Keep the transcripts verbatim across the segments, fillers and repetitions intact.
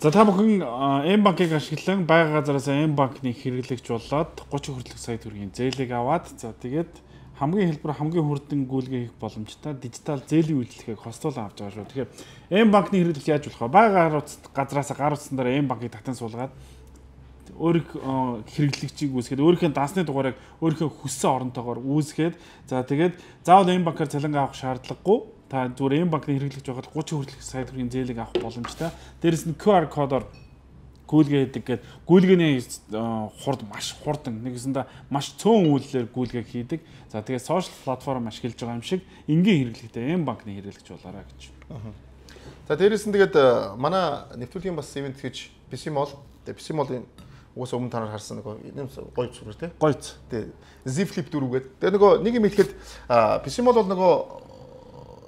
За та бүхэн М банкыг ашиглан байга газараас М банкны хэрэглэгч болоод гучин хүртэлх сая төгрөгийн зээлийг аваад за тэгээд хамгийн хэлбэр хамгийн хурдан гүйлгээ хийх боломжтой дижитал зээлийн үйлчлэгийг хостуулан авч байгаа шүү. Тэгэхээр М банкны хэрэглэгч яаж болох вэ? Байга газараас гар утсан дээр М банкыг татан суулгаад өөрийнх хэрэглэгчийг үүсгээд өөрийнхөө дансны дугаарыг өөрийнхөө хүссэн оронтойгоор үүсгээд за тэгээд заавал М банкаар цалин авах шаардлагагүй та зүгээр М банкны хэрэглэгч байгаад гучин хүртэлх сая төгрөгийн зээлийг авах боломжтой. Дээрээс нь Q R кодоор гүйлгээ хийдэг гэдэг гүйлгээний хурд маш хурдан нэгэсэндээ маш цөөн үйлдэлээр гүйлгээ хийдэг. За тэгээд сошиал платформ ашиглаж байгаа юм шиг энгийн хэрэглэгтэй М банкны хэрэглэгч болоорой гэж. За дээрээс нь тэгээд манай нэвтрүүлгийн бас ивент хийж пи си Mall тэгээд пи си Mall-ын уус өмнө танаар харсан нэг гоё зүрх тий. Гойц. Тэгээд Z Flip дөрвгээд тэгээд нөгөө нэг юм хэлэхэд пи си Mall бол нөгөө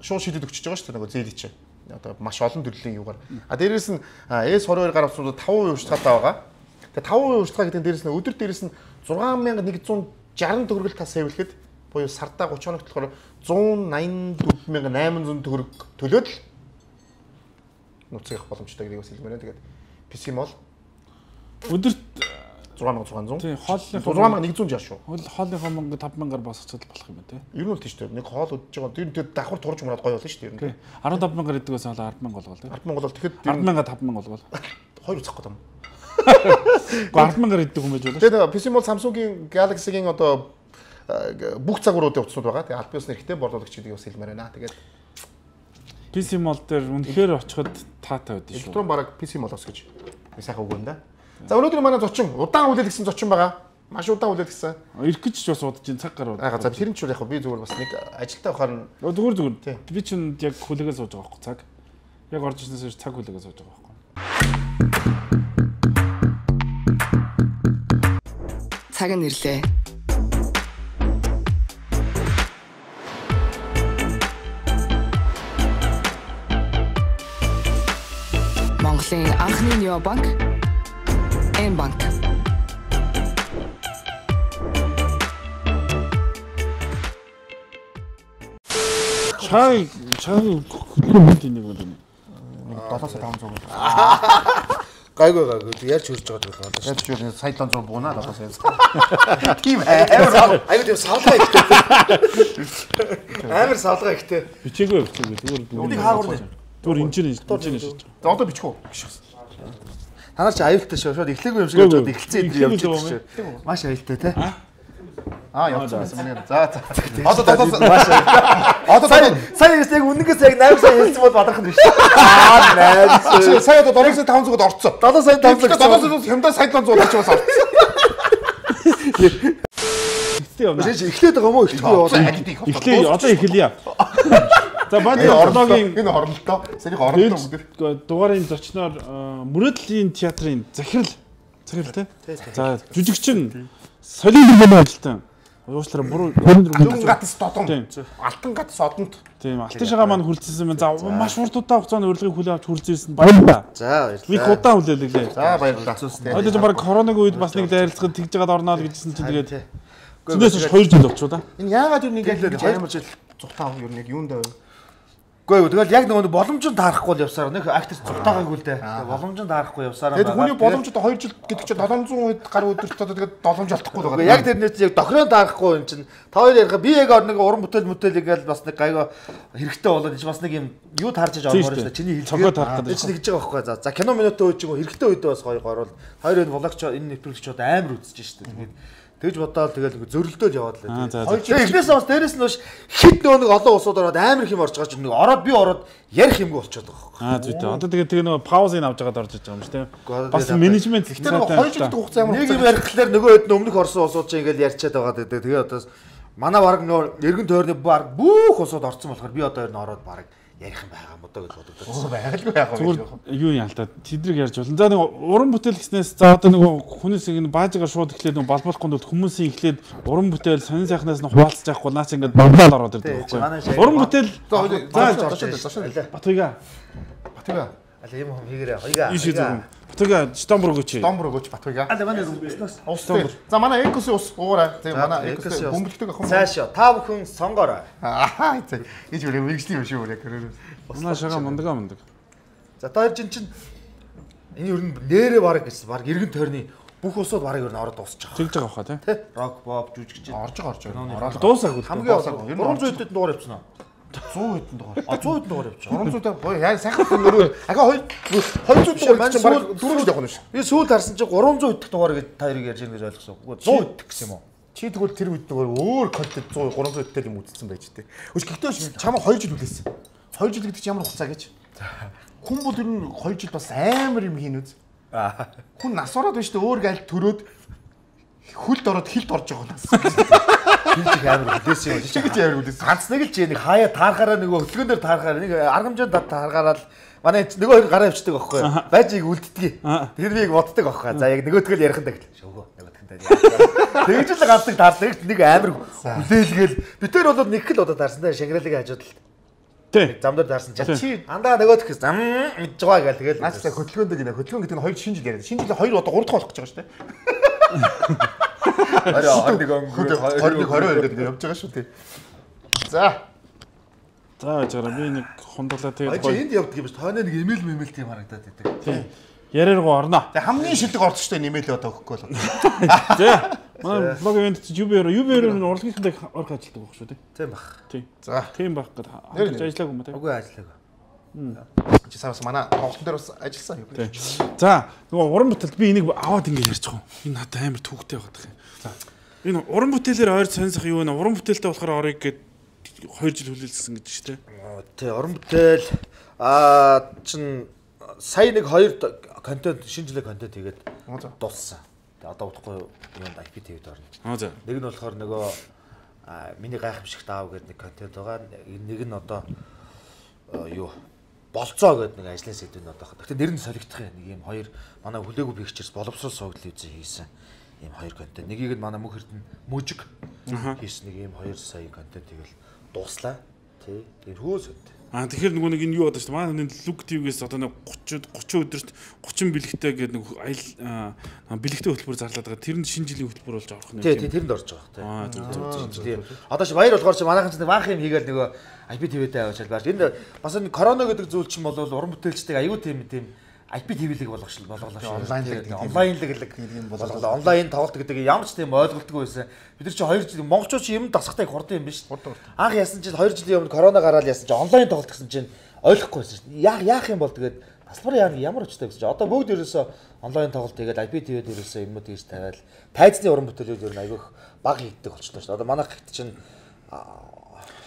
шууд шийдэд өгчөж байгаа шүү дээ нөгөө зээлий чинь. Одоо маш олон төрлийн юугаар. А дээрээс нь эс двадцать два гар авсууд таван хувийн урьдчилгаатай байгаа. Тэгээ таван хувийн урьдчилгаа гэдэг нь дээрээс нь өдөр дээрээс нь зургаан мянга нэгдүгээр шестьдесят төгрөгөл та сэвлэхэд буюу сардаа тридцать хоногт болохоор one ninety four thousand eight hundred төгрөг төлөөд л нууцыг авах боломжтой гэдгийг бас хэлмээр байна. Тэгээд пи си Mall өдөрт six thousand six hundred. Тийм, хоолны six thousand one hundred шшүү. Хоолныхоо мөнгө five thousand босгочод болох юм байна тий. Ер нь бол тийш дээ. Нэг хоол өдөж байгаа. Тэр тэр давхар турж мураад гоё болно шүү дээ ер нь. фifteen thousand иддэг байсан бол ten thousand болгоо тий. ten thousand болгол тэгэхэд ten thousand five thousand болгоо. Хоёр үзэх гэдэг юм. ten thousand иддэг хүн байж болно. Тэгээд пи си Mall Samsung-ийн Galaxy-гийн одоо бүх цагууруудын утаснууд байгаа. Тэгээд аль биесны хэрэгтэй борлуулагч гэдгийг бас хэлмээр байна. Тэгээд пи си Mall дээр үнэхээр очиход таатай байдсан шүү. Электрон бараг пи си Mall-оос гэж сайхан үг байна да. За өнөөдөр манай зочин удаан хүлээлгсэн зочин байгаа. Маш удаан хүлээлгсэн. Ирэх гэж ч бас удаж ин цаг гарууд. Аа за тэр нь ч яг би зүгээр бас нэг ажилтаа байхаар нь зүгээр зүгээр. Би чинь яг хүлээгээ сууж байгаа байхгүй цаг. Яг орж ирснээс цаг хүлээгээ сууж байгаа байхгүй. Цаг нь ирлээ. Монголын анхны необанк М банк. Чай чай хөдөлгөөний нэг юм. seven thousand five hundred. Гайгүй гайгүй ярьж хөрж байгаа байх байна. Ярьж юу сая seven hundred буунаа seven thousand. Тийм амар айгүй тийм савлгаа ихтэй. Амар савлгаа ихтэй. Бичээгүй бичээгүй зүгээр. Үнийг хаагур нэ. Зүгээр инженер инженер шиж. За одоо бичих үү? Та нар чи аюултай шүү. Шууд эхлээгүй юм шиг явж байгаа. Эхэлцээ энэ явж байгаа шүү. Маш аюултай те. Аа явсан юм. За за. Одоо одоо маш аюултай. Одоо сая сая яг үнэнгээс яг eight сая хэлсэн бол бадрах нь биш. Аа найс. Сая одоо seven thousand five hundred орцсон. seven сая five hundred. seven hundred хямдаа seven hundred орчих бас орцсон. Эхлээд байгаа юм уу? Эхлэхгүй. Эхлээ одоо эхэлье. За баны орногийн энэ орнолтоо сэрийг орнолтоо бүгд дугаарын зочноор мөрөөдлийн театрын захирал захирал тий. За жүжигчин солио хэмжээний ажилтан уучлаарай буруу алтан гатс додон алтан гатс одонд тийм алтан шагаа маань хүлцсэн байна. За маш урт удаа хугацаанд урилгыг хүлээн авч хүрсэн баярлалаа. За баярлалаа. Би удаан хүлээлээ. За баярлалаа. Одоо ч баг коронавиг үед бас нэг дайралцахад тэгж жагаад орноо л гэжсэн чинь тэгээд зүйдээс two жил болчихоо да. Энэ яагаад юу нэг ингэж амар жил цухтаа юм юу нэг юунд байв? Гэхдээ тэгэл яг нэг боломжтой таарахгүй л явсаар нэг актер цухтаагаагүй л дээ. Боломжтой таарахгүй явсаар байгаа. Тэгээд хүний боломжтой two жил гэдэг чинь seven hundred хэд гаруй өдөрт одоо тэгээд боломж алдахгүй л байгаа. Яг тэр нэр чинь яг дохирон таарахгүй юм чинь. Та хоёр ярих би яг нэг уран бүтээл бүтээл ингээл бас нэг гайгаа хэрэгтэй болоод чи бас нэг юм юу таарч иж ормоор шүү дээ. Чиний хэлж байгаа. Чи нэг гэж байгаа байхгүй. За за кино минутын үед чинь хэрэгтэй үед бас гоё горвол хоёр энэ влагч энэ нэвтрүүлэгчд амар үзэж шүү дээ. Тэгээд тэгж бодоод тэгэл нэг зөрөлдөөл яваад л дээ. Тэгээ эхнээс бас дээрэс нь хит нөгөө нэг олон усууд ороод амар их юм орж байгаа чинь нэг ороод би ороод ярих юмгүй болчиход байгаа байхгүй. Аа зүйтэй. Одоо тэгээ тэгээ нөгөө паузыг авч байгаад орж иж байгаа юм шүү дээ. Бас менежмент гэхдээ нөгөө two жил хугацаа ямар нэг юм ярих гэхлээр нөгөө хэд өмнөх орсон усууд чинь ингээл ярьчаад байгаа дээ. Тэгээ одоо манай баг нөгөө эргэн тойрны баг бүх усууд орсон болохоор би одоо энэ ороод баг ярих юм байгаа юм одоо гэж бодогдсон. Оо байгальгүй яах вэ? Зүгээр юу ялтаа тэдрэг ярьж болно. За нэг уран бүтээл гэснээс за одоо нэг хүнээс ингэ баажгаа шууд эхлээд нэг балбалахгүй бол хүмүүсийн эхлээд уран бүтээл сонин сайхнаас нь хуваалцаж явахгүй наач ингэ бамбал ороод ирдэг байхгүй. Уран бүтээл за зошин зошин Батуйга. Батуйга. Али юм хийгэрээ. Хоёга. Иш зүг. Батуйга стомбор өгөөч. Стомбор өгөөч Батуйга. Али манай бизнес. Ус. За манай экос ус уугаарай. Тэгээ манай экос бөмбөлтөг ах юм. Цаашаа та бүхэн сонгоорой. Аа гэж үрээ мэгжлийн юм шүү үрээ. Манай шага мундаг мундаг. За та хоёр чинь чинь Энэ ер нь нэрээ бараг гэсэн баг эргэн тойрны бүх усууд бараг ер нь ороод дуусчих. Чигж байгаа хаа тий. Рок боб жүжигч орж байгаа орж байгаа. Ороод дуусаагүй. Хамгийн гурван зуун хэдэн дугаар явчихна. зуун хэдэн дугаар. А зуун хэдэн дугаар явчих. гурван зуун дугаар яа сайхан нөгөө ахаа хоёр хоёр зуун дугаар чинь баг дөрөв явах нь шүү. Би сүүл харсан чинь гурван зуун хэдэн дугаар гэж та хоёрыг ярьж байгаа гэж ойлгосон. зуун хэдэн гэсэн юм уу? Чи тэгвэл тэр үед нөгөө өөр контент зуун гурван зуун хэдтэй юм үзсэн байж тээ. Өч гэхдээ чамаа хоёр жил үлээсэн. хоёр жил гэдэг чинь ямар хугацаа гэж? Хүн бол ер нь хоёр жил бас амар юм хийн үз. Хүн нас ороод байна шүү дээ өөр гайл төрөөд хөлд ороод хилд орж байгаа нас. Хилд амар үлээсэн юм. Чи гэж амар үлээсэн. Ганц нэг л чи нэг хаяа таарахаараа нөгөө хөтлгөн дээр таарахаараа нэг аргамжаанд таарахаараа манай нөгөө хоёр гараа авчдаг байхгүй юу? Байж ийг үлддэг. Тэр би яг боддог байхгүй юу? За яг нөгөөдгөл ярих нь тагл. Шөөгөө нөгөөдгөл таа. Тэгж л ганцдаг таардаг нэг амар үлээлгээл би тэр бол нэг л удаа таарсан даа шагралыг хажууд л. Тий. Замдаар таарсан чинь чи андаа нөгөөдгөл зам мэдж байгаа гэл тэгэл. Наач та хөтлгөөнд гинэ хөтлгөөн гэдэг нь хоёр шинэ жил яриад. Шинэ жил хоёр удаа гурав дахь болох гэж байгаа шүү дээ. Араа нэг он хоёр хоёр гэдэг явж байгаа шүү дээ. За. За яжаараа би нэг хундлаа тэгээд гоё. Энд явдаг юм биш. Тооны нэг имэйл мэмэл тийм харагдаад байдаг. Тий. Яриаргуу орно. Тэг хамгийн шилдэг орцтой нэмэлээ одоо өгөхгүй бол. За. Манай блог ивент юбер юбер нь урлагийнхтай орох ажилтдаг байх шүү дээ. Тийм баг. Тий. За. Тийм баг гэдэг хамтарч ажиллаагүй юм тий. Үгүй ажиллаагүй. Чи сараас манай тоглолтын дээр бас ажилласан юм. За нөгөө уран бүтээлд би энийг аваад ингэ ярьж байгаа юм. Энэ надад амар төвхтэй байгаа юм. За. Энэ уран бүтээлээр ойр сонирсох юу вэ? Уран бүтээлтэй болохоор орыг гээд хоёр жил хүлээлгсэн гэж шүү дээ. Тий, уран бүтээл аа чин сая нэг хоёр контент шинэ жилийн контент хийгээд дууссан. Тэгээ одоо удахгүй юунд ай пи ти-д орно. Аа за. Нэг нь болохоор нөгөө миний гайхамшигт аав гэдэг нэг контент байгаа. Нэг нь одоо юу болцоо гэдэг нэг ажлын сэдвэн одоо. Гэхдээ нэр нь солигдох юм. Нэг юм хоёр манай хүлээгүй пикчерс боловсрол суугдал үзээ хийсэн. Ийм хоёр контент. Нэгийг нь манай мөнх эрдэнэ мужиг хийсэн нэг ийм хоёр сая контент хийгээл дууслаа. Тий. Тэр хөөс өд. Аа тэгэхээр нөгөө нэг энэ юу бодож шүү дээ. Манай нэг луг тивгээс одоо нэг тридцать тридцать өдөрт тридцать бэлэгтэй гэдэг нэг аял бэлэгтэй хөтөлбөр зарлаад байгаа. Тэр нь шинэ жилийн хөтөлбөр болж байгаа юм. Тий, тий, тэрэнд орж байгаа. Тий. Аа зөв зөв. Одоо чи баяр болохоор чи манайхан ч баах юм хийгээл нөгөө ай пи ти-д аваачаал бааш. Энд бас энэ корона гэдэг зүйл чинь бол уран бүтээлчдэг аюу тийм тийм ай пи ти-лэг болгошлоо болгоолаа. Онлайнлэг онлайнлэг юм болоо. Онлайн тоглолт гэдэг ямар ч тийм ойлголтгүй байсан. Бид нар чи хоёр жил монголчууд чи юм дасахтай хурдан юм биш. Анх яасан чи хоёр жилийн өмнө корона гараад яасан чи онлайн тоглолт гэсэн чинь ойлгохгүй байсан шүү дээ. Яах яах юм бол тэгээд тасбар яа ямар очтой гэсэн чи одоо бүгд ерөөсөө онлайн тоглолт хийгээд ай пи ти-д ерөөсөө юмнууд хийж тавиал тайзны уран бүтээлүүд ер нь айгүйх баг хийгддэг болчихлоо шүү дээ. Одоо манайх хэд чинь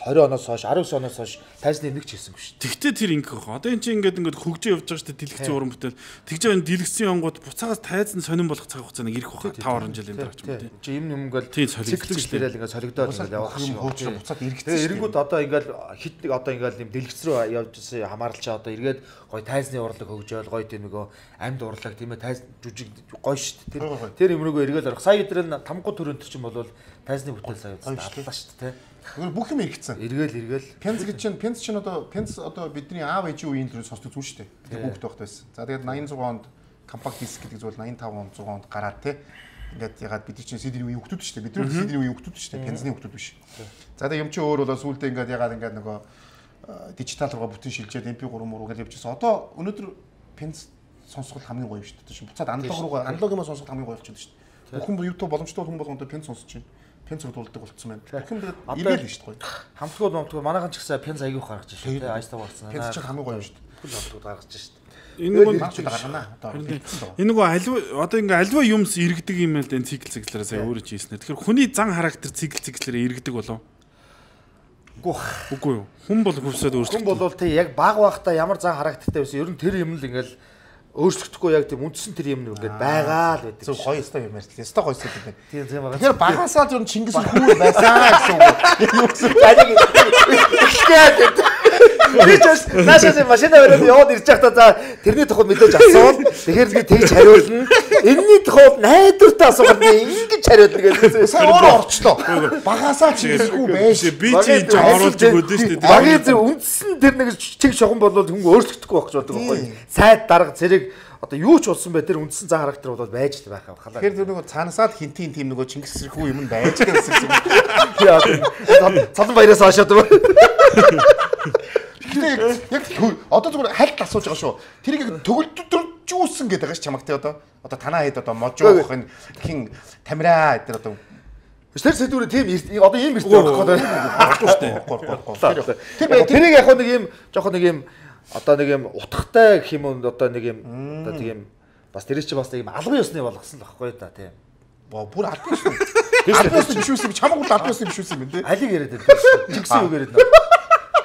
двадцать оноос хойш десять оноос хойш тайзны нэг ч хийсэнгүй шүү. Тэгтээ тэр ингэх واخа. Одоо эн чинь ингээд ингээд хөгжөө явж байгаа шүү дээ. Дэлгэцийн уран бүтээл. Тэгж байгаа энэ дэлгэцийн онгод буцаагаас тайз нь сонирн болох цаг хугацаа нэг ирэх واخа. five жилийн дараа ч юм уу тийм. Чи юм юм ингээл цикл дээр ингээд солигдоод ингээд явах юм хөөж буцаад эргэцсэн. Тэгээ эрэнгүүд одоо ингээд хит нэг одоо ингээд юм дэлгэц рүү явж исэн хамааралчаа одоо эргээд гой тайзны урлаг хөгжөөл гой тийм нөгөө амьд урлаг тийм ээ тайз жүжиг гой шүү дээ. Тэр юм рүүгөө эргээл орох. Сая өдрөө тамгуу төрөнд чинь бол тайзны бүтээл сая аллаа шүү дээ. Тэгвэл бүх юм эргэцсэн. Эргээл эргээл. Пенц гэж чинь пенц чинь одоо пенц одоо бидний аав ээжийн үеийн төрөнд сонсдог зүйл шүү дээ. Тэгээ хүүхэд байхад байсан. За тэгээд eighty six онд компакт диск гэдэг зүйл eighty-five он one hundred онд гараад те. Ингээд ягаад бид чинь си ди үеийн хүүхдүүд шүү дээ. Бид нар си ди үеийн хүүхдүүд шүү дээ. Пенцны хүүхдүүд биш. За тэгээд юм чи өөр болоо сүултээ ингээд ягаад ингээд нөгөө дижитал руугаа бүтэн шилжээд эм пи three муу гэж явчихсан. Одоо өнөөдөр пенц сонсгол хамгийн гоё шүү дээ. Чинь буцаад аналог руугаа аналог юм сонсгол хамгийн гоё болчиход шүү дээ. Бүхэн YouTube боломжтой хүн болгоно пенц сонсож байна. Пенц дуулдаг болцсон байна. Бүхэн тэгээд иргээл шүү дээ. Хамтгууд момтгууд манайхан ч гэсэн пенц аягүй гаргаж шүү дээ. Айстаа болсон. Пенц чинь хамгийн гоё шүү дээ. Бүхэн хамтгууд гаргаж шүү дээ. Энэ нөгөө гаргана. Одоо энэ нөгөө аливаа одоо ингээ аливаа юмс иргэдэг юм л дээ цикл циклэрээ сая өөрөө ч хийснэ. Тэгэхээр хүний зан характер цикл циклэрээ иргэдэг болов. Үгүй юу. Хүн бол хөвсөд өөрчлөлт. Хүн бол тий яг баг багтаа ямар зан характертай байсан. Ер нь тэр юм л ингээл өөрчлөгдөхгүй яг тийм үндсэн тэр юм ингээд байгаа л байдаг. Зөв гоё өстой юм ярьж. Өстой гоё өстой гэдэг. Тийм тийм байгаа. Тэгэхээр багасаа зөв Чингис хүү байсан гэсэн үг. Яг ихтэй. Би ч наашаас машина өрөөд яваад ирж байхдаа за тэрний тухайд мэдээж асуувал тэгэхээр би тэгж хариулна. Энэний тухайд найдвартай асуулт ингэж хариулна гэдэг. Сая өөрөө орчлоо. Багасаа Чингис хүү байж. Би чи энэ оруулж өгөөд нь шүү дээ. Багийн зөв үндсэн тэр нэг чиг шогон болвол хүн өөрчлөгдөхгүй байх гэж бодог байхгүй. Сайд дарга зэрэг одоо юу ч болсон бай тэр үндсэн зан характер бол байж л байх авахлаа. Тэгэхээр тэр нөгөө цаанасаад хинтийн тим нөгөө Чингис хүү юм байж гэсэн юм. Цалан баяраас хашаад байна. Гэтэ яг одоо зүгээр хальт асууж байгаа шүү. Тэрийг төгөлдөжүүлсэн гэдэг байгаа ш чамаг те одоо. Одоо танаа хэд одоо можоох энэ хин тамираа эдгээр одоо тэр сэдвүүрээ тийм одоо ийм ирсэн байхгүй байхгүй шүү дээ. Тэр тэрийг яг нэг ийм жоохон нэг ийм одоо нэг ийм утгатай гэх юм уу одоо нэг ийм одоо тийм бас тэр чинь бас нэг ийм албан ёсны болгосон л байхгүй да тийм. Бүр албан ёсны. Албан ёсны биш үсэн чамаг бол албан ёсны биш үсэн юм дээ. Алиг яриад байдаг. Чигсэн үг яриад байна.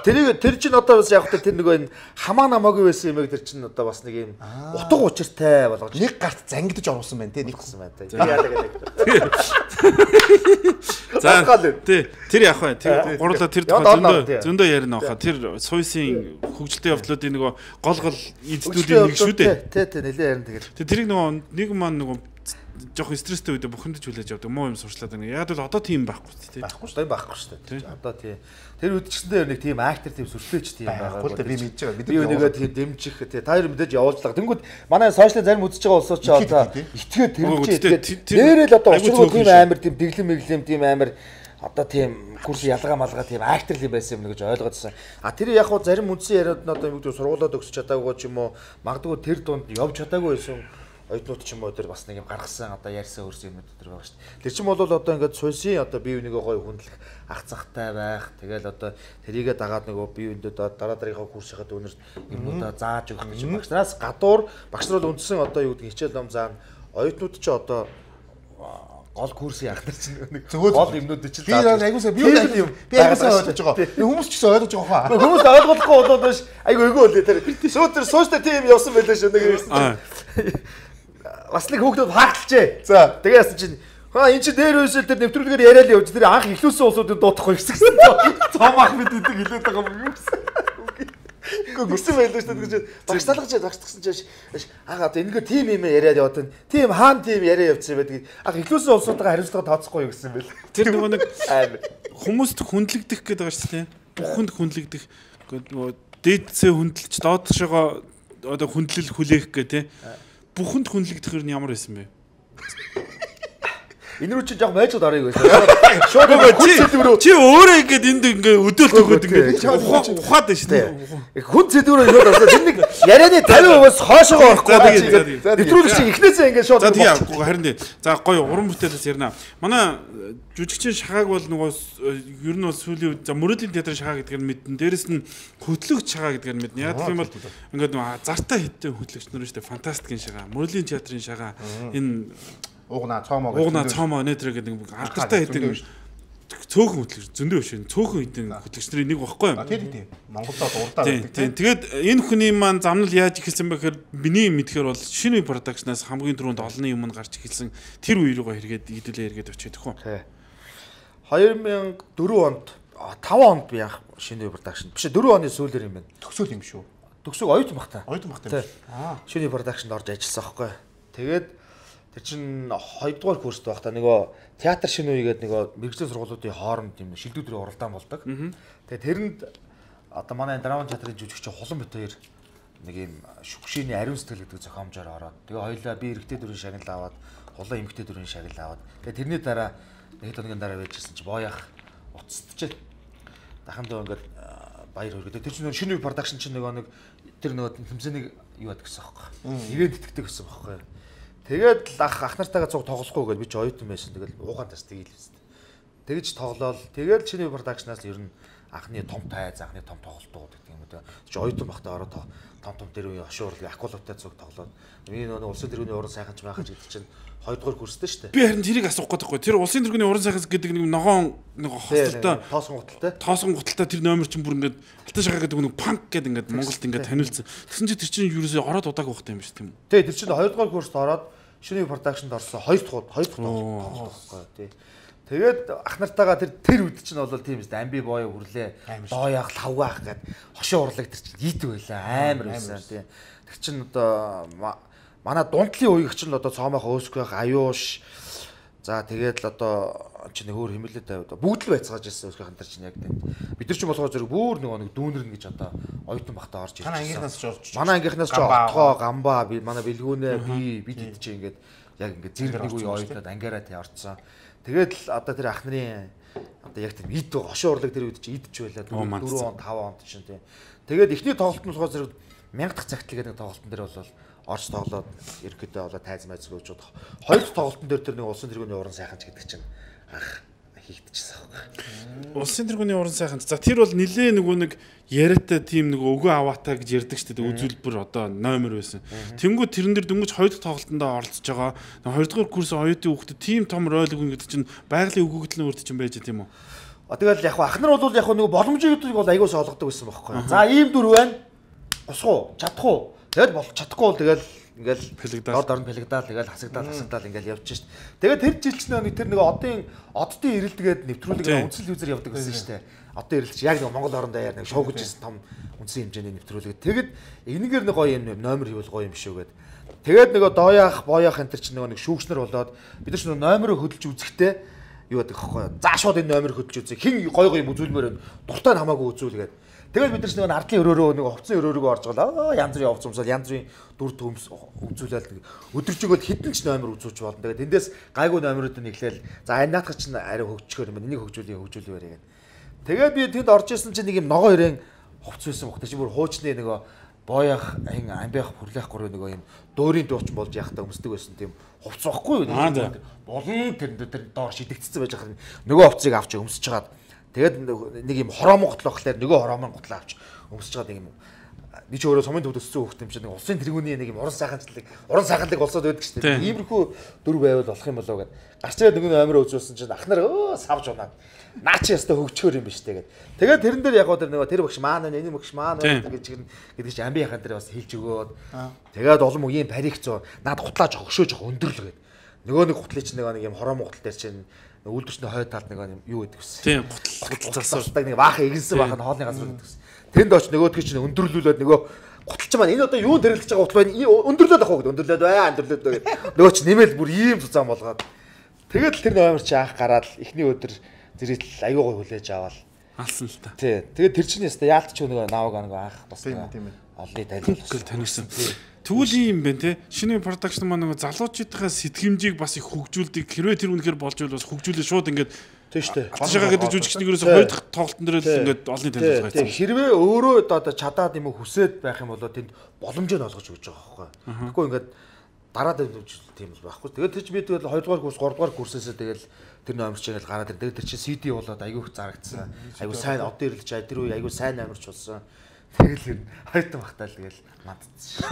Тэр тэр чинь одоо бас яг тэр нэг энэ хамаа намаагүй байсан юм яг тэр чинь одоо бас нэг ийм утга учиртай болгож нэг гарт зангидж оруулсан байна те нэг гэсэн байна те. Яадаг гэдэг. За тий тэр яг бай тэр гурлаа тэр зөндөө зөндөө ярина баха тэр суйсын хөгжилтэй явдлуудын нөгөө гол гол эддүүдийн нэг шүү дээ. Тий тий нэлээ ярина тэгээд. Тэрийг нөгөө нэг маань нөгөө жоох стресстэй үедээ бухимдаж хүлээж авдаг муу юм сурчлаад байна. Яг л одоо тийм байхгүй тий. Байхгүй шүү дээ байхгүй шүү дээ. Одоо тий тэр үед ч гэсэн нэг тийм актер тийм сүртэй ч тийм байгаа. Байхгүй би мэдж байгаа. Би өнөөгөө тийм дэмжих тий та хоёр мэдээж явуулдаг. Тэнгүүд манай сошиал зарим үзэж байгаа улсууд ч одоо итгээд тэрч нэрэл одоо очроо тийм амар тийм дэглэм мэглэм тийм амар одоо тийм курс ялгаа малгаа тийм актер л байсан юм гэж ойлгоодсэн. А тэр яг хуу зарим үндсэн яриад нь одоо юм гэдэг сургуулаад өгсөж чадаагүй ч юм уу магадгүй тэр дунд явж чадаагүй байсан оюутнууд ч юм уу тэр бас нэг юм гаргасан одоо ярьсан өрсөн юмуд тэр байгаа шүү дээ. Тэр чинь бол одоо ингээд суйсын одоо бие бинийгээ гоё хүндлэх ах цахтай байх. Тэгэл одоо тэрийгээ дагаад нөгөө бие биендээ дараа дараагийнхаа курсынхаа дүүнерт юмудаа зааж өгөх гэж багшнараас гадуур багш нар бол үндсэн одоо юу гэдэг хичээл ном заана. Оюутнууд ч одоо гол курсын ахнар чинь нэг гол юмнууд чинь зааж. Би айгуусаа би юм би айгуусаа ойлгож байгаа. Хүмүүс ч гэсэн ойлгож байгаа хаа. Хүмүүс ойлгохгүй болоод биш. Айгу эйгөө үлээ тэр. Сүүтэр сууштай тийм явсан байлаа шүү нэг. Бас нэг хүүхдүүд хаагталчээ. За тэгээ яасан чинь хаа эн чинь дээр үйсэл тэр нэвтрүүлгээр яриад явж тэр анх ихлүүлсэн улсуудыг дуутахгүй гэсэн. Цом ах бид эдэг хэлээд байгаа юм юу гэсэн. Үгүй гисэн байлаа шүү дээ. Багш талгаж багшдагсан чинь аа одоо энэгээр тим юм яриад яваад байна. Тим хаан тим яриа явуулсан байдаг. Анх ихлүүлсэн улсуудаа хариуцлага тооцохгүй юу гэсэн байл. Тэр нөгөө нэг хүмүүст хүндлэгдэх гэдэг байгаа шүү дээ. Бүхэнд хүндлэгдэх нөгөө дээдсээ хүндэлж доодшогоо одоо хүндлэл хүлээх гэх тээ. Бүхэнд хүнлэгдэх нь ямар байсан бэ? Энэ рүү чи яг майжууд арыг байсан. Шууд чи чи өөрөө ингээд энд ингээд өдөөлт өгөөд ингээд ухаад байна шүү дээ. Хүн зэдвэрөө яваад орсон. Тэр нэг ярианы тавин хувиас хоошоо орохгүй байгаа. Нэвтрүүлэгч ихнээсээ ингээд шууд. За тийм харин тийм. За гоё уран бүтээлээс ярина. Манай жүжигчин шахааг бол нөгөө ер нь бол сүүлийн за мөрөдлийн театрын шахаа гэдгээр нь мэднэ. Дээрэс нь хөтлөгч шахаа гэдгээр нь мэднэ. Яг тийм бол ингээд зартаа хиттэй хөтлөгч нар шүү дээ. Фантастикийн шахаа, мөрөдлийн театрын шахаа энэ Угнаа цоомоо угнаа цоомоо нэтэр гэдэг нэг алдартай хэдэн цөөхөн хөтлөгч зөндөө биш энэ цөөхөн хэдэн хөтлөгчдийн нэг багхгүй юм. Тийм тийм. Монголдо дурдаа байдаг тийм. Тэгээд энэ хүний маань замнал яаж ихэлсэн бэ гэхээр миний мэдхээр бол шинэ продакшнаас хамгийн түрүүнд олонний юм гарч ихэлсэн тэр үе рүүгээ хэрэгэд идүүлээ хэрэгэд очиж төхөө. хоёр мянган дөрөв онд таван онд би яах шинэ продакшн биш дөрөв оны сүүлээр юм байна. Төгсөөл юм шүү. Төгсөөг оюутан бах та. Оюутан бах та. Аа. Шинэ продакшнд орж ажилласан байхгүй. Тэгээд тэр чинь хоёрдугаар курст байх та нөгөө театр шинэ үе гэдэг нөгөө мэргэжлийн сургуулиудын хооронд юм шилдэгдрийн уралдаан болдог. Тэгээ тэрэнд одоо манай драма театрын жүжигч Хулан бит хоёр нэг юм шүгшээний ариун сэтгэл гэдэг зохиомжоор ороод тэгээ хоёлаа би эрэгтэй дүрийн шагнал аваад Хулан эмэгтэй дүрийн шагнал аваад тэгээ тэрний дараа нэг хоногийн дараа байжсэн чи боояах уцтчээ. Дахамдаа ингээд баяр хөргөд. Тэр чинь шинэ продакшн чинь нөгөө нэг тэр нөгөө тэмцээнийг юу яадаг гэсэн байхгүй. Ивент итгэдэг гэсэн байхгүй. Тэгээд ах ах нартайгаа цуг тоглохгүй гэж би ч оюутан байсан. Тэгэл уугаан тас тэгээл байсан. Тэгэж тоглоол. Тэгээд шинэ продакшнаас ер нь анхны том тайз, анхны том тоглолтууд гэдэг юм уу. Чи оюутан бахтаа ороод том том тэр үе ошуур акулуутай цуг тоглоод. Би нөгөө улсын тэргүүний уран сайханч байхаж гэдэг чинь хоёрдугаар курстэй шүү дээ. Би харин тэрийг асуух гээд байхгүй. Тэр улсын тэргүүний уран сайханч гэдэг нэг ногоон нэг хостолтой тоосон гуталтай. Тоосон гуталтай тэр номер чинь бүр ингээд алтан шахаа гэдэг нэг панк гэдэг ингээд Монголд ингээд таниулсан. Тэгсэн чи тэр чинь юусоо ороод удааг багтай юм шүү тийм үү? Тий, тэр чинь хоёрдугаар курст ороод шинэ продакшнд орсон хоёр дахь хоёр дахь тоглохгүй тий. Тэгээд ах нартайгаа тэр тэр үед чинь бол тийм ээ амби боо хүрлээ. Доояах, лавгаах гэд хошоо урлаг тэр чинь ийд байлаа. Амар байсан тий. Тэр чинь одоо манай дундлын үеиг чинь одоо цоомоох өөсгөх аюуш. За тэгээд л одоо чинь хөөр химэлээд тавиад бүгд л байцгааж ирсэн өөсгөх хантар чинь яг тийм. Бид нар ч болохоор зэрэг бүр нөгөө нэг дүүнэрнэ гэж одоо оюутан бахтаа орж ирсэн. Манай ангийнхнаас ч орж. Манай ангийнхнаас ч отгоо, гамбаа, манай бэлгүүнээ би бид хэд чи ингээд яг ингээд зэрэг нэг үе оюутнууд ангаараа тий орцсон. Тэгээд л одоо тэр ах нарын одоо яг тийм ид хошин урлаг тэр үед чи идч байлаа дөрөв он таван он чинь тийм. Тэгээд эхний тоглолтын болохоор зэрэг мянга дахь цагтлал гэдэг тоглолтын дээр бол орж тоглоод ерөөдөө болоо тайз майз өгчүүд. Хоёр дахь тоглолтын дээр тэр нэг улсын тэргүүний уран сайханч гэдэг чинь ах хийгдчихсэн байхгүй. Улсын тэргүүний уран сайханч. За тэр бол нилээ нөгөө нэг яриатай тийм нэг өгөө аваатаа гэж ярьдаг шүү дээ. Үзүүлбэр одоо номер байсан. Тэнгүү тэрэн дээр дөнгөж хоёр дахь тоглолтонд оролцож байгаа. хоёр дахь курс оюутны хүүхдэд тийм том роль өгнө гэдэг чинь байгалийн өгөгдлийн үрд чинь байж тийм үү? Тэгэл яг ах нар бол яг нөгөө боломжийг бол аягүй соолгодог байсан байхгүй. За ийм дүр байна. Босох уу? Чадах уу? Тэгэл болох чадахгүй бол тэгэл ингээл доод орнд пэлэгдаал тэгэл хасагдаал хасагдаал ингээл явж шít. Тэгээд тэр жил ч нэг тэр нэг одын оддын ирэлдгээд нэвтрүүлэг үндсэл үзэр явдаг гэсэн шүү дээ. Одоо ирэлч яг нэг Монгол оронд даяар нэг шоу гэж том үндсэн хэмжээний нэвтрүүлэг. Тэгэд энэгээр нэг гоё юм номер хийвэл гоё юм шүү гээд. Тэгээд нөгөө доояах, боёох энэ төр чинь нөгөө нэг шүүгчнэр болоод бид нар ч нөгөө номероо хөдөлж үзэхдээ юу гэдэг хэвхэв. За шууд энэ номер хөдөлж үзье. Хин гоё гоё юм үзүүлмээр байна. Дуртай хамаагүй үзүүлгээд. Тэгэл бид нар ч нэг ардлын өрөөрөө нэг хувцсан өрөөрөө орж гала. Янз бүрийн хувц өмсөөл янз бүрийн дүр төмс үзүүлээд өдөржигөө хідэн ч номер үзүүлж болно. Тэгээд эндээс гайгүй номерууд нэглээл за энэ наадах чинь арай хөгжчихөр юм. Энийг хөгжүүлээ хөгжүүлээ яриад. Тэгээд би тэнд орж исэн чинь нэг юм ногоо ирээн хувц байсан бохтой чи бүр хуучны нөгөө боёх ин амбиах хүрлэх гурав нөгөө юм дөөрийн дууч болж яхахтаа өмсдөг байсан тийм хувц байхгүй юу? Болон тэр тэр доор шидэгдсэн байж хахад нөгөө хувцыг авч өмсөж чагаад тэгээд нэг юм хороомон готлоо гэхлээр нөгөө хороомон готлоо авч өмсөж чагаад нэг юм би ч өөрөө сумын төвд өссөн хүүхд юм чинь нэг улсын тэргүүний нэг юм уран сайханчлаг уран сайханлаг болсоод байдаг шүү дээ. Иймэрхүү дүр байвал болох юм болоо гэд. Гарч ирээд нөгөө номер үзүүлсэн чинь ах нар өө савж унаад наа чи ястаа хөгчөөр юм биш тэгээд. Тэгээд тэрэн дээр яг гоо тэр нөгөө тэр багш маань энэ багш маань гэж гэдэг чинь амби яхан дээр бас хэлж өгөөд. Тэгээд олон үеийн парик зөө наад гутлааж хөгшөөж өндөрлөг гэд. Нөгөө нэг гутлыг чинь нөгөө нэг юм хороомон гутал дээр чинь үйлдвэрчний хой талд нэг юм юу гэдэг вэ? Тийм гутал засуулдаг нэг баахан игэнсэн баахан хоолны газар гэдэг вэ? Тэнд очиж нөгөөдгөө чинь өндөрлүүлээд нөгөө гуталч маань энэ одоо юу дэрлэж байгаа гутал байна? Өндөрлөөд ах уу гэдэг өндөрлөөд бай өндөрлөөд бай гэдэг. Нөгөө чинь нэмэл бүр ийм цуцаан болгоод. Тэгээд тэр номер чи анх гараад эхний өдөр зэрэг аюугаа хүлээж аваад алсан л та. Тий. Тэгээд тэр чинь яста яалт ч нөгөө нааваг нөгөө анх бас олны танилцуулсан танилцсан. Тэгвэл юм байна те. Шинэ продакшн маань нөгөө залуучуудынхаа сэтгэмжийг бас их хөгжүүлдэг. Хэрвээ тэр үнэхээр болж байвал бас хөгжүүлээ шууд ингээд тийм шүү дээ. Атшаага гэдэг жүжигчнээс хоёр дахь тоглолтын дээр л ингээд олны танилцуулга хийсэн. Хэрвээ өөрөө одоо чадаад юм уу хүсээд байх юм бол тэнд боломжийг олгож өгч байгаа байхгүй. Тэгэхгүй ингээд дараад үзүүлэлт тийм л байхгүй. Тэгээд тэр чинь би тэгэл хоёр дугаар курс, гурав дугаар курсээсээ тэгэл тэр номер чинь гараад ир. Тэгээд тэр чинь си ди болоод айгүйх зарагдсан. Айгүй сайн одоо ирлж ай тэр үе айгүй сайн номерч болсон. Тэгэл юм хоёрт багтаал тэгэл мандцсан.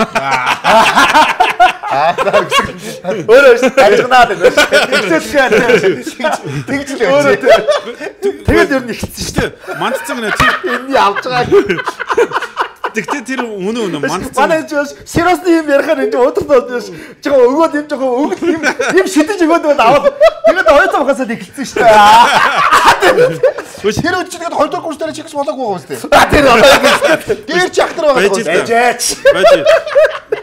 Аа өөрөө ажигнаад байна. Тэгж л өөрөө тэгэл ер нь ихсэн шүү дээ. Мандцсан гэнэ тийм энэ авч байгаа. Тэгтээ тэр үнэ үнэ мандцсан. Манай ч сериосны юм ярихаар энэ удирдах байж жоо өгөөд юм жоо өгд юм юм шидэж өгөөд бол аваад тэгээд хоёр цаг хасаад эхэлсэн шүү дээ. Тэр үед чинь тэгээд хоёр дахь курс дээр чигс болоогүй байгаа юм шүү дээ. Тэр одоо гэр чи ахтар байгаа. Байжээч.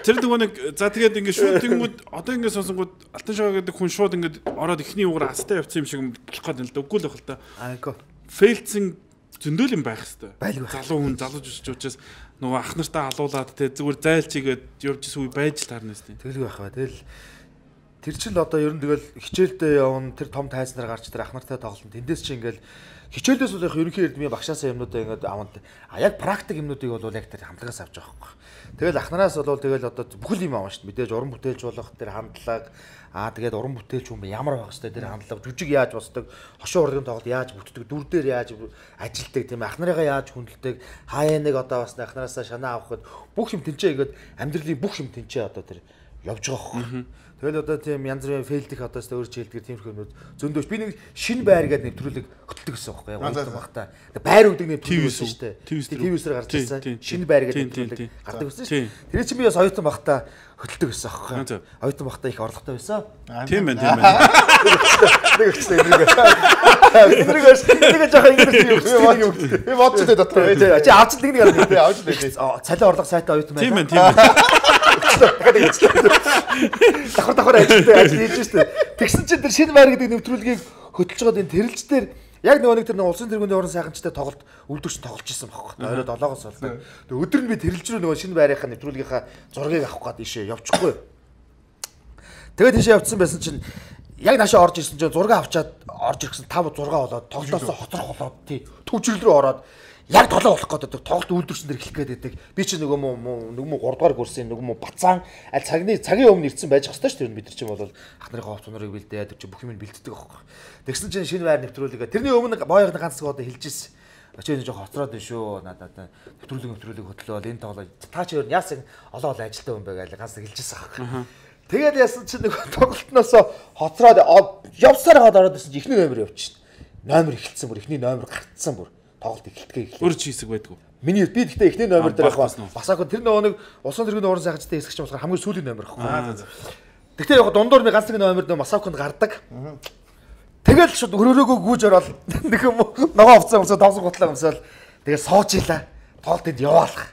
Тэр нөгөө нэг за тэгээд ингэ шууд тэнгүүд одоо ингэ сонсонгууд алтан шаа гэдэг хүн шууд ингэ ороод ихний угаар астай явцсан юм шиг болох гэдэг л да. Үгүй л байх л та. Айко. Фейлцэн зөндөл юм байх хэвээр. Байлгүй. Залуу хүн залууж өсч учраас нөгөө ах нартаа алуулаад те зүгээр зайлчигээд явж исэн үе байж таарнаас тийм. Тэгэлгүй байх ба. Тэгэл тэр чинь одоо ер нь тэгэл хичээлдээ явна тэр том тайзнаар гарч тэр ах нартай тоглолт. Тэндээс чи ингээл хичээлдээс бол яг ерөнхий эрдмийн багшаасаа юмнуудаа ингээд аванд а яг практик юмнуудыг бол яг тэр хамтлагаас авч байгаа байхгүй. Тэгэл ах нараас бол тэгэл одоо бүхэл юм авна шүү дээ. Мэдээж уран бүтээлч болох тэр хандлага аа тэгээд уран бүтээлч хүн ямар байх хэвээр тэр хандлага жүжиг яаж босдог, хошин урлагийн тоглолт яаж бүтдэг, дүр дээр яаж ажилтдаг тийм ах нарыгаа яаж хүндэлдэг, хаяа нэг одоо бас ах нараасаа шанаа авахд бүх юм тэнцээ игээд амьдралын бүх юм тэнцээ одоо тэр явж байгаа байхгүй. Тэгэл одоо тийм янз бүрийн фейлдэх одоо ч өөр чийлдгэр тиймэрхүү юмнууд зөндөөш би нэг шинэ байр гэдэг нэвтрүүлэг хөтөлдөг гэсэн байхгүй яг уулзсан багтаа. Байр өгдөг нэвтрүүлэг байсан шүү дээ. Телевизээр гарч ирсэн. Шинэ байр гэдэг нэвтрүүлэг гардаг байсан шүү. Тэр чинь би бас оюутан багтаа хөтөлдөг гэсэн байхгүй. Оюутан багтаа их орлоготой байсан. Тийм байна, тийм байна. Нэг ихтэй нэг. Энийг бас нэг жоохон ингэж юм өгдөг. Би бодчихлоо дотор. Чи авч нэг нэг арга би авч лээ. Цалин орлого сайтай оюутан байна. Тийм байна, тийм байна. Давхар давхар ажилтаа ажил хийж штэ. Тэгсэн чинь тэр шинэ байр гэдэг нэвтрүүлгийг хөтлж байгаа энэ тэрэлж дээр яг нөгөө нэг тэр улсын тэргүүний уран сайханчтай тоглолт үлдвэрч тоглож ирсэн байхгүй. Орой долоогоос болдог. Тэгээ өдөр нь би тэрэлж рүү нөгөө шинэ байрынхаа нэвтрүүлгийнхаа зургийг авах гээд ийшээ явчихгүй. Тэгээд тийшээ явцсан байсан чинь яг наашаа орж ирсэн чинь зураг авчаад орж ирсэн five six болоод тоглолтоосоо хоцрох болоод тий төвчрөл рүү ороод яг толоо болох гэдэг тоглолт үйлдвэрсэн дэр эхлэх гээд байдаг. Би чи нөгөө муу нөгөө муу three дугаар курсын нөгөө муу бацаан аль цагны цагийн өмнө ирсэн байж хэвчээ шүү дээ бид нар чинь бол ах нарын ховц нурыг бэлдээд чи бүх юм бэлддэг аахгүй. Тэгсэн чинь шинэ байр нэвтрүүлгээ тэрний өмнө боёгны ганц одоо хэлж ирсэн. Очиж жоо хоцроод байна шүү. Надад нэвтрүүлэг нэвтрүүлэг хөтлөөл энэ тоглоо та чи юу яасан олон олон ажилтаа хүн байгаад ганц хэлж ирсэн аахгүй. Тэгээд яасан чи нөгөө тоглолтноос хоцроод явсаар хаад ороод ирсэн чи ихний номер явчихна. Номер эхэлсэн бүр ихний номер гартсан бүр. Тоглолт эхэлтгээ эхлэв. Өөр чи хэсэг байдгүй. Миний би гэхдээ эхний номер дээр яг басаагүй тэр нөгөө нэг улсын тэргийн уурын сайханчтай хэсэгч болохоор хамгийн сүүлийн номер байхгүй. Гэхдээ яг дундуур би ганц нэг номер нөө Масавконд гардаг. Тэгэл шууд өрөөрөөгөө гүйж ороод нэг юм ногоо овцсон өмсөө тавсан гутлаа өмсөөл тэгэл сууж илаа. Тоглолтод яваалах.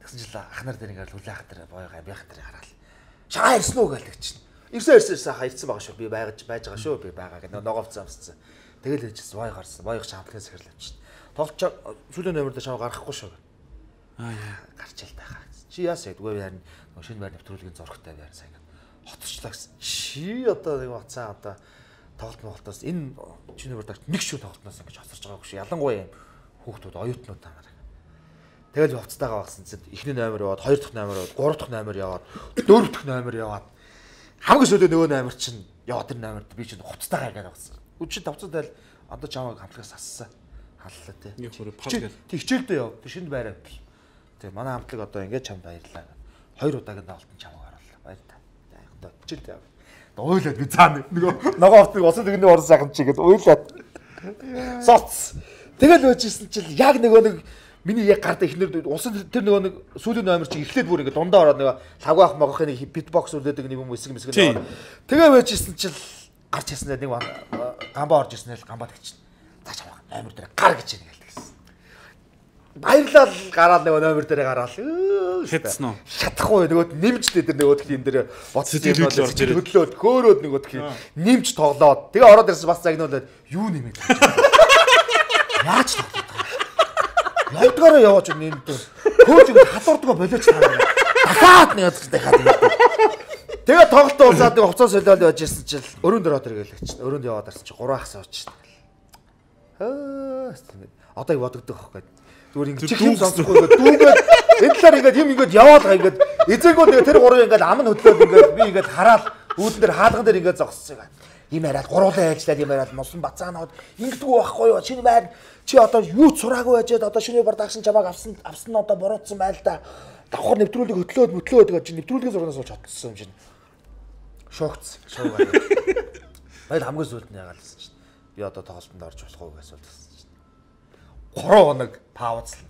Тэгсэн чинь ах нар дээр ингээл хүлээх дээр боёо амбих дээр хараад. Шаа ирсэн үү гэлдэг чинь. Ирсэн ирсэн ирсэн хайцсан байгаа шүү. Би байгаж байж байгаа шүү. Би байгаа гэх ногоо овцсон өмссөн. Тэгэл ээжсэн боёо гарсан. Боёо шамплын сэхэрлээ чинь. Тоглож сүүлийн номер дээр шав гарахгүй шүү. Аа яа гарч ил тахаа. Чи яасаа үгүй яарна шинэ байр нэвтрүүлгийн зургтай байр сайн. Хотчлаа гэсэн. Чи одоо нэг бацаа одоо тоглолт моголтоос энэ чиний бүр нэг шүү тоглолтноос ингэж хоцорж байгаагүй шүү. Ялангуяа юм хүүхдүүд оюутнууд тамаар. Тэгэл хувцастайгаа багсан чинь эхний номер яваад, хоёр дахь номер яваад, гурав дахь номер яваад, дөрөв дахь номер яваад хамгийн сүүлийн нөгөө номер чинь яваад тэр номерд би чинь хувцастайгаа ингээд багсан. Үчи тавцад айл одоо чамайг хамтлагаас ассан. Халлаа тий. Нэг хүрээ паж гэл. Тэг хичээлдээ яв. Тэг шинэ байраа. Тэг манай хамтлаг одоо ингээд чамд баярлаа. Хоёр удаагийн тоглолтод чамайг оруулаа. Баяр та. Яг одоо хичээлдээ яв. Уйлаад би цаана нөгөө ногоо автыг усан тэгний орон сайхан чигээд уйлаад. Соц. Тэгэл байжсэн чинь яг нөгөө нэг миний яг гард ихнэр усан тэр нөгөө нэг сүүлийн номер чи эхлээд бүр ингээд дундаа ороод нөгөө лавгаах могохын нэг битбокс үлдээдэг нэг юм эсэг мэсэг нөгөө. Тэгээ байжсэн чинь гарч яснаа нэг гамбаа орж ирсэн л гамбаа тэгчин. За чамаа номер дээр гар гэж юм гэлдэгсэн. Баярлал гараад нөгөө номер дээр гараал. Хэтсэн үү? Шатахгүй нөгөө нэмжтэй тэр нөгөө тийм дээр боцож юм бол хөдлөөд хөөрөөд нөгөө тийм нэмж тоглоод тэгээ ороод ирсэн бас загнуулаад юу нэмээд. Яаж тоглоод. Явдгаараа яваач нэмдээ. Хөөж ингэ хадуурдгаа болооч таа. Дахиад нэг дахиад юм. Тэгээ тоглолт уусаад нэг хуцаа солиод байж ирсэн чинь өрөөнд ороод иргээл чинь. Өрөөнд яваад ирсэн чинь гурван хасаа очиж. Аа одоо юу бодогдох вэ? Зүгээр ингэ чих юм сонсохгүй дүүгээд энэ талаар ингээд юм ингээд яваад байгаа ингээд эзэнгөө тэгээ тэр гурван ингээд ам нь хөдлөөд ингээд би ингээд хараад үүдэн дээр хаалган дээр ингээд зогссон юм. Им яриад гуруулаа ажиллаад юм яриад мосон бацаанууд ингэдэггүй байхгүй юу? Шинэ байр чи одоо юу цураагүй байжээд одоо шинэ продакшн чамааг авсан авсан нь одоо буруутсан байл та. Давхар нэвтрүүлэг хөтлөөд мөтлөөд байгаа чи нэвтрүүлгийн зургаас олж хотсон юм чинь. Шогц. Шоугаа. Баяр хамгийн сүлд нь ягаалсан чинь. Би одоо тоглолтод орж болох уу гэсэн асуулт чинь. гурван хоног паузлаа.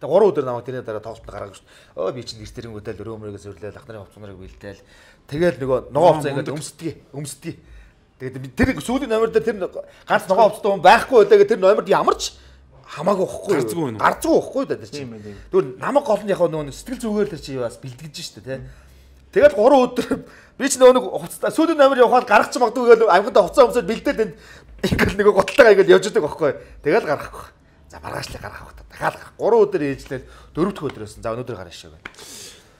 Тэгээ гурван өдөр намайг тэрний дараа тоглолтод гаргаж шүү. Өө би чинь нэртэрэн хөдөл өрөөмөрөөг зөвлөөл ах нарын хувцсанарыг бэлдээл. Тэгэл нөгөө ногоо хувцас ингээд өмсдгий. Өмсдгий. Тэгээд тэр сүүлийн номер дээр тэр ганц ногоо хувцастай хүн байхгүй байлаа. Тэр номерд ямарч хамаагүй واخхгүй. Гарцгүй واخхгүй да тэр чинь. Тэгвэл намайг гол нь яг нөгөө сэтгэл зүгээр л чи бас бэлтгэж штэ тий. Тэгээд гурван өдөр би ч нөгөө нэг хувцастай сүүлийн номер явахад гаргач магадгүй гэдэг амьхандаа хувцас өмсөд бэлдээд энэ ингээд нөгөө готлтойгоо ингээд явж идэг واخхгүй. Тэгэл гаргахгүй. За маргаачлаа гаргах та. Дахиад гарах. гурван өдөр ээжлээд дөрөв дэх өдрөөс за өнөөдөр гарна шээ.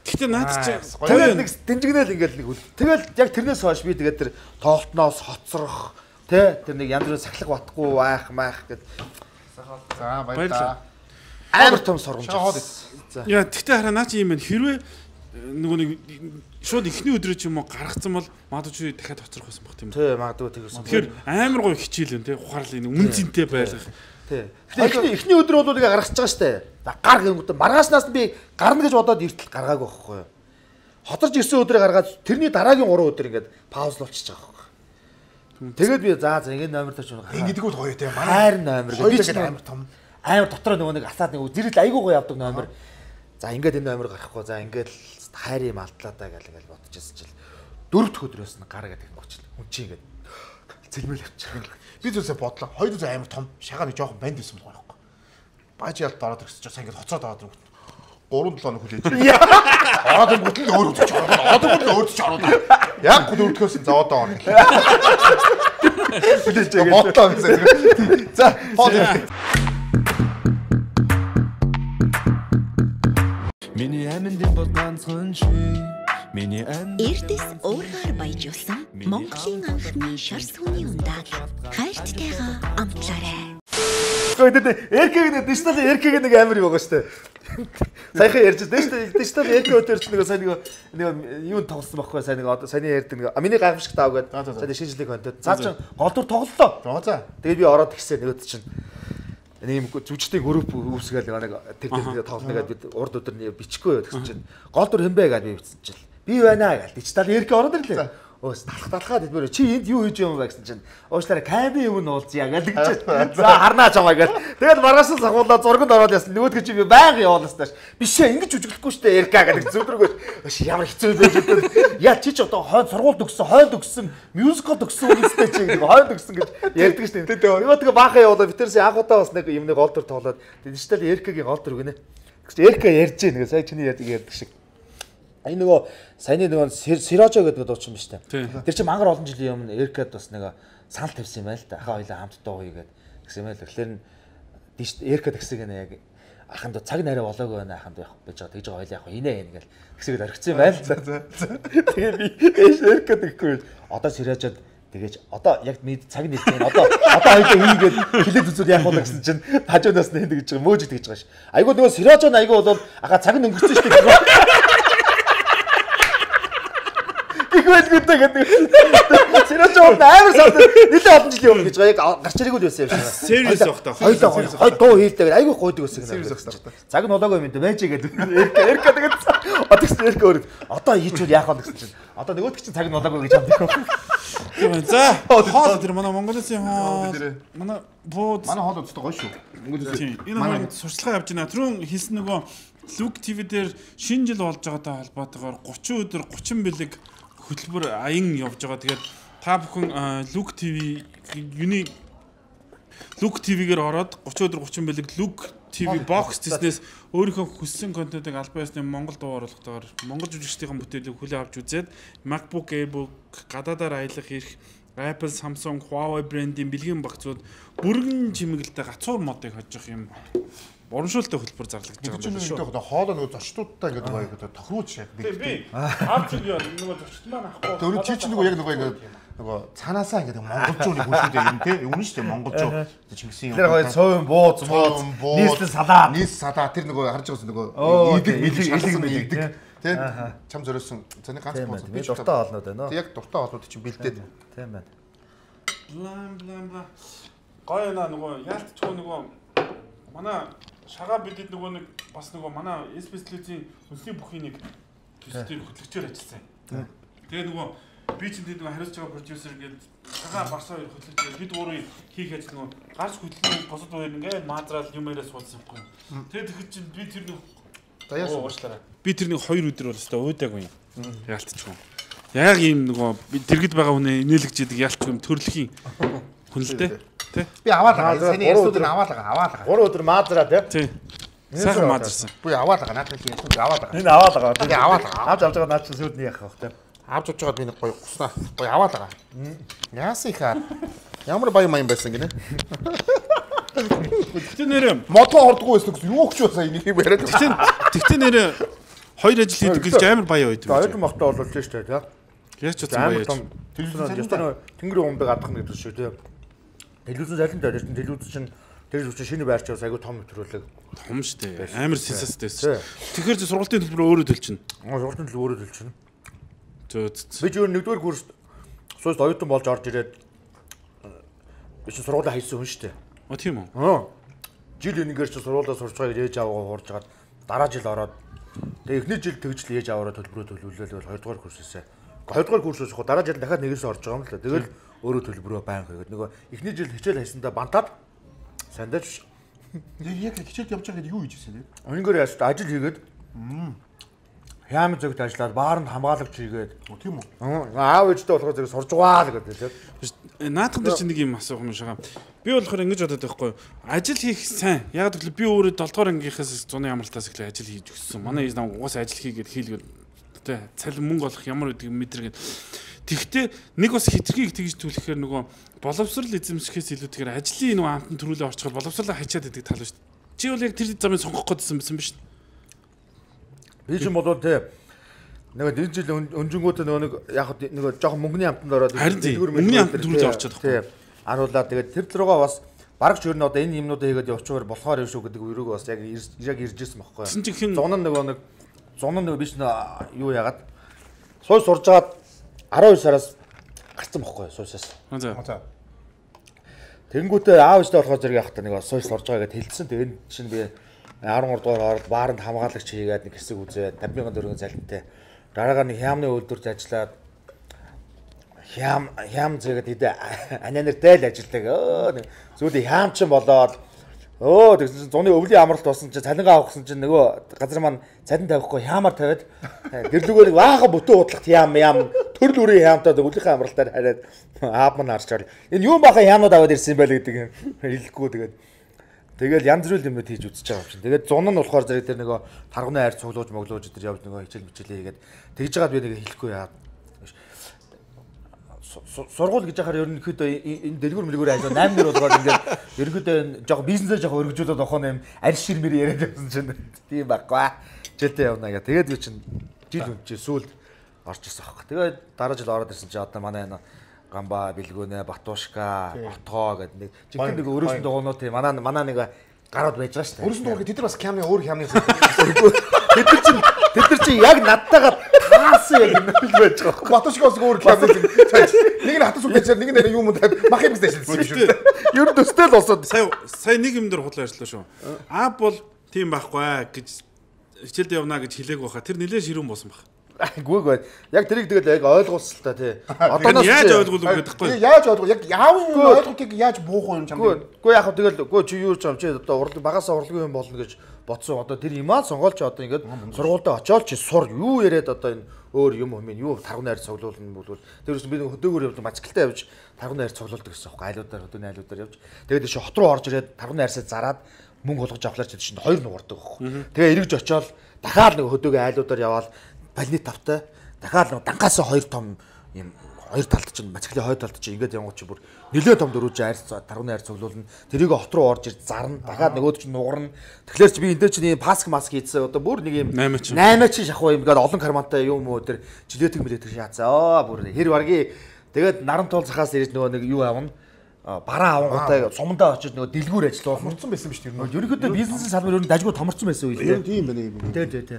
Гэхдээ наад чи тэгэл нэг дэмжигнэл ингээд нэг үл. Тэгэл яг тэрнээс хойш би тэгээд тэр тоглолтноос хоцрох тий тэр нэг янз бүрийн сахлах батгүй байх маах гэд. За баярлалаа. Амар том сургамж. За. Яа тэгтээ хараа наа чи юм байна. Хэрвээ нөгөө нэг шууд ихний өдрөө ч юм уу гаргацсан бол магадгүй дахиад хоцрох байсан баг тийм үү? Тий магадгүй тэгэрсэн. Тэгэхээр амар гоё хичээлэн тий ухаарлаа нэг үн цэнтэй байлгах. Тий. Эхний эхний өдөр бол ингээ гаргаж байгаа штэ. За гар гэнгүүт маргаашнаас нь би гарна гэж бодоод иртэл гаргаагүй байхгүй юу. Хоторж ирсэн өдрөө гаргаад тэрний дараагийн гурван өдөр ингээд паузлуулчихж байгаа байхгүй. Тэгээд би за за ингэ номер тооч гаргаа. Ингэдэг үл гоё тий. Хайр номер би ч амар том. Амар дотроо нөгөө нэг асаад нэг зэрэл айгуу гоё явдаг номер. За ингээд энэ номер гарахгүй за ингээд хайр юм алдлаа даа гэл гэл бодчихсон чил. Дөрөв дэх өдрөөс нь гар гэдэг юм гоч. Хүн чи ингээд цэгмэл явчих. Би зүсээ бодлоо. Хоёр зүсээ амар том. Шагаа нэг жоохон банд байсан бол байхгүй. Бааж ялд ороод ирсэн чинь ингээд хоцроод аваад ирсэн. гурван долоо хөл ээж. Ороод ирэнгүүт л өөр үзэж ороод. Одоо л өөр үзэж ороод. Яг дөрөвдөхөөс за одоо орно. Хүлээж байгаа. Бодлоо гэсэн. За хоо. Миний аминд бол ганцхан чи Эрдэс уургаар баяжуулсан Монголын анхны шар сүний ундааг хайрттайгаа амтлаарай. Гэхдээ эркэг дижитал эркэг нэг амар юм байгаа шүү дээ. Саяхан ярьж дээ дижитал эркэг өдөр чинь нэг сайн нэг нэг юу тоглосон байхгүй сайн нэг одоо саяны ярьдаг нэг миний гайхамшиг таав гэдэг. Сайн шинжлэх контент. Цаа чин гол дүр тоглолоо. За. Тэгээд би ороод гисэн нөгөөд чинь нэг юм зүжтэй групп үүсгээл нэг тэр тэр тоглоно гэдэг бид урд өдөр бичихгүй гэсэн чинь гол дүр хэмбэ гэдэг би бичсэн чинь би байна гэл дижитал эркэг ороод ирлээ. Өөс талах талхаад идмээр чи энд юу хийж юм бэ гэсэн чинь уучлаарай камби юм уулзъя гэдэг чинь за харнаа чамаа гэл тэгэл маргааш сахуулаа зурганд ороод яасан нөгөөдгөө чи би байнга явуулсан тааш биш ээ ингэж үжиглэхгүй штэ эрка гэдэг зүдрөгөө ямар хэцүү байж байгаа яа чи ч одоо хойд сургууль төгссөн хойд төгссөн мюзикл төгссөн үнэстэй чи нэг хойд төгссөн гэж ярьдаг штэ нөгөөдгөө баахан явуулаа битэрсэн анхудаа бас нэг юм нэг гол төр тоглоод дижитал эркагийн гол төр гинэ эрка ярьж нэг сая чиний ярьдаг шиг энэ нөгөө саяны нөгөө Сирожо гэдэг дуучин биш үү? Тэр чинь мангар олон жилийн өмнө Эркад бас нэг санал тавьсан юм байл та. Ахаа хоёлаа хамт дуу хийгээд гэсэн юм байл. Тэгэхээр Эркад гэсэг нэ яг аханд цаг нарай болоогүй байна аханд явах байж байгаа. Тэгж хоёлаа явах инээ ингээл гэсэгэд орхисон юм байл. Тэгээ би Эркад гэхгүй. Одоо Сирожод тэгэж одоо яг мэд цаг нэлсэн. Одоо одоо хоёлаа хийгээд хилээд үзүүл яах вэ гэсэн чинь хажуунаас нь ингэж байгаа мөөж тэгж байгаа ш. Айгуу нөгөө Сирожо айгуу бол ахаа цаг нь өнгөрсөн шүү дээ. Игвэл гэдэг. Сирожо амар санд нэлээд олон жилийн өмнө гэж яг гарч ирээгүй л байсан юм шиг. Serious байх таа. Хоёлоо хой дуу хийлдэг. Айгүй гойдог байсан юм. Цаг нь болоогүй юм дэ байж гэдэг. Эрка тэгээд одогс эрка өөр. Одоо хийчихвэл яах вэ гэсэн чинь. Одоо нөгөөд чинь цаг нь болоогүй гэж хамддаг. За хоол тэр манай Монголын хоол манай бууд манай хоол өстой гоё шүү. Энэ маань сурчлага явж байна. Түрүүн хэлсэн нөгөө Look ти ви дээр шинэ жил болж байгаатай холбоотойгоор гучин өдөр гучин бэлэг хөтөлбөр аян явж байгаа. Тэгээд та бүхэн Look ти ви юуны Look ти ви-гээр ороод гучин өдөр гучин бэлэг Look ти ви box business өөрийнхөө хүссэн контентыг албан ёсны Монгол дуу оруулалтаар Монгол жүжигчдийн бүтээлийг хүлээн авч үзээд MacBook, e-book, гадаадаар аялах ирэх Apple, Samsung, Huawei брендийн бэлгийн багцууд бүрэн чимэглэлтэй гацуур модыг хожих юм урамшуултай хөтөлбөр зарлагдаж байгаа юм шүү. Одоо хоолоо нөгөө зочдуудтай ингээд гоё одоо тохируулж яг би аав чинь нөгөө зочд маань ахгүй. Тэр чи чи нөгөө яг нөгөө ингээд нөгөө цаанаасаа ингээд монголчуудыг хүлээдэг юм те. Үнэн шүү дээ монголчууд Чингисийн юм. Тэр гоё цовын бууз бууз нийслэл салаа. Нийс салаа тэр нөгөө харж байгаас нөгөө идэг илэг мэлэг те. Чам зориулсан. Зэний ганц бууз би дуртай олнод байна. Тэг яг дуртай олнод чинь бэлдээд. Тийм байна. Блам блам бла. Гоё наа нөгөө яалтчгүй нөгөө манай шагаа бидэд нөгөө нэг бас нөгөө манай эс-бэслэзийн хүнсний бүхий нэг төсөлтөөр хөтлөгчөөр ажилласан. Тэгээ нөгөө би чинь тэд нөгөө хариуцж байгаа продюсер гээд шагаа барсаа хоёр хөтлөгчөөр бид гурвын хийх ажил нөгөө гарч хөтлөн босод хоёр ингээд маазраал юм яриа суулсан юм. Тэгээ тэгэхэд чинь би тэр нэг даяас уушлаарай. Би тэр нэг хоёр өдөр бол өстой уудаагүй юм. Яалтчгүй. Яг ийм нөгөө дэргэд байгаа хүнээ инээлгэж идэг яалтч юм төрөлхийн хүн л дээ. Би аваад байгаа. Саний ястууд нь аваад байгаа. Аваад байгаа. гурван өдөр маазраа тий. Сайхан маазарсан. Би аваад байгаа. Наадах чинь ястууд аваад байгаа. Энэ аваад байгаа. Би аваад байгаа. Авч авч байгаа наад чинь сүудний яах вэ тий. Авч авч байгаа би нэг гоё гуснаа. Гоё аваад байгаа. Яасан ихаа. Ямар баян маян байсан гинэ. Тэгтээ нэрээ мото ордгоо байсан гэсэн юу өгч байсан энийг яриад. Тэгтээ тэгтээ нэрээ хоёр ажил хийдэг гэж амар баяа байдаг. Хоёр мото олуулж штэ тий. Яаж ч удаа баяа. Телевизэн тэнгэрийн умдаг адах гэдэг шүү тий. Телевизэн залин дээр чинь телевиз чинь телевиз шинэ байрч бас айгу том нэвтрүүлэг. Том шүү дээ. Амар сенсацтай байсан. Тэгэхээр чи сургалтын төлбөр өөрөө төлчихнө. Аа сургалтын төлбөр өөрөө төлчихнө. Зөө. Би ч өөр нэгдүгээр курст сууж оюутан болж орж ирээд би чи сургуулаа хайсан хүн шүү дээ. А тийм үү? Аа. Жил энэгээр чи сургуулаа сурч байгаа ээж аваагаа хуурж гаад дараа жил ороод тэгээ эхний жил тэгжл ээж аваараа төлбөрөө төлөвлөлөө хоёрдугаар курсээсээ. хоёрдугаар курсээс хоо дараа жил дахиад нэгээс орж байгаа юм л да. Тэгэл өөрөө төлбөрөө байнга хийгээд нөгөө эхний жил хичээл хайсандаа бантаад сандаж яг хичээл явж байгаа гэдэг юу хийж ирсэн бэ? Өнөөр яаш ажил хийгээд хямд зөвд ажиллаад баарнд хамгаалагч хийгээд тийм үү? Аав ээжтэй болохоор зэрэг сурж байгаа л гэдэг тийм. Наадхан дээр чи нэг юм асуух юм шагаа. Би болохоор ингэж бодоод байхгүй. Ажил хийх сайн. Яг гэвэл би өөрөө долоо дугаар ангийнхаас зуны амралтаас эхлээ ажил хийж өссөн. Манай ээж нам угаас ажил хийгээд хийлгээд тэ цалин мөнгө олох ямар үдэг мэдэргээд. Тэгвэл нэг бас хитрхийг тэгж түлхэхээр нөгөө боловсрал эзэмшихээс илүүтэйгээр ажлын нөгөө амтан төрүүлээ орчихоор боловсралаа хачаад идэг тал шүү дээ. Чи бол яг тэр замыг сонгох гэдсэн байсан биз дээ. Би ч юм бол тэ Нөгөө энэ жил өнжингүүтээ нөгөө нэг яг нөгөө жоохон мөнгөний амтанд ороод дэлгүүр мөнгөний амтанд төрүүлж орчиход байгаа. Тийм. Аруулаад тэгээд тэр руугаа бас бараг ч ер нь одоо энэ юмнуудаа хийгээд явчихвар болохоор юм шүү гэдэг өрөөг бас яг яг ирж ирсэн байхгүй. Зун нөгөө нэг зун нөгөө биш нэ юу яагаад сууй сурж агаад арван хоёр сараас гарцсан байхгүй суйсаас. За. Тэнгүүтээ аав ээжтэй болохоор зэрэг явах та нэг сууй сурж байгаа гэдээ хэлсэн. Тэгээд чинь би арван гурав дугаар ороод бааранд хамгаалагч хийгээд нэг хэсэг үзээд тавьсан мянган төгрөгийн залинтай. Дараагаар нэг хямны үйлдвэрт ажиллаад хям хям зэгээд идэ ананертэй л ажилладаг. Өө зүудээ хямчин болоод өө тэгсэн зуны өвлийн амралт болсон чинь цалингаа авахсан чинь нөгөө газар маань цалин тавихгүй хямаар тавиад гэрлүүгээр нэг баахан бүтэн удлагт хям ям төрөл үрийн хямтаа өвлийнхээ амралтаар хараад аав маань харчаар энэ юу баахан хямнууд аваад ирсэн байл гэдэг хэлэхгүй тэгээд тэгэл янз бүрийн юмнууд хийж үзэж байгаа юм чинь. Тэгээд зун нь болохоор зэрэг тэр нөгөө тарганы хайр цуглууж моглууж тэр явж нөгөө хичээл мичээлээ хийгээд тэгж жагаад би нэг хэлэхгүй яа. Сургууль гэж яхаар ерөнхийдөө энэ дэлгүүр мэлгүүр ажил восемь нэр болгоод ингээд ерөнхийдөө жоохон бизнесээ жоохон өргөжүүлээд охоо юм аль шир мэр яриад явсан чинь тийм байхгүй. Жилдээ явна гэх. Тэгээд би чинь жил үн чи сүүлд орж ирсэн аахгүй. Тэгээд дараа жил ороод ирсэн чи одоо манай энэ Гамба, Бэлгүүнэ, Батушка, Отгоо гэдэг нэг жинхэнэ нэг өрөөсөн дугуйнууд тийм манай манай нэг гараад байж байгаа шүү дээ. Өрөөсөн дугуй тэд нар бас хямны өөр хямны тэд нар чинь тэд нар чинь яг надтайгаа таасан яг юм л байж байгаа байхгүй. Батушкаас өөр хямны нэг нь хатас үлдээчээр нэг нь юм мах юм гэж ажилласан шүү дээ. Ер нь төстэй л болсод сая сая нэг юм дээр худлаа ажиллаа шүү. Аа бол тийм байхгүй гэж хичээлд явна гэж хэлээг байхаа тэр нэлээд ширүүн болсон баг. Гүйгүй. Яг тэрийг тэгэл яг ойлгуулсан л та тий. Одооноос яаж ойлгуулах гэдэг вэ? Яаж ойлгох? Яг яавын ойлгохыг яаж буух юм чам. Ггүй яг тэгэл ггүй чи юу ч юм чи одоо урлаг багасаа урлагийн юм болно гэж бодсон. Одоо тэр юмаа сонгоолч одоо ингээд сургуультай очиод чи сур юу яриад одоо энэ өөр юм юм юу тарганы хайр цуглуулна болвол тэрээс би хөдөөгөр явж мацгэлтэй явж тарганы хайр цуглуулдаг гэсэн юм. Айлуудаар хөдөөний айлуудаар явж тэгээд чи хот руу орж ирээд тарганы хайрсаа зараад мөнгө болгож авахлаар чи чинь хоёр нугардаг байхгүй. Тэгээ эргэж очиод дахиад нэг хөдөөгийн айлуудаар яваад балны тавтай дахиад нэг дангаас хоёр том юм хоёр талд чинь мацглийн хоёр талд чинь ингээд явгооч бүр нэлээд том дөрвөж айр тарганы хайр цуглуулна тэрийг хот руу орж ирж зарна дахиад нөгөөд чинь нугарна тэгэхээр чи би энэ чинь паск маск хийцээ одоо бүр нэг юм восемь чинь шахуу юм ингээд олон кармантай юм уу тэр жилетик мэлетик шаацаа бүр хэр барги тэгээд наран туул захаас ирж нөгөө нэг юу авна бараа авангуудаа сумдаа очиж нөгөө дэлгүүр ажиллуулна томорцсон байсан биз дээ. Ерөнхийдөө бизнесийн салбар ер нь дажгүй томорцсон байсан үе лээ. Тийм байна юм. Тий, тий, тий.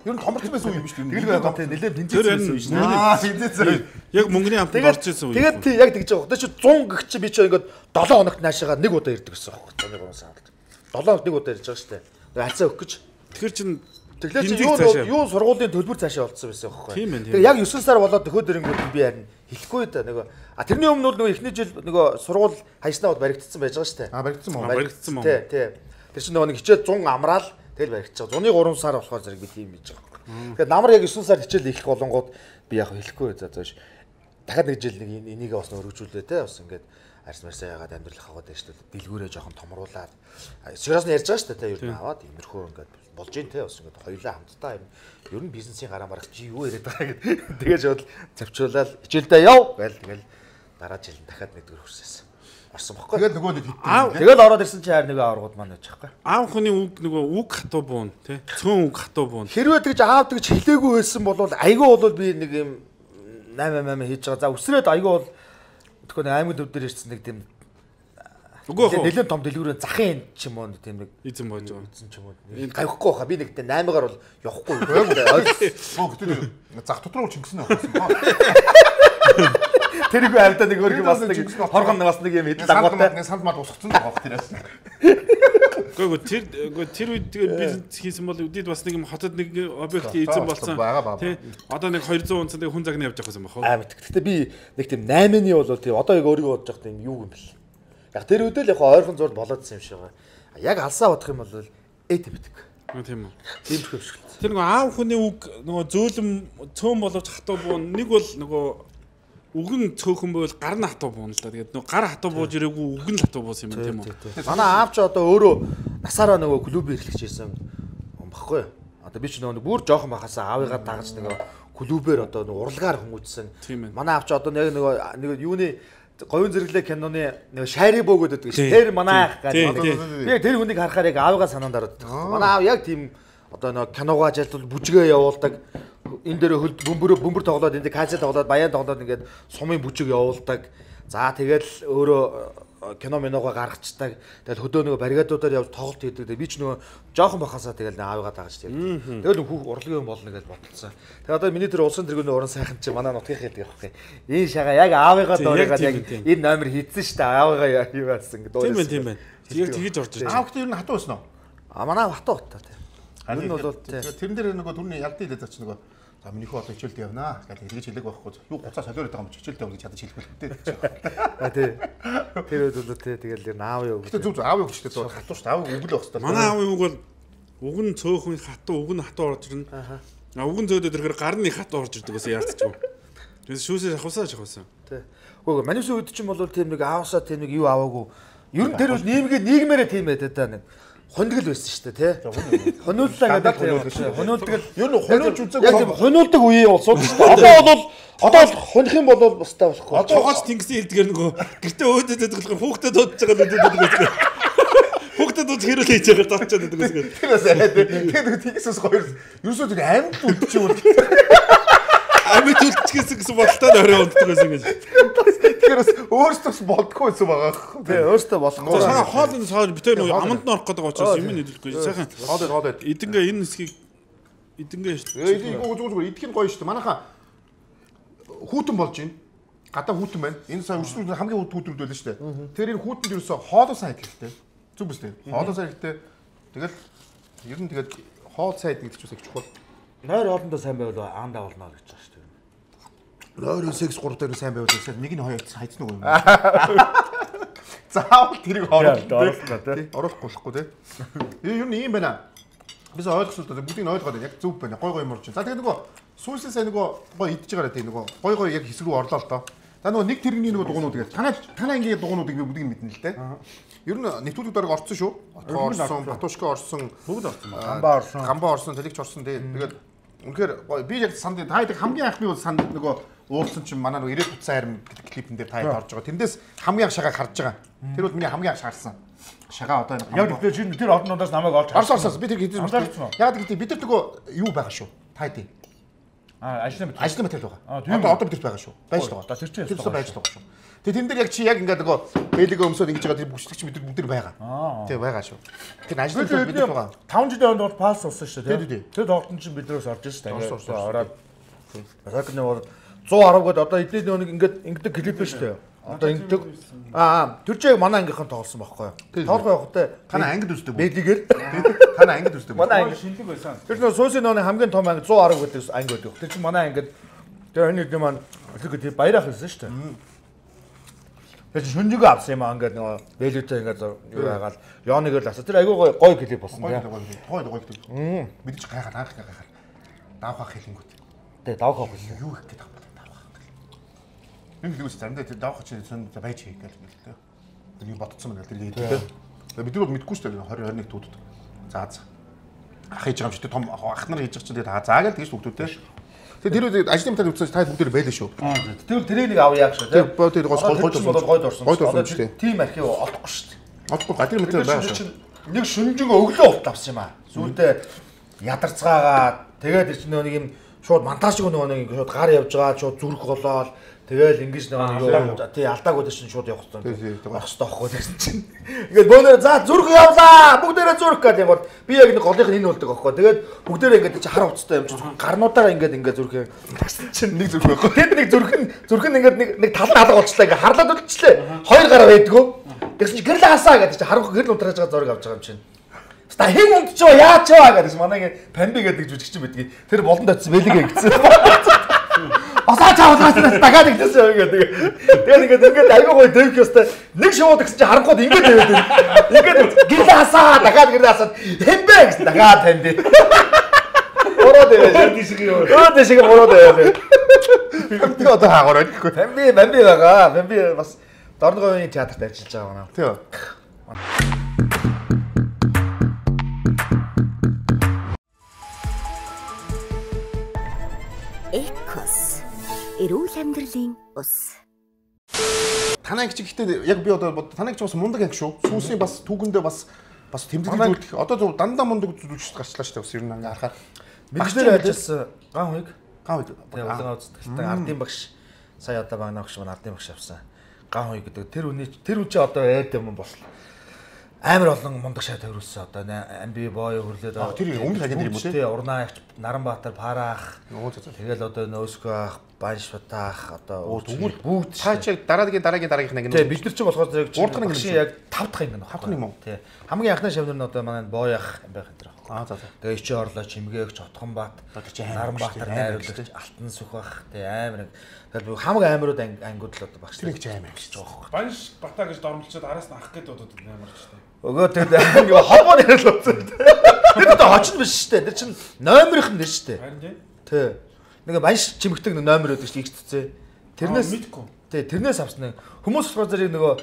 Ер нь томорцсон байсан үе юм биш үү? Тэгэл байгаа тий нэлээд тэнцсэн байсан үе шүү дээ. Аа, тэнцсэн. Яг мөнгөний амтанд орж ирсэн үе. Тэгээд тий яг тэгж байгаа. Одоо чи cent гэх чи би чи ингээд seven хоногт наашаага нэг удаа ирдэг гэсэн байхгүй. Цааны гурван сард. seven хоногт нэг удаа ирж байгаа шүү дээ. Хацаа өгөх гэж. Тэгэхээр чин тэгэхээр чи юу юу сургуулийн төлбөр цаашаа болцсон байсан байхгүй. Тэгээ яг nine сар болоод нөхөд дэрэнгүүд би харин хэлэхгүй да нөгөө а тэрний өмнө бол нөгөө эхний жил нөгөө сургууль хаяснаа бол баригдсан байж байгаа шүү дээ. А баригдсан мó. Баригдсан мó. Тий, тий. Тэр чинь нөгөө нэг хичээл one hundred амраал тэгэл баригдчихаг. one hundred three сар болохоор зэрэг би тийм хийж байгаа. Тэгэхээр намар яг nine сар хичээл их болонгууд би яг хэлэхгүй за зоош. Дахиад нэг жил нэг энийг бас өргөжүүлээ те бас ингээд арьс марсаа ягаад амьдрал хаваад байж тээ дэлгүүрээ жоохон томруулаад сигаас нь ярьж байгаа шүү дээ те ер нь аваад иймэрхүү ингээд болж ийн те бас ингээд хоёулаа хамтдаа юм ер нь бизнесийн гараа марах чи юу яриад байгаа гэдэг тэгэж бодол завчруулаад хичээлдээ яв гээл тэгэл дараа жил дахиад нэгдүгээр хүрсээсэн орсон бохгүй тэгэл нөгөө нэг хитэн тэгэл ороод ирсэн чи хайр нөгөө аврагууд маань байж байхгүй аав хүний үг нөгөө үг хатуу буун те цөөн үг хатуу буун хэрвээ тэгж аав тэгж хэлээгүй байсан бол айгүй бол би нэг юм наймаа маа хийж байгаа за өсрөөд айгүй бол тэгэхээр аймаг төв дээр ирсэн нэг тийм нэлээд том дэлгүүрийн захын ч юм уу тийм нэг эзэн болж байгаа эзэн ч юм уу гавхгүй хаа би нэг тийм наймагаар бол явахгүй оо гэдэг зах дотроо чингсэн авчихсан тэрийг авдаа нэг өөр юм бас нэг хоргон бас нэг юм идэл дагуултай нэг санд мад усгцсан байгаа бох тэрээс Гүг тэр тэр үед тэгээ бизнес хийсэн бол үдид бас нэг юм хотод нэг объект эзэн болсон. Тий. Одоо нэг two hundred унцтай хүн загны явж байгаа юм байна. Аа мэд. Гэтэ би нэг тийм eight-ны бол тий одоо яг өөрийгөө бодож байгаа юм юу юм бэл. Яг тэр үедээ л яг ойрхон зурд болоодсэн юм шиг байгаа. Яг алсаа бодох юм бол эд битг. Тийм үү. Тийм хөвшгөл. Тэр нөгөө аав хүний үг нөгөө зөөлөн цөөн боловч хатуу буун нэг бол нөгөө үг нь цөөхөн байвал гар нь хатуу буун л да. Тэгээд нөгөө гар хатуу бууж ирээгүй үг нь хатуу буусан юм тийм үү. Манай аав ч одоо өөрөө насаараа нөгөө клуб ирлэгч ирсэн юм баггүй. Одоо би ч нөгөө бүр жоохон бахасаа аавыгаа дагаж нөгөө клубээр одоо нөгөө урлагаар хүмүүжсэн. Манай аав ч одоо нэг нөгөө нэг юуны говийн зэрэглээ киноны нэг шайри бөөгөөд өгдөг шүү. Тэр манай ах гэдэг. Би тэр хүнийг харахаар яг аавыгаа санаанд ороод. Манай аав яг тийм одоо нэг киногоо ажилтвал бүжгээ явуулдаг. энэ дээр хөлд бөмбөр бөмбөр тоглоод энэ касе тоглоод баян тоглоод ингээд сумын бүжиг явуулдаг. За тэгэл өөрөө кино миногоо гаргацдаг. Тэгэл хөдөө нөгөө баррикадуудаар явж тоглолт хийдэг. Би ч нөгөө жоохон бахасаа тэгэл аавыгаа дагаж тийм. Тэгэл хүүх урлагийн болно гэж бодсон. Тэгээ одоо миний тэр улсын тэргүүний уран сайхан чи манай нутгийн хэлдэг байхгүй. Энэ шага яг аавыгаа доорыгаад яг энэ номер хийдсэн шүү дээ. Аавыгаа юу яасан гэдэг. Тийм байна тийм байна. Яг тэгэж орж ирж. Аавд ер нь хатуу байсан уу? А манай хатуу утаа тийм. Энэ нь бол тэрэн дээр нөгөө түрний ялдын хэлээд зач нөгөө за минийхөө одоо хичээлд явнаа гэж хэлж хэлэг байхгүй. Юу гуцаа солиороод байгаа юм чи хичээлд явна гэж ядаж хэлэх хэрэгтэй. А тий. Тэр үед тий тэгэл ер нь аав юу. Гэтэ зүг зүг аав юу гэжтэй хатуу шүү дээ. Аав үг л байх хэрэгтэй. Манай аавын үг бол уг нь цөөхөн хатуу уг нь хатуу орж ирнэ. Аа уг нь зөөдөд ирэхээр гарны хатуу орж ирдэг гэсэн яалтчгүй. Тэгээс шүүсээ шахавсаа шахавсан. Тий. Үгүй манайсын үед чинь бол тийм нэг аавсаа тийм нэг юу аваагүй. Ер нь тэр бол нийгмээ нийгмээрээ тийм байдаг да нэг. Хондгол байсан шүү дээ тий. Хонууллаа гэдэг тийм. Хонуулдаг ер нь хонуулж үзэг. Яг хонуулдаг үеийн улсууд шүү дээ. Одоо бол одоо л хоних юм бол бастай болохгүй. Одоогоос тэнгисийн хэлдгээр нөгөө гэртээ өөдөд болохоор хүүхдэд дуудаж байгаа гэдэг үү. Хүүхдэд дуудаж хэрүүл хийж байгаа дуудчихад байдаг гэсэн. Тэрээс тэгээд тэнгисээс хоёр ерөөсөө тэр амьд үлдчих юм. Амьд үлдчихсэн гэсэн бодолтой орой унтдаг байсан гэж. Тэгэхээр өөртөө болдгоо байсан байгаа. Тий, өөртөө болохгүй. Сая хоолны соор битээр нөгөө аманд нь орох гэдэг учраас юм нэдэлгүй. Сайхан хоол хоол байд. Эдэнгээ энэ хэсгийг эдэнгээ шүү дээ. Эдийг үгүй зүгээр зүгээр идэх нь гоё шүү дээ. Манайхаа хүүтэн болж байна. Гадаа хүүтэн байна. Энэ сая өчнүүд хамгийн хүүтүүд байлаа шүү дээ. Тэгэхээр энэ хүүтэнд ерөөсөө хоолоо сайн идэх хэрэгтэй. Зүг биз дээ. Хоолоо сайн хэрэгтэй. Тэгэл ер нь тэгээд хоол сайн идэх гэж их чухал. Нойр хоолндоо сайн байвал аандаа болно гэж байна шүү дээ. Нойр секс гурав дээр сайн байвал нэг нь хоёр хайцсан уу юм. Заавал тэрийг оруулах тий. Оруулахгүй болохгүй тий. Ер нь ийм байна. Бид ойлгосон л бүгдийг нь ойлгоод байна. Яг зөв байна. Гой гой морж. За тэгээд нөгөө сүүсээс нөгөө гой идж байгаа тий нөгөө гой гой яг хэсэг рүү орлоо л доо. За нөгөө нэг тэрэгний нөгөө дугуйнууд гэж танаа танаа ингээ дугуйнуудыг би бүгдийг нь мэднэ л дээ. Ер нь нэвтрүүлэг дарга орсон шүү. Отгоо орсон, Батушка орсон, бүгд орсон. Гамбаа орсон. Гамбаа орсон, Талигч орсон тий. Тэгээд үнэхээр би яг санд та хэд хамгийн анхны бол санд нөгөө уулсан чинь манай нөгөө ирээд утсан харим гэдэг клипэн дээр та хэд орж байгаа. Тэндээс хамгийн анх шагааг харж байгаа. Тэр бол миний хамгийн анх шаарсан. Шагаа одоо яг тэр чинь тэр орнуудаас намайг олж харсан. Орсон орсон. Би тэр хэдэж мэдсэн. Яг гэдэг бид нар нөгөө юу байгаа шүү. Та хэд. Аа ажлын материал. Ажлын материал байгаа. Одоо одоо бид байгаа шүү. Байж л байгаа. Тэр чинь тэр чинь байж л байгаа шүү. Тэгээ тэн дээр яг чи яг ингээд нөгөө бэлэгээ өмсөд ингэж байгаа тэр бүчлэгч бид нар бүгд байгаа. Тэг байгаа шүү. Тэр ажлын материал бид байгаа. таван жилийн хонд бол пасс болсон шүү дээ. Тэр тоглолтын чинь биднээс орж ирсэн. Тэгээд ороод Басакны бол зуун арав гээд одоо эдний нэг ингээд ингэдэг клип байна шүү дээ. Одоо ингэдэг. Аа тэр чинь манай ангийнхан тоглосон байхгүй юу? Тоглох явахтай танаа ангид үздэг. Бэлигээр танаа ангид үздэг. Манай анги шинэлэг байсан. Тэр нөө сүүсийн нөөний хамгийн том анги зуун арав гэдэг анги байдаг. Тэр чинь манай ангид тэр хойны дэм маань тэр баярах байсан шүү дээ. Тэр чинь шүнжигээ авсан юм аа ингээд нөгөө бэлүүтэй ингээд юу яагаад Леоныг л асаа. Тэр айгүй гой гой клип болсон тийм. Гой гой клип. Бид ч гайхаад анх гайхаад. Давхах хэлэнгүүт. Тэгээ давхах хэлсэн. Юу их гэдэг давхах. Энэ л үс заримдаа тэр давхах чинь сон байж хий гэж хэлдэг. Тэр юу бодцсон мэн тэр хэлдэг. Бид нар мэдгүй шүү дээ двадцать двадцать нэг туудад. За за. Ах хийж байгаа юм чи том ах нар хийж байгаа чинь тэгээ заа гэл тэгж бүгдүүдтэй. Тэгээ тэр ажлын метод үзсэн та бүгд байлаа шүү. Тэр тэрийг нэг авъя яах шүү тий. Тэр гол гол гол гойд орсон. Гойд орсон шүү дээ. Тим архив олохгүй шүү дээ. Олохгүй гадрын метод байгаа шүү. Нэг шүнжин өглөө урт авсан юм аа. Сүүлдээ ядарцгаагаад тэгээд чинь нэг юм шууд монтаж шиг нөгөө нэг шууд гар явж байгаа шууд зүрх голоод тэгэл ингэж нэг юу тий алдаагүй чинь шууд явах хэрэгтэй. Байх хэрэгтэй байхгүй гэсэн чинь. Ингээд бөөнөр за зүрх явлаа. Бүгдээрээ зүрх гэдэг юм бол би яг нэг голынх нь энэ болдог байхгүй. Тэгээд бүгдээрээ ингээд чи хар уцтай юм чи гарнуудаараа ингээд ингээд зүрх тагсан чинь нэг зүрх байхгүй. Тэгэд нэг зүрх нь зүрх нь ингээд нэг нэг тал нь алга болчихлаа ингээд харлаад үлдчихлээ. Хоёр гараа байдгүй. Тэгсэн чи гэрэл хасаа гэдэг чи харахгүй гэрэл унтрааж байгаа зураг авч байгаа юм чинь. Ста хэн унтчихоо яач ваа гэдэг манай памби гэдэг жүжигч юм байдгийг. Тэр болон татсан бэлэгээ гэсэн. Асаа чавлаас дагаад гэсэн юм гэдэг. Тэгээд ингээд ингээд аягүй гоё дэвх ёстой. Нэг шууд гэсэн чи харахгүй ингээд тавиад. Ингээд гэрэл хасаа дагаад гэрэл хасаад хэмбэ гэсэн дагаад танд. Ороод яваа тийм шиг юм. Ороод шиг ороод яваа. Памби одоо хаагаарай гэхгүй. Памби памби байгаа. Памби бас Дорноговын театрт ажиллаж байгаа манай. Тийм. Экос эрүүл амьдралын ус. Танай гэж ихтэй яг би одоо танай гэж бас мундаг анги шүү. Сүүсийн бас түүгэндээ бас бас тэмдэглэж үлдэх. Одоо зөв дандаа мундаг зүйлч гарчлаа шүү дээ. Бас ер нь ингээ харахаар. Мэдээлэл ажилласан ган хуйг. Ган хой. Тэгээ улаан үзтгэлтэй ардын багш сая одоо багнаа багш маань ардын багш авсан. Ган хой гэдэг тэр үний тэр үчи одоо эд юм бослоо. Амар олон мундаг шат төрүүлсэн одоо амби боо хөрлөөд аа тэр өмнө хагийн юм уу тий Урнаагч Наранбаатар Параах тэгэл одоо Нөөсгөө ах Баншбатаах одоо бүгд цаачаа дараагийн дараагийн дараагийнх нь тий бид нар ч болохоор яг гурдах нэг яг тав дахь юм байна хавх юм уу тий хамгийн анхны шавнар нь одоо манай Боояах байх энэ төр аа за за тэгээ Ичи орлоо Чимгээгч Отгонбаат Наранбаатар найруулагч Алтан Сүхбах тий амар тэгэл хамаг амирууд ангууд л одоо багш тэр их аим гэж байгаа байхгүй Банш Бата гэж дормлчод араас нь ах гээд бодод амарч тий Өгөө тэгээд ингээ холбоо нэрэл утсан. Тэр одоо хочин биш шүү дээ. Тэр чинь номерийнх нь нэр шүү дээ. Харин тий. Тий. Нэг манш чимэгтэй нэг номер өгдөг шүү дээ. Тэрнээс мэдгүй. Тий, тэрнээс авсан. Хүмүүс болохоор зэрэг нөгөө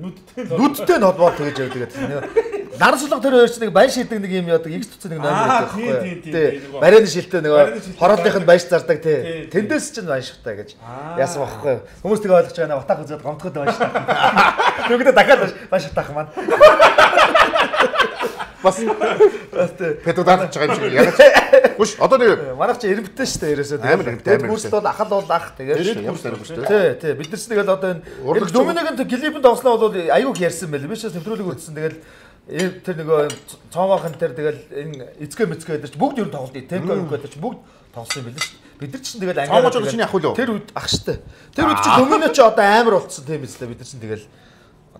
нүдтэй нүдтэй нь холбоо тэгэж явдаг. Тэгээд нарсулга тэр хоёр чинь нэг баяр шийдэг нэг юм яадаг X туцсан нэг номер өгдөг байхгүй. Тий. Барианы шилтэй нөгөө хорооллынх нь баяр зардаг тий. Тэндээс чинь баяштай гэж яасан байхгүй. Хүмүүс тэг ойлгож байгаа нэ батаг үзээд гомдоход баяштай. Нүгдээ дахиад баяштай маань. Бас педагог дааж байгаа юм шиг яг. Хүш одоо нэг манайх чи ирэмбтэй шүү дээ ерөөсөө. Амар тэгээд курст бол ахал бол ах тэгээд ямар сайн курст. Тий, тий. Бид нар ч тэгэл одоо энэ Доминикийн клипэнд тоглосноо бол аюуг ярьсан байл. Би ч нэвтрүүлэг үзсэн тэгэл тэр нөгөө цоомоохон тэр тэгэл энэ эцгээ мэцгээ дээр ч бүгд ер нь тоглолт темпо өгөх гэдэг чи бүгд тоглосон юм байл шүү дээ. Бид нар ч тэгэл ангиад чиний ах үлээ. Тэр үед ах штэ. Тэр үед чи Домино ч одоо амар болцсон тийм биз дээ. Бид нар ч тэгэл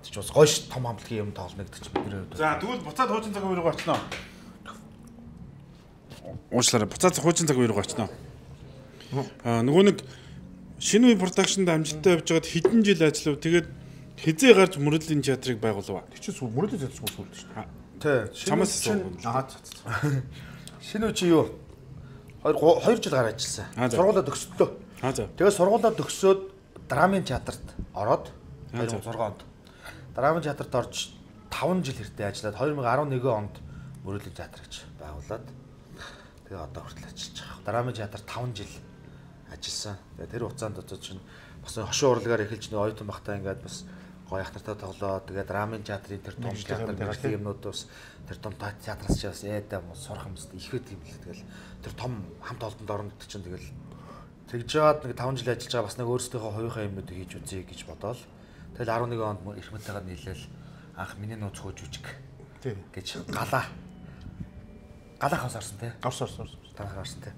ч бас гойш том хамтлагийн юм тоглоно гэдэг чинь бидний хувьд. За тэгвэл буцаад хуучин цаг үеийг очноо. Уучлаарай. Буцаад хуучин цаг үеийг очноо. Аа нөгөө нэг шинэ үе продакшнд амжилттай явж байгаад хэдэн жил ажиллав. Тэгээд хизээ гарч мөрөдлийн театрыг байгуулав. Тэр чинь мөрөдлийн театр суулж шүү дээ. Тий. Чамаас аа шинэ үе чи юу? хоёр хоёр жил гараад ажилласан. Сургуулаа төгсөлтөө. Аа за. Тэгээд сургуулаа төгсөөд драмын театрт ороод хоёр мың и зургаан онд драмын театрт орж таван жил хэртэй ажиллаад хоёр мың и арван нэгэн онд мөрөдлийн театр гэж байгуулад тэгээ одоо хүртэл ажиллаж байгаа. Драмын театрт таван жил ажилласан. Тэгээ тэр хугацаанд одоо чинь бас хошин урлагаар эхэлж нэг оюутан багтаа ингээд бас гоё ах нартай тоглоод тэгээ драмын театрын тэр том театр гэх юмнууд бас тэр том театраас ч бас ээдэ сурах юмстай ихэд юм л тэгэл тэр том хамт олонд оронд чинь тэгэл тэгж жаад нэг таван жил ажиллаж байгаа бас нэг өөрсдийнхөө хувийнхаа юмнуудыг хийж үзье гэж бодоол тэгэл арван нэгэн онд их мэттэйгээр нийлээл анх миний нууц хөө жүжиг гэж галаа галаахаас орсон тий орсон орсон танах орсон тий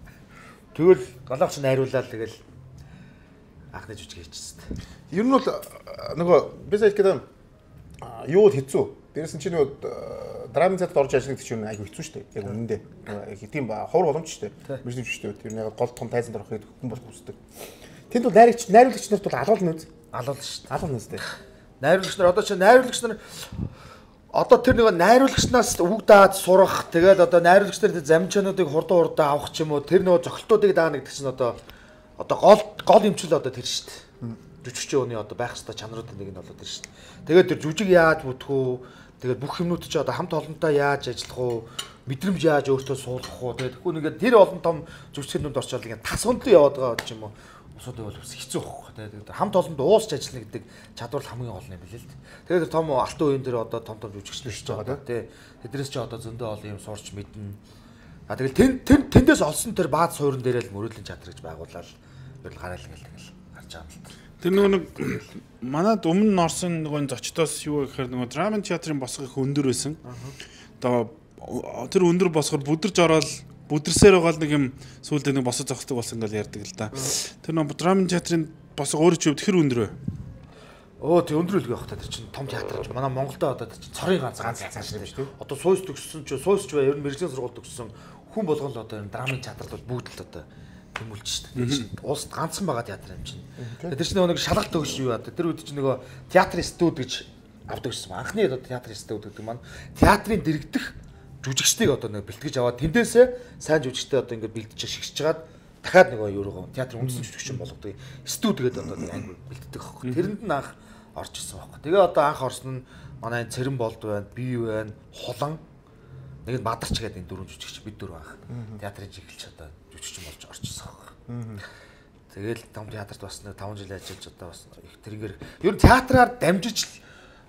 тэгвэл галаач найруулаад тэгэл анхны жүжиг хийчихсэн. Ер нь бол нөгөө би сая хэлэхэд юу хэцүү. Дээрээс нь чи нөгөө драмын цаад орж ажиллах гэж чинь айгүй хэцүү шүү дээ. Яг үнэндээ. Яг тийм ба ховор боломж шүү дээ. Биш юм шүү дээ. Тэр нэг гол том тайзанд орохыг хүн бол хүсдэг. Тэнд бол найрагч найруулагч нарт бол алуулна үз. Алуулна шүү дээ. Алуулна үз дээ. Найруулагч нар одоо чи найруулагч нар одоо тэр нэг найруулагчнаас үг даад сурах тэгээд одоо найруулагч нарт замчаануудыг хурдан хурдан авах ч юм уу тэр нөгөө зохилтуудыг даана гэдэг чинь одоо одоо гол гол юмчил одоо тэр шүү дээ. Жүжигчийн өний одоо байх ёстой чанаруудын нэг нь болоод тэр шүү дээ. Тэгээд тэр жүжиг яаж бүтэх үү? Тэгээд бүх юмнууд чи одоо хамт олонтой яаж ажиллах уу? Мэдрэмж яаж өөртөө суулгах уу? Тэгээд тэгэхгүй нэгээд тэр олон том жүжигчнүүд орчоод ингээд тас өндлөө яваад байгаа ч юм уу? Усуудыг бол хэцүү байхгүй. Тэгээд хамт олонд уусч ажиллана гэдэг чадвар хамгийн гол юм билээ л дээ. Тэгээд том алтан үеийн дээр одоо том том жүжигчнүүд хийж байгаа тий. Тэдрээс чи одоо зөндөө олон юм сурч мэднэ. А тэгэл тэн тэндээс олсон тэр бааз суурин дээрээ л мөрөдлийн чадвар гэж байгуулаад ер нь гараал ингээл тэгэл гарч байгаа юм л. Тэр нөгөө нэг манад өмнө орсон нөгөө зочдоос юу гэхээр нөгөө драмын театрын босго их өндөр байсан. Одоо тэр өндөр босгоор бүдэрж ороод бүдэрсээр байгаа нэг юм сүүлдээ нэг босоо зогсдог болсон ингээл ярьдаг л да. Тэр нөгөө драмын театрын босго өөрөө ч хэр өндөр вэ? Оо тий өндөр үлгэх байх та тэр чинь том театр. Манай Монголд одоо тэр чинь цорын ганц ганц ганц юм шүү дээ. Одоо сууйс төгссөн ч сууйс ч бай ер нь мэрэгжлийн сургууль төгссөн хүн болгон л одоо энэ драмын театрт бол бүгд л одоо тэмүүлж шүү дээ. Тэр чинь улсад ганцхан байгаа театр юм чинь. Тэр чинь нэг шалгалт төгс юу яа. Тэр үед чинь нөгөө театрын студ гэж авдаг гэсэн. Анхны одоо театрын студ гэдэг маань театрын дэрэгдэх жүжигчдийг одоо нэг бэлтгэж аваад тэндээсээ сайн жүжигчтэй одоо ингээд бэлдэж шигшж чагаад дахиад нөгөө юу руу театрын үндсэн жүжигчин болгодог. Студ гэдэг одоо нэг анги бэлддэг аахгүй. Тэрэнд нь анх орж ирсэн байхгүй. Тэгээ одоо анх орсон нь манай Цэрэн болд байна, бие байна, хулан нэг нь Мадарч гэдэг энэ дөрвөн жүжигч бид дөрөв анх театрын жигэлч одоо жүжигчин болж орж ирсэн байхгүй. Тэгэл том театрт бас нэг таван жил ажиллаж одоо бас их тэрнгээр ер нь театраар дамжиж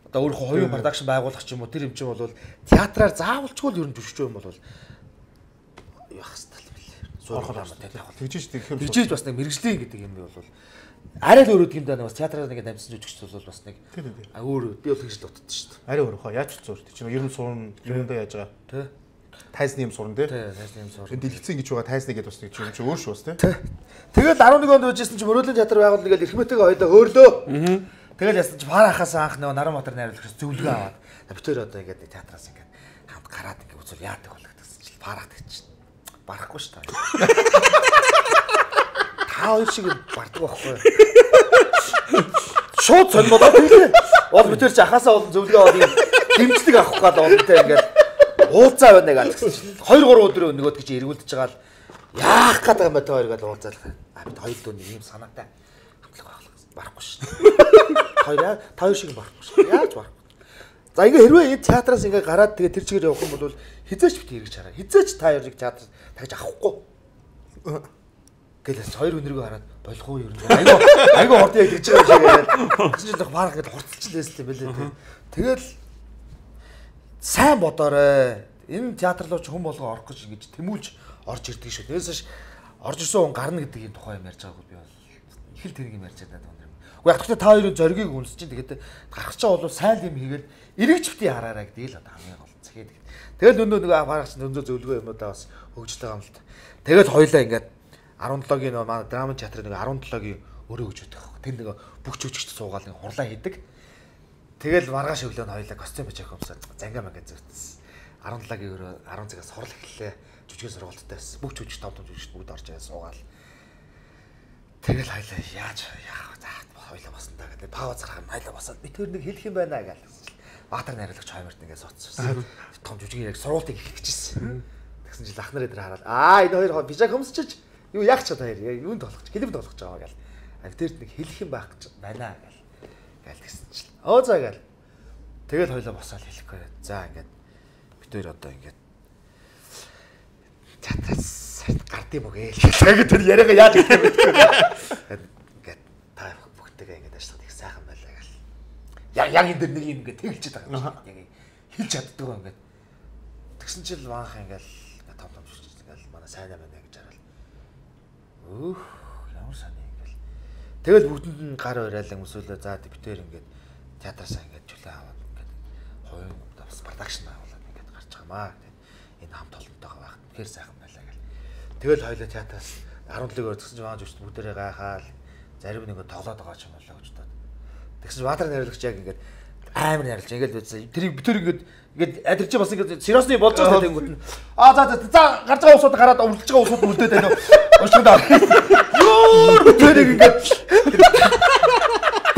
одоо өөрөө хоёрын продакшн байгуулах ч юм уу тэр юм чинь бол театраар заавалчгүй л ер нь жүжигч юм бол явах хэрэгтэй л билээ. суурхал амар тэ тавхал. Тэгжиж тэгэхээр тэгжиж бас нэг мэрэгжлийн гэдэг юм бол арай л өөр үгдгийм даа бас театраар нэг амьдсан жүжигч бол бас нэг а өөр би бол тэгж л утдаг шүү дээ. Арай өөр хоо яаж ч зур чинь ер нь сурна юмдаа яаж байгаа. Тэ. Тайзны юм сурна тий. Тэ, тайзны юм сурна. Дэлгэцэн гэж байгаа тайзны гэдэг бас нэг юм чи өөр шүү бас тий. Тэгэл арван нэг онд үжсэн чи мөрөөдлийн театр байгуулна гэж Эрхмэтэйгээ хоёлоо хөөрлөө. Тэгэл ясан чи пара хахаас анх нөгөө Наранбаатар найруулагч зөвлөгөө аваад битээр одоо ингээд театраас ингээд хамт гараад ингээд үзүүл яадаг болоо гэсэн чи параад гэж чинь. Барахгүй шүү дээ. Та хоёр шиг бардаг байхгүй. Шууд сонирмолоо тэглээ. Бол битээр чи ахаасаа болон зөвлөгөө аваад юм дэмжлэг авах гал олонтой ингээд уулзаа байна гэдэг чинь хоёр гурван өдөр нөгөөд гэж эргүүлдэж байгаа л яах гэдэг юм бэ та хоёр гэж уулзаалаа. А бид хоёр дөө нэг юм санаатай хамтлаг байх гэсэн. Барахгүй шүү. Хоёр та хоёр шиг барахгүй шүү. Яаж барахгүй. За ингээ хэрвээ энэ театраас ингээ гараад тэгээ тэр чигээр явах юм бол хизээч бит эргэж хараа. Хизээч та хоёрыг театрт тагж авахгүй. Гэлээс хоёр өнөргөө хараад болох уу ер нь. Айгу айгу хорд яг гэж байгаа юм шиг яг баг ингээ хурцлчихлээстэй байлээ. Тэгэл сайн бодоорой. Энэ театр руу ч хүн болгоо орох гэж ингэж тэмүүлж орж ирдэг шүү. Тэрээс орж ирсэн хүн гарна гэдэг юм тухай юм ярьж байгаагүй би бол их л тэрийг юм ярьж байгаа юм. Уу яг гэхдээ та хоёрын зоригийг үнсэж чинь тэгээд гарах чаа бол сайн юм хийгээл эргэж битий хараарай гэдэг л одоо хамгийн гол зэхэд. Тэгэл өнөө нэг гарах чинь өнөө зөвлөгөө юм удаа бас хөгжиж байгаа юм л та. Тэгэл хоёлаа ингээд арван долоогийн нөө манай драма театрын нэг арван долоогийн өрөө гэж өгдөг. Тэр нэг бүх жүжигчд суугаал нэг хурлаа хийдэг. Тэгэл маргааш өглөө нь хоёлаа костюм бич авахсан зангаа мага зөртсөн. арван долоогийн өрөө арван цагаас сурал эхэллээ. Жүжигэн сургалттай байсан. Бүх жүжигч том том жүжигч бүгд орж ирээ суугаал. Тэгэл хоёлаа яаж яах вэ? За хоёлаа басна та гэдэг. Пауз гаргах хоёлаа басаад би тэр нэг хэлэх юм байна гэж. Баатар найруулагч хаймарт ингээд суудсан. Том жүжигийн яг сургалтыг эхлэх гэжсэн. Тэгсэн чинь лах нар эдэр хараад аа энэ хоёр бижаг хөмсчиж юу яах ч та хоёр юунд толгоч клипд толгоч байгаа гэл. А тэр нэг хэлэх юм байх гэж байна гэл. Гэл тэгсэн чинь. Оо за гэл. Тэгэл хоёлаа босоод хэлэхгүй. За ингээд бид хоёр одоо ингээд театраас гардыг мөгээл. Тэгээд тэр яриагаа яаж хэлэх юм бэ? Ингээд та бүгдтэйгээ ингээд ажиллаад их сайхан байлаа гэл. Яг яг энэ дэр нэг юм ингээд тэгэлж байгаа юм шиг. Яг хэлж чаддаг юм ингээд. Тэгсэн чинь маанх ингээд том том шүч ингээд манай сайн байна гэж хараад. Өөх ямар сайн ингээд. Тэгэл бүгдэнд нь гар уриалан өсөөлөө за битээр ингээд театраасаа ингээд чөлөө аваад ингээд хоёрын бас продакшн байгуулаад ингээд гарч байгаамаа гэдэг. Энэ хамт олонтойгоо байх. Тэгэхээр сайхан байлаа гэл. Тэгэл хоёлаа театраас арван долоог өртгсөн чинь маань жүжигч бүгдээрээ гайхаал зарим нэг тоглоод байгаа ч юм болоо гэж бодоод. Тэгсэн чинь Баатар найруулагч яг ингээд амар найруулж ингээд үзсэн. Тэр битэр ингээд ингээд адирч бас ингээд сериосны болж байгаа тэнгүүд нь. Аа за за за гарч байгаа усууд гараад өвлөж байгаа усууд үлдээд байна уу? Уушгидаа. Юу битэр ингээд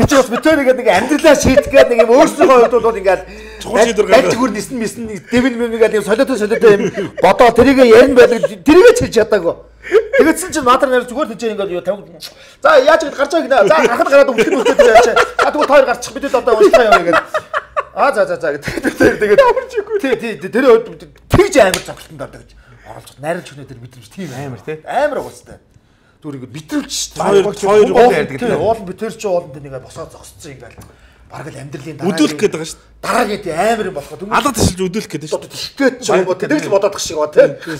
чи бас битэр ингээд нэг амьдралаа шийдэх гээд нэг юм өөрсдийнхөө хувьд бол ингээд чухал шийдвэр гаргаж зүгээр нисэн мисэн дэвэн мэмгээд юм солиотой солиотой юм бодоо тэрийг ярин байлаг тэрийг ч хэлж чадаагүй. Тэгсэн чинь Баатар найр зүгээр тийж ингээд юу тавь. За яаж ингэж гарч байгаа гинэ. За гарахад гараад өвлөх нь үлдээд яач. За тэгвэл хоёр гарчих бид одоо уншгаа яваа гэдэг. Аа за за за гэдэг. Тэгээд тий тий тэр тэгж амар завхалтанд ордог гэж оролцох. Найруулж өгнө тэр мэдрэмж тийм амар тий. Амар уустай. Зүгээр ингээд битрүүлж шүү дээ. Хоёр хоёр уул ярьдаг тий. Уул битэр чи ууланд нэгээ босоод зогсцсон ингээд. Бараг л амьдралын дараа өдөлөх гэдэг байгаа шүү дээ. Дараагийн тий амар юм болохоо. Алга ташилж өдөлөх гэдэг шүү дээ. Тэгтээ ч юм уу тэр л бодоод тах шиг ба тий.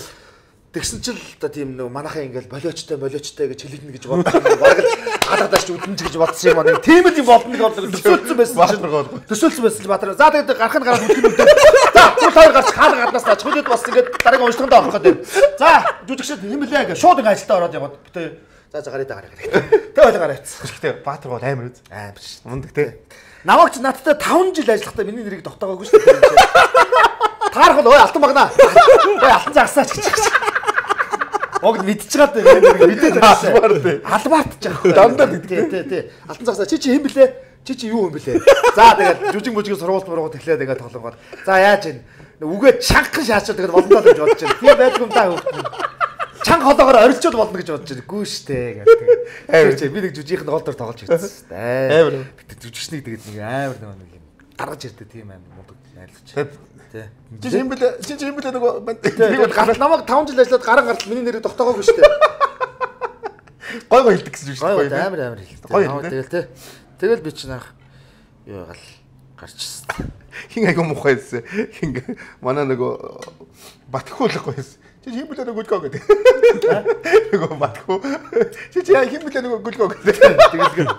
Тэгсэн чинь л одоо тийм нэг манайхаа ингээл болиочтой болиочтой гэж хэлнэ гэж боддог. Бараг л алгадаач үдэнж гэж бодсон юм аа. Тийм л юм болно гэж бодлоо. Төсөөлсөн байсан чинь. Төсөөлсөн байсан л Баатар. За тэгээд гарах нь гараад үтгэн үдээ. За түр хоёр гарч хаалга гаднаас тач хөлөд бас ингээд дараагийн уншлаганд авах гэдэг. За жүжигчд хэмлээ гэж шууд ингээд ажилдаа ороод яваад битээ. За за гараад гараа гэх. Тэг ойлоо гараа явцсан. Гэхдээ Баатар бол амар үз. Амар ш. Мундаг тий. Намайг ч надтай таван жил ажиллахдаа миний нэрийг тогтоогоогүй шүү дээ. Таарах бол ой алтан багнаа. Ой алтан загсаач гэж. Огд мэдчихээд байна мэдээд байна. Албаарт ч аахгүй. Дандаа гэдэг. Тий, тий. Алтан загсаа чи чи хэм блэ? Чи чи юу юм блэ? За тэгээд жүжиг мүжигийн сургуульд мургууд эхлэе тэгээд тоглонгоод. За яаж ийн? Үгээ чангахан шаачаад тэгээд болондоо гэж бодож байна. Тийм байдгүй юм даа хөөхгүй. Чанга холоогоор орилчод болно гэж бодож байна. Гүү штэ гэдэг. Амар чи би нэг жүжигийнх нь гол дор тоглож ирсэн. Амар. Жүжигчнийг тэгээд нэг амар нэг юм гаргаж ирдэ тийм амар мундаг найруулагч. Тий. Чи юм бэлээ чи юм бэлээ нөгөө тэгээд гарал намайг таван жил ажиллаад гарan гаралт миний нэрийг тогтоогоогүй шүү дээ. Гой гой хэлдэг гэсэн шүү дээ. Амар амар хэлдэг. Тэгэл тий. Тэгэл би чинь анх юу гал гарчсан. Хин айгу мухайсэн. Хин манай нөгөө Батхуулахгүй байсан. Чи хим блэ нөгөө гүлгөө гэдэг. Нөгөө матхуу. Чи чи хим блэ нөгөө гүлгөө гэдэг. Тэгэл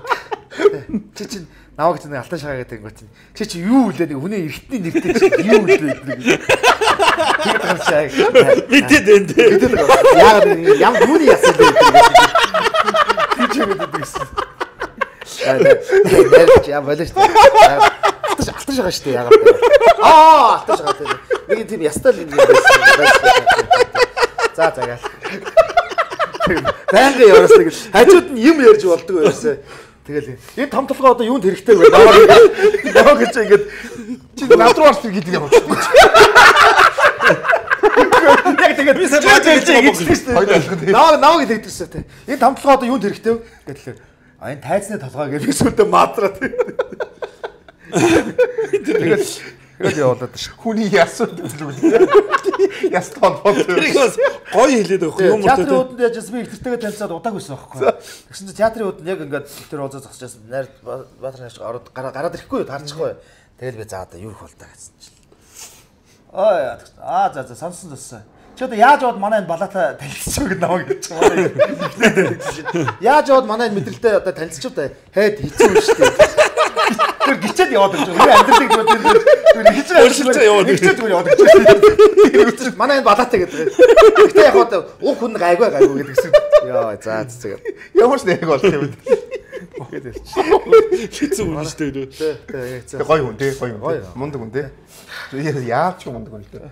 чи чи наваг чинь алтан шагаа гэдэг юм чинь. Чи чи юу үлээ нэг хүний эртний нэртэй чи юу үлээ гэдэг. Тэгээд хашаа. Битэд энэ. Битэд. Яагаад ям хүний ясаа л гэдэг. Чи чи гэдэг гэсэн. Аа яа болооч. Алтан шагаа шүү дээ яагаад. Аа алтан шагаа гэдэг. Нэг тийм ястал юм байсан. За за гал. Байнга яваасаа гэж хажууд нь юм ярьж болдог байсан. Тэгэл энэ том толгой одоо юунд хэрэгтэй вэ? Наваа гэж ингэж чи надруу арч гэдэг юм уу? Яг тэгээд би сая бодож наваа наваа гэж хэлдэгсэн тэ. Энэ том толгой одоо юунд хэрэгтэй вэ? Гэтэл а энэ тайцны толгой гэж би сүлдө мадраад. Тэгээд тэгээд явуулаад ш. Хүний ясууд гэдэг. Яс толгой. Тэрийг бас гоё хэлээд байгаа юм уу? Театрын үүдэнд яжсэн би ихтертэйгээ танилцаад удааг байсан байхгүй. Тэгсэн чинь театрын үүдэнд яг ингээд тэр уулзаа зогсчихсан. Найр Баатар хаш ороод гараад ирэхгүй таарчихгүй. Тэгэл би за одоо юу их бол та гэсэн чинь. Аа аа за за сонсон зөссөн. Чи одоо яаж яваад манай энэ балаата танилцчих вэ гэдэг намайг гэж байна. Яаж яваад манай энэ мэдрэлтэй одоо танилцчих вэ? Хэд хэцүү юм шүү дээ. Тэр гिचэд яваад гэж байна. Амьдралыг зүгээр тэр гिचэд яваад гिचэд зүгээр яваад гэж. Манай энэ балаатай гэдэг. Гэтэ яг одоо уг хүн гайгүй гайгүй гэдэг гэсэн. Яа за зүгээр. Ямар ч нэг болох юм. Хэцүү юм шүү дээ. Тэг гоё хүн тий гоё хүн. Мундаг хүн тий. Яач юм мундаг хүн л дээ.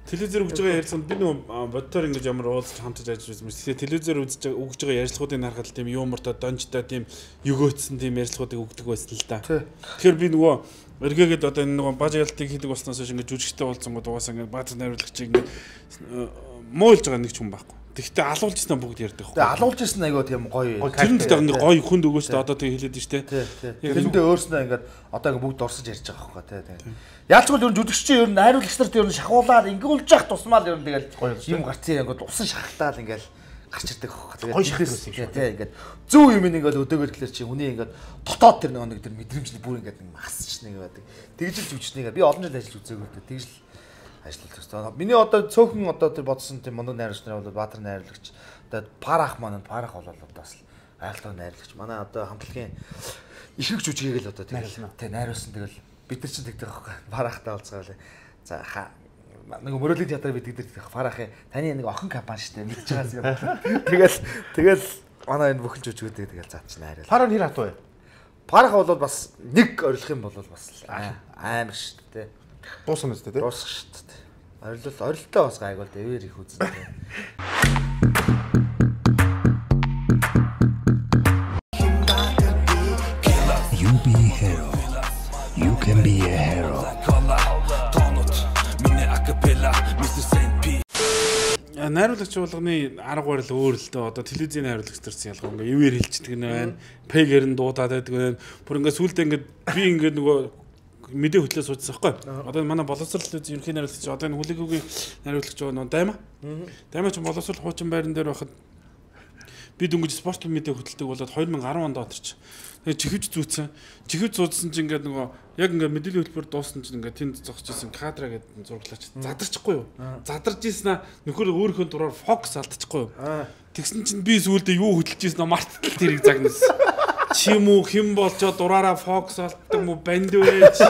Телевизээр өгж байгаа ярьсан би нөгөө бодтоор ингэж ямар уулзч хамтаж ажиллаж байсан. Тэгээ телевизээр үзэж байгаа өгж байгаа ярилцлагуудыг харахад тийм юмртай донжтой тийм өгөөцсөн тийм ярилцлагуудыг өгдөг байсан л да. Тэгэхээр би нөгөө эргээгээд одоо энэ нөгөө бажаалтыг хийдэг болсноос хойш ингэж жүжигчтэй уулзсан гоо угаасаа ингэ баатар найруулагчийг ингэ муулж байгаа нэг ч хүн байхгүй. Тэгтээ алуулж ирсэн бүгд ярьдаг байхгүй. Тэгээ алуулж ирсэн айгаа тийм гоё. Тэр нь тэгээ гоё хүнд өгөөстэй одоо тэгээ хэлээд штэ. Тэрэндээ өөрснөө ингээд одоо ингээд бүгд дурсаж ярьж байгаа байхгүй тий. Яалчгүй ер нь жүжигчийн ер нь найруулагч нарт ер нь шахуулаад ингэүүлж явах тусмал ер нь тэгэл юм гарцсан ингээд усан шахалтаал ингээд гарч ирдэг байхгүй. Гоё шахалсан юм шиг тий ингээд зөв юм ингээд өдөөгөр тэгэхээр чи хүний ингээд дотоод тэр нэг тэр мэдрэмжний бүр ингээд нэг масч нэг байдаг. Тэгж л жүжигчнийгээ би олон жил ажиллаж үзээгөө тэгж л ажиллаж төсөө. Миний одоо цөөхөн одоо тэр бодсон тийм мундаг найруулагч нар бол Баатар найруулагч. Одоо Парах маань Парах бол одоо бас айлтгай найруулагч. Манай одоо хамтлагийн ихрэг жүжигийг л одоо тэгэл тий найруулсан тэгэл бид нар ч тэгдэг байхгүй. Парахтай уулзгаал. За нэг мөрөлийн театр бид тэгдэг Парахын таны нэг охин компани штэ мэдж байгаас юм. Тэгэл тэгэл манай энэ бүхэн жүжигүүдээ тэгэл заач найруулсан. Парах нэр хатуу бай. Парах бол бас нэг орилох юм бол бас амар штэ. Дуусна үстэй тий. Дуусах шүү дээ. Орилол орилтоо бас гайгүй л дэвэр их үзэн. You be a hero. You can be a hero. Найруулагч болгоны арга барил өөр л дөө. Одоо телевизийн найруулагч төрсэн ялгаа ингээ юуэр хэлчихдэг нь байна. Пэгээр нь дуудаад байдаг байна. Бүр ингээ сүултээ ингээ би ингээ нөгөө мэдээ хөтлөө суудсан байхгүй. Одоо манай боловсрол ерөнхий найруулагч одоо энэ хүлээгээгийн найруулагч нөгөө дайма. Дайма ч боловсрол хуучин байран дээр байхад би дөнгөж спорт мэдээ хөтэлдэг болоод two thousand ten онд оторч. Тэгээ чихвж зүүцсэн. Чихвж зуудсан чинь ингээд нөгөө яг ингээд мэдээллийн хөтөлбөр дууссан чинь ингээд тэнд зогсож исэн кадра гэдэг зураглаач. Задарчихгүй юу? Задарч ийсэн аа нөхөр өөрийнхөө дураар фокус алдчихгүй юу? Тэгсэн чинь би сүүлдээ юу хөтэлж ийсэн аа мартал тэрийг загнасан. Чи юм уу хэн болчоо дураараа фокус алддаг мó банд вэ чи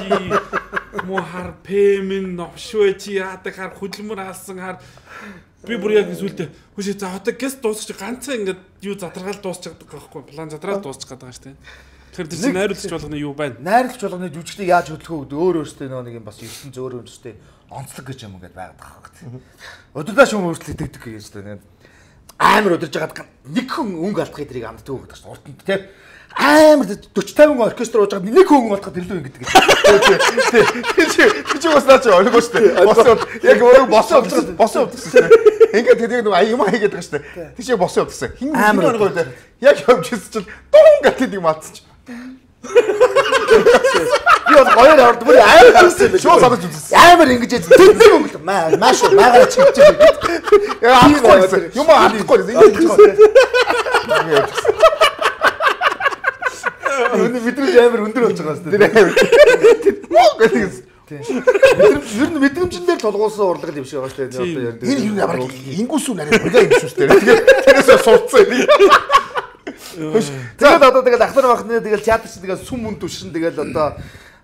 мó хар пэмэн новшвэ чи яадаг хар хөдөлмөр хаалсан хар би бүр яг сүлдээ хүшээ за одоо гэс дуусчих ганцхан ингээд юу задргаал дуусчих гэдэг байхгүй план задраад дуусчих гэдэг шүү дээ. Тэгэхээр тэр чинь найруулагч болгоны юу байна? Найруулагч болгоны жүжигчдийг яаж хөдөлгөө гэдэг өөр өөртөө нөгөө нэг юм бас ертөнц зөөр өөртөө онцлог гэж юм ингээд байгаад байгаа хэрэг. Өдөрдөө шүүм өөрчлөлт итгэдэг гэж дээ. Амар өдөрж хагаад нэг хүн өнгө алдахыг тэрийг амддаг гэдэг чинь уртанд тийм амар forty fifty оркестр ууж байгаа нэг хүн болоход илүү ингэдэг. Тий. Чи чи бас наач ойлгоо шүү дээ. Босоо яг өөрөө босоо босоо өгсөн. Ингээд тэгээд нэг аяма хийгээд байгаа шүү дээ. Тий чи босоо өгсөн. Хин амар гоё дээ. Яг явж ирсэн чинь дуун гэдэг юм атчих. Би бол гоёор орд бүр амар гарсан юм. Шууд санаж үзсэн. Амар ингэж тэнцэг өнгө маа маш маагаар чигч. Яа ахгүй юм аахгүй ингэж хийж. Өнөө мэдрэмж амар өндөр болж байгаа юм шүү дээ. Тийм. Ер нь мэдрэмжээр тулгуулсан урлаг юм шиг байгаа шүү дээ. Одоо ярьдаг. Энэ юу ямар ингүүсүү нарийн бодлоо юм шүү дээ. Тэгээд тэрээс сурцсан юм. Тэгээд одоо тэгэл ахнар бахны тэгэл театр чинь тэгэл сүм мөн түшин тэгэл одоо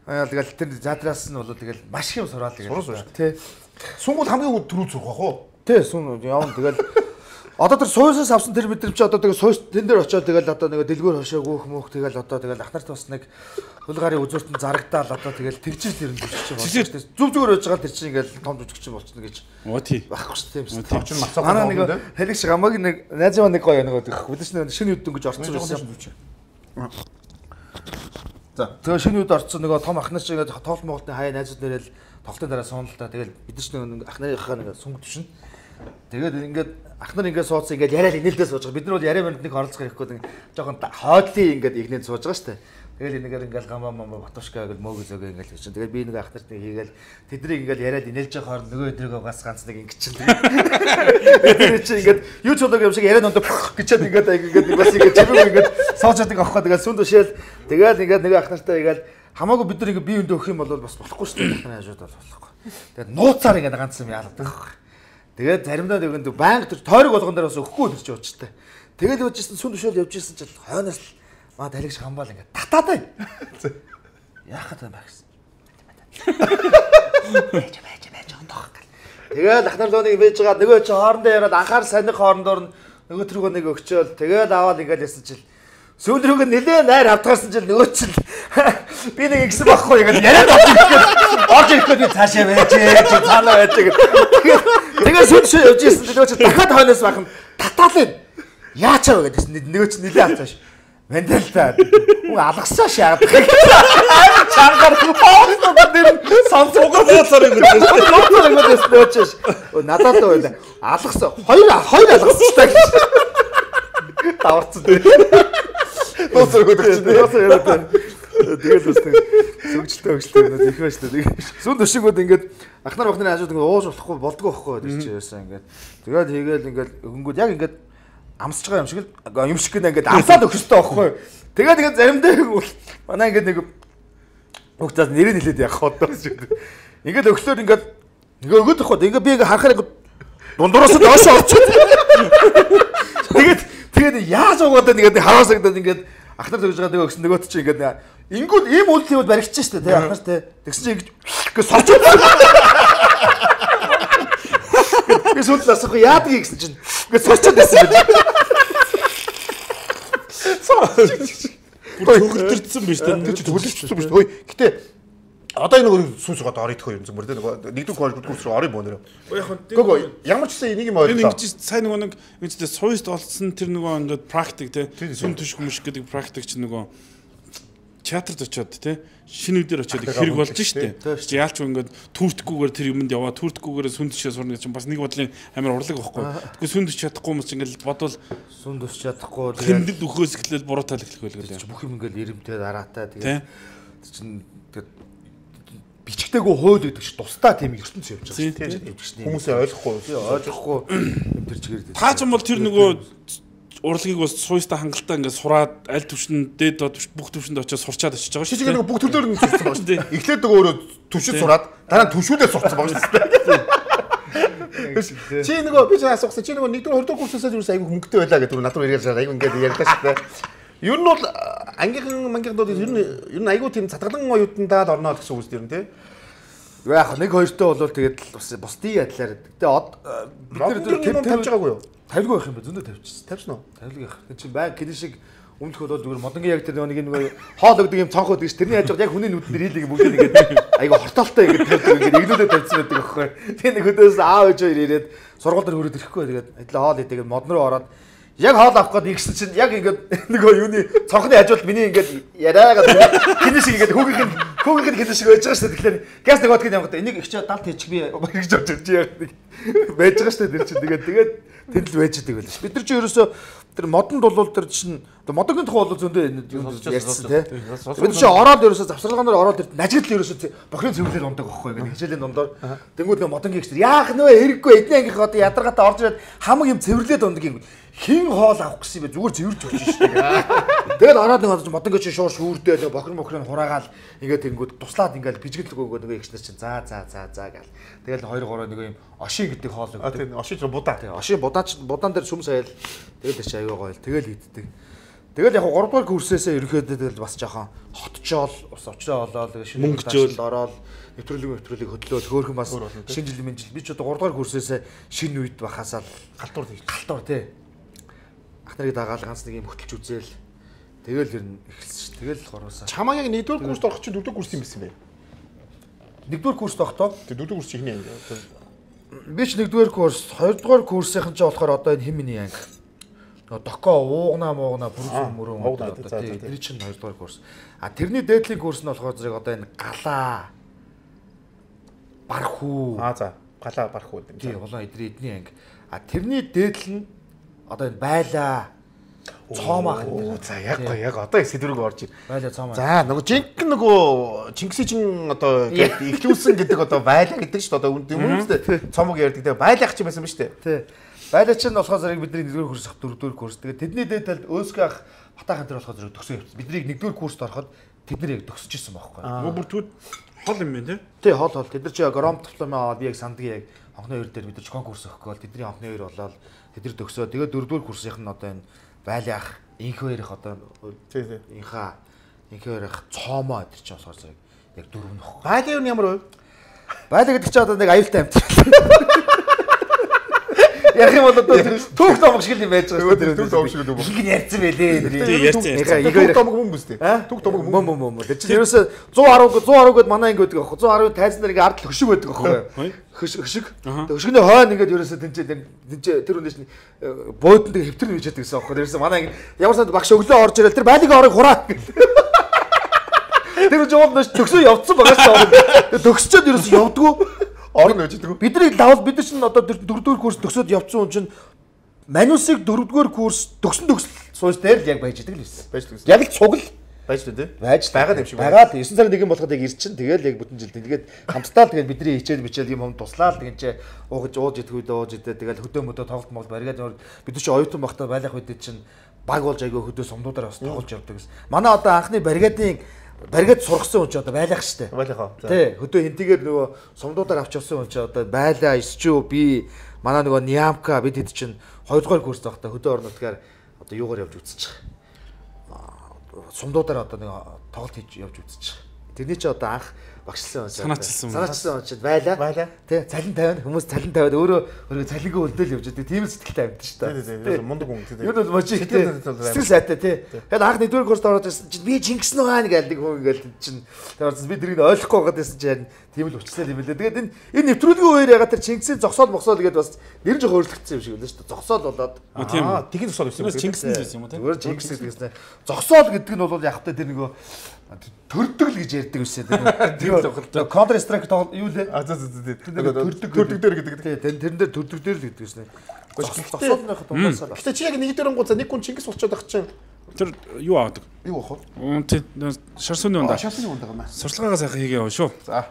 тэгэл тэр театраас нь бол тэгэл маш их юм сураад тэгэл тий. Сунгууд хамгийн түрүү зурх бах уу? Тий, сүм явна тэгэл одоо тэр суйсаас авсан тэр мэдрэмж одоо тэгэл суйс тэн дээр очиод тэгэл одоо нэг дэлгүүр хошоо гөөх мөөх тэгэл одоо тэгэл ахнарт бас нэг хулгарын үзүүртэн зарагдаал одоо тэгэл тэгжил тэр нь жүжигч байгаа шүү дээ. Зүг зүгээр байж байгаа тэр чинь ингээл том жүжигч болчихно гэж. Оо тий. Багхгүй шүү дээ. Тийм шүү. Чинь мацаа. Манай нэг хэлэг шиг амаг нэг найзаа нэг гоё нэг өдөж нэг шинэ үдэн гэж орцсон байсан. За тэгээ шинэ үд орцсон нөгөө том ахнар шиг ингээд тоол Монголын хаяа найзууд нэрэл тоглолтын дараа сууналаа. Тэгэл бид нар нэг ахнарынхаа нэг сүнг түшин. Тэгээд ингээд ахнар ингээд суудсан ингээд яриад инээлдээ сууж байгаа. Бид нар бол яриа баримт нэг оролцох хэрэггүй нэг жоохон хойдлын ингээд игнээд сууж байгаа шүү дээ. Тэгэл энэгээр ингээл гамаа мамаа батушка гэл мөөгөө зөөгөө ингээл хийчихэн. Тэгээд би нэг ахнарт хийгээл тэднийг ингээл яриад инээлж байгаа хооронд нөгөө өдрөөгөө гас ганц нэг ингэчихэн. Тэгээд чи ингээд YouTube юм шиг яриад ондоо гэчээд ингээд ингээд бас ингээд чимээ ингээд сууж байгаа аахгүй. Тэгээд сүн төшөөл тэгээд ингээд нөгөө ахнартаа игээл хамаагүй бид нар ингээд бие өндөө өгөх юм бол бас болохгүй шүү дээ. Ахнарын хажууд бол болохгүй. Тэгээд нууцаар ингээд ганц юм яадаг байхгүй. Тэгээд заримдаа нэгэн банк төр тойрог болгон дээр бас өгөхгүй тэр чи уучтай. Тэгэл явжсэн сүн төшөөл явжсэн чи хойноос маа талигч хамбал ингээд татаад бай. Яахад юм бэ гэсэн. Байж байж байж ондох. Тэгээд ахнар лооны байж байгаа нөгөө чи хоорондоо яриад анхаар саних хоорондоор нөгөө тэргөө нэг өгчөөл тэгээд аваад ингээд ясан чил сүүл рүүгээ нэлээ найр авдгаарсан чил нөгөө чил би нэг ингэсэн байхгүй ингээд яриад орж ирэх гээд цаашаа байж чи цаанаа байж тэгээд тэгээд сүн шүү явж ирсэн нөгөө чи дахиад хойноос бахан татаалаа яачаа вэ гэдсэн нөгөө чи нэлээ авцааш Вендэл та уу алгасаа шаагаад чангаар хоолтой дээр сонсогоо цаасаар юм гэж бодлоо юм гэж нөөчш надад байна алгасаа хоёр хоёр алгасчтай гэж таварцсан дээ нөөцөр өгдөг нөөцөр яриад тэгээд бас сүгжилтэй өгчлээ нөө их байж таа тэгээд сүн төшигүүд ингээд ахнар бахнарын хажууд ингээд ууж болохгүй болдгоо байхгүй гэж чи яасан ингээд тэгээд хийгээл ингээд өгөнгүүд яг ингээд амсаж байгаа юм шиг л юм шиг ингээд амсаад өгөх хэрэгтэй байхгүй. Тэгээд тэгээд заримдаа манай ингээд нэг хөгцөөс нэрээ нэлээд явах одоо шиг. Ингээд өглөөр ингээд ингээ өгöd байхгүй. Ингээ би ингээ харахаар ингээ дундуураас доош орчиход. Тэгээд тэгээд яаж угаадаа ингээд хараасагдаад ингээд ахнар төгж байгаа нэг өгсөн нөгөөт чи ингээд ингүүд ийм үйлдэл баригдчих штэ тий ахнар тий. Тэгсэн чи ингээ сорчод. Би сүлд асах яадаг гэсэн чинь ингээ сорчод байсан юм. Бүр төгөлдөрсөн биз дээ. Тэр чинь төгөлдөрсөн биз дээ. Гэтэ одоо энэ нэг сүүс угаад орё идэх юм зүгээр дээ. Нэгдүгээр квалит курс руу орё боо нэрэ. Гөө ямар ч гэсэн энийг юм ойлголоо. Энэ ингэж сайн нөгөө нэг үстэй суйст олцсон тэр нөгөө ингээд практик тий. Сүн төш хүмүүс гэдэг практик чинь нөгөө театрт очиод тий шинэ үдээр очиод хэрэг болж штэ. Чи яалч ингээд түүртгүүгээр тэр юмд яваа түүртгүүгээр сүн төшөө сурна гэж бас нэг бодлын амар урлаг байхгүй. Тэгвэл сүн төш чадахгүй юм чи ингээд бодвол сүн төш чадахгүй хэмнэлд өхөөс эхлээл буруу тал эхлэх байлгүй. Бүх юм ингээд ирэмтэй дараатай тэгээд чинь бичгтэйгөө хууль гэдэг чи тусдаа тийм ертөнц явж байгаа шүү. Хүмүүсээ ойлгохгүй ойлгохгүй тэр чигээр та ч юм бол тэр нөгөө урлагийг бас суйста хангалттай ингээд сураад аль төвшөнд дээд бүх төвшөнд очиж сурчаад очиж байгаа шүү. Чи нэг бүх төрлөөр нь сурсан байгаа шүү. Эхлээд нөгөө өөрөө төвшөнд сураад дараа нь төвшүүдээ сурцсан байгаа шүү. Чи нөгөө би ч асуусан чи нөгөө нэгдүгээр хоёрдугаар курсээс юу айгүй хөнгөтэй байлаа гэдэг над руу ирээд айгүй ингээд ярьлаа шүү. Ер нь бол ангийнхан мангийнхнууд ер нь ер нь айгүй тийм цатгалан оюутандаа л орноо гэсэн үг зүйл тий. Яг нэг хоёртой бол тэгээд бас бусдын адилаар. Гэтэ бид нар тавьж байгаагүй юу? Тавилгүй байх юм бэ? Зөндөө тавьчихсан. Тавьсан уу? Тавилгүй байх. Тэг чи баг гин шиг өмнөх бол зүгээр модонгийн яг тэр нэг нэг хоол өгдөг юм цонх өгдөг ш. Тэрний хажууд яг хүний нүдээр хийлэг бүгд ингээд айгу хортоолтой ингээд тавьдаг ингээд эглүүдээ тавьсан байдаг аахгүй. Тэгээ нэг хөдөөс аав ээж хоёр ирээд сургууль дээр хөрөөд ирэхгүй тэгээд адилаа хоол идэгээд мод руу ороод яг хоол авах гээд игсэн чинь яг ингээд нөгөө юуны цонхны хажууд миний ингээд яриагаад хин шиг ингээд хүүгийнх нь хүүгийнх нь хин шиг байж байгаа ш. Тэгэхээр газ нэг бодгийг явах гэдэг энийг их ч далд хийчих би гэж бодож яг нэг байж байгаа ш. Тэр чинь тэгээд тэгээд тэнд л байж байгаа байлаа ш. Бид нар чи ерөөсөө тэр модонд бол тэр чинь Одоо модогийн тухай бол зөндөө ярьсан тий. Бид чи ороод ерөөсө завсарлагаанаар ороод ирд нажид л ерөөсө бохирын цэвэрлэл ундаг байхгүй ингээд хичээлийн дундаар. Тэнгүүд нэг модогийн гişтэр яах нөө хэрэггүй эдний ангийнхаа одоо ядаргаатай орж ирээд хамаг юм цэвэрлээд ундаг юм. Хин хоол авах гэсэн юм бэ зүгээр цэвэрж өгч шүү дээ. Тэгэл ороод нэг модогийн чи шуур шүүрдээ бохир мохрын хураагаал ингээд тэнгүүд туслаад ингээд бижгэл өгөөгөө нөгөө ихснэр чинь за за за за гэл. Тэгэл хоёр гурав нэг юм ошин гэдэг хоол өгдөг. Тийм ошин ч будаа. Ошин будаач будаан дээр сүм сайл. Тэгэл чи аюу гойл. Тэгэл иддэг. Тэгэл яг гурав дахь курсээсээ ерөөхдөө тэгэл бас жоохон хотчоол бас очроо олоод шинэ мөнгөжөөл ороод нэвтрүүлэг нэвтрүүлэг хөдлөөл хөөхөн бас шинэ жил мэн жил би ч одоо гурав дахь курсээсээ шинэ үед бахасаад галтуур тийм галтуур тий. Ах нарыг дагаал ганц нэг юм хөтлж үзээл тэгэл ер нь эхэлсэн ш. Тэгэл гуравсаа. Чамаа яг нэгдүгээр курст орох чинь дөрөвдүгээр курс юм байсан бэ? Нэгдүгээр курст тогтоо. Тэг дөрөвдүгээр курс ихний анги. Би ч нэгдүгээр курс, хоёрдугаар курсынхан ч болохоор одоо энэ химний анги. Доко уугна муугна бүрэн мөрөн одоо тий тэр чинь хоёрдугаар курс. А тэрний дээдлийн курс нь болохоор зэрэг одоо энэ галаа бархуу. Аа за галаа бархуу гэдэг. Тий улаан эдрийн эдний анги. А тэрний дээдл нь одоо энэ байлаа. Цоомаах гэдэг. За яг гоо яг одоо сэдвэрэг орж ир. Байлаа цоомаа. За нөгөө жинхэнэ нөгөө Чингисийн одоо ихлүүлсэн гэдэг одоо байлаа гэдэг шүү дээ. Одоо үнэндээ цоомог ярьдаг. Тэгээ байлаах ч юм байсан ба шүү дээ. Тий. Байлаа чинь болохоор зэрэг бидний нэгдүгээр курс ах дөрөвдүгээр курс. Тэгээд тэдний дээдэл өөсгөө ах батахан тэр болохоор зэрэг төгсөө явчихсан. Бидний нэгдүгээр курст ороход тэд нар яг төгсөж ирсэн байхгүй. Нөгөө бүртгүүд хол юм байна тий. Тий хол хол. Тэд нар чи гром диплом аваад би яг сандгийн яг анхны хоёр дээр бид нар конкурс өгөх гол тэдний анхны хоёр болоод тэд нар төгсөө. Тэгээд дөрөвдүгээр курсынх нь одоо энэ байлаах инх хоёрых одоо тий тий инха инх хоёрых цоомоо тэр чи болохоор зэрэг яг дөрөв нөх. Байлаа юу ямар вэ? Байлаа гэдэг чи одоо нэг аюултай амт. Яг юм бол одоо түүх томог шиг юм байж байгаа шүү дээ. Түүх томог шиг юм. Их нь ярьсан байлээ. Тий ярьсан. Түүх томог хүн бүс дээ. Түүх томог хүн мөн мөн мөн. Тэр чинь ерөөсө сто десять сто десять гээд манай ингэ байдаг аахгүй. сто десять тайзан дээр ингэ ард хөшиг байдаг аахгүй. Хөшиг. Тэг хөшигний хойно ингэ ерөөсө тэнцээ тэнцээ тэр үнээс нь буудан дээр хэвтэр нэж яддаг гэсэн аахгүй. Ерөөсө манай ингэ ямар санд багш өглөө орж ирэл тэр байлиг орыг хураа. Тэр жоод нэш төгсөө явцсан байгаа шүү. Төгсчөөд ерөөсө явдггүй. Орон нэж идэг. Бидний лавл бид нар чинь одоо дөрөвдүгээр курс төгсөөд явцсан хүн чинь манусыг дөрөвдүгээр курс төгсөн төгсөл сууж дээр л яг байж идэг л байсан. Байж идэг. Яг л цугл байж идэг тий. Байж байгаа юм шиг байна. Байгаад девять сарын нэгэн болоход яг ирчин тэгэл яг бүтэн жил тэгээд хамтдаа л тэгээд бидний хичээл бичээл юм юм туслаа л тэгээд чи уугаж ууж идэх үед ууж идэх тэгэл хөдөө мөдөө тоглолт мол бариад бид нар чи оюутан багтаа байлах үед чинь баг болж айгүй хөдөө сумдуудаар бас тоглож явдаг гэсэн. Манай одоо анхны баригадын баригад сургасан хүн ч одоо байлах штэ. Байлахаа. Тий, хөдөө хинтигээр нөгөө сумдуудаар авч явсан хүн ч одоо байлаа, исчүү би манай нөгөө Нямка бид хэд чинь хоёрдугаар курс байхдаа хөдөө орнотгаар одоо юугаар явж үзчих. Сумдуудаар одоо нэг тоглолт хийж явж үзчих. Тэрний чи одоо анх багшлсан уншаад санаачилсан санаачилсан уншаад байлаа. Байлаа. Тий, цалин тавиад хүмүүс цалин тавиад өөрөө өөрөө цалингаа өлдөөл явж байдаг. Тийм сэтгэлтэй амьд шүү дээ. Тий, тий, мундаг хүн тий. Юу бол мочи сэтгэл сайтай тий. Тэгээд анх нэгдүгээр курст ороод ирсэн чинь би Чингис нугаан гэдэг хүн ингээл чинь тэгээд би тэрийг ойлгохгүй байгаад байсан чинь тийм л өвчлээ юм лээ. Тэгээд энэ энэ нэвтрүүлгийн үеэр ягаад тэр Чингисийн зогсоол мохсоол гэдэг бас нэр жоо хөөрлөгдсөн юм шиг байна шүү дээ. Зогсоол болоод аа тэгин зогсоол гэсэн юм. Чингис нь байсан юм уу тий. Зүгээр Чингис гэдэгснэ. Зогсоол гэдэг нь бол яг та тэр нөгөө төрдөг л гэж ярьдаг байсан. Тэр Counter Strike юу лээ? А за за за. Төрдөг төрдөг дээр гэдэг. Тийм тэрэн дээр төрдөг дээр л гэдэг байсан. Зогсоолныхаа дундасаа. Гэтэ чи яг нэг дөрөнгө гуцаа нэг хүн Чингис болчиход ах чинь тэр юу авдаг? Юу ах вэ? Тий шар сүний ундаа. Шар сүний ундаа гэнэ. Сурчлагаа сайхан хийгээ яваа шүү. За.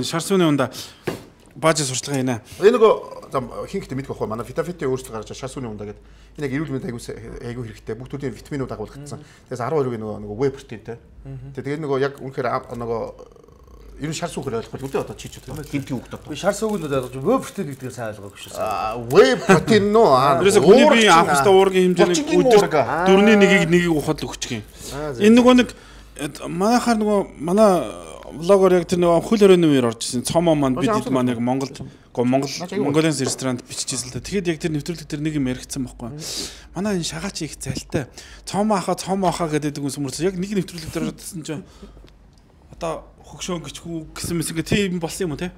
Шар сүний ундаа бааж сурчлага хийнэ. Энэ нөгөө хин гэхдээ мэдэх байхгүй манай Vitafit өөрсдөө гаргаж шар сүний ундаа гэдэг. Энэ яг эрүүл мэнд айгуу айгуу хэрэгтэй. Бүх төрлийн витаминууд агуулгдсан. Тэгээс десять two-ийн нөгөө нөгөө whey протеинтэй. Тэгээд нөгөө яг үнэхээр нөгөө ер нь шар сүгээр ойлгох үү одоо чи ч гинти хүүхд одоо. Би шар сүгэнд ойлгож whey protein гэдгийг сайн ойлгоогүй шүү. Аа whey protein нөө аа. Тэрээс хүний бие анх өстө уургийн хэмжээний өдөр дөрөвний нэгийг нэгийг ухаад л өгчих юм. Энэ нөгөө нэг манайхаар нөгөө манай влогоор яг тэр нөгөө хөл хорионы үеэр орж ирсэн цомоо маань бид хэд маань яг Монголд Монгол Монголын ресторанд биччихсэн л та. Тэгэхэд яг тэр нэвтрүүлэг тэр нэг юм яригдсан байхгүй. Манай энэ шагач их залтай. Цомоо ахаа цомоо ахаа гэдэг хүн сүмэрс яг нэг нэвтрүүлэг дээр орсон чинь одоо хөгшөөн гिचгүй гэсэн мэс ингээ тийм болсон юм уу те?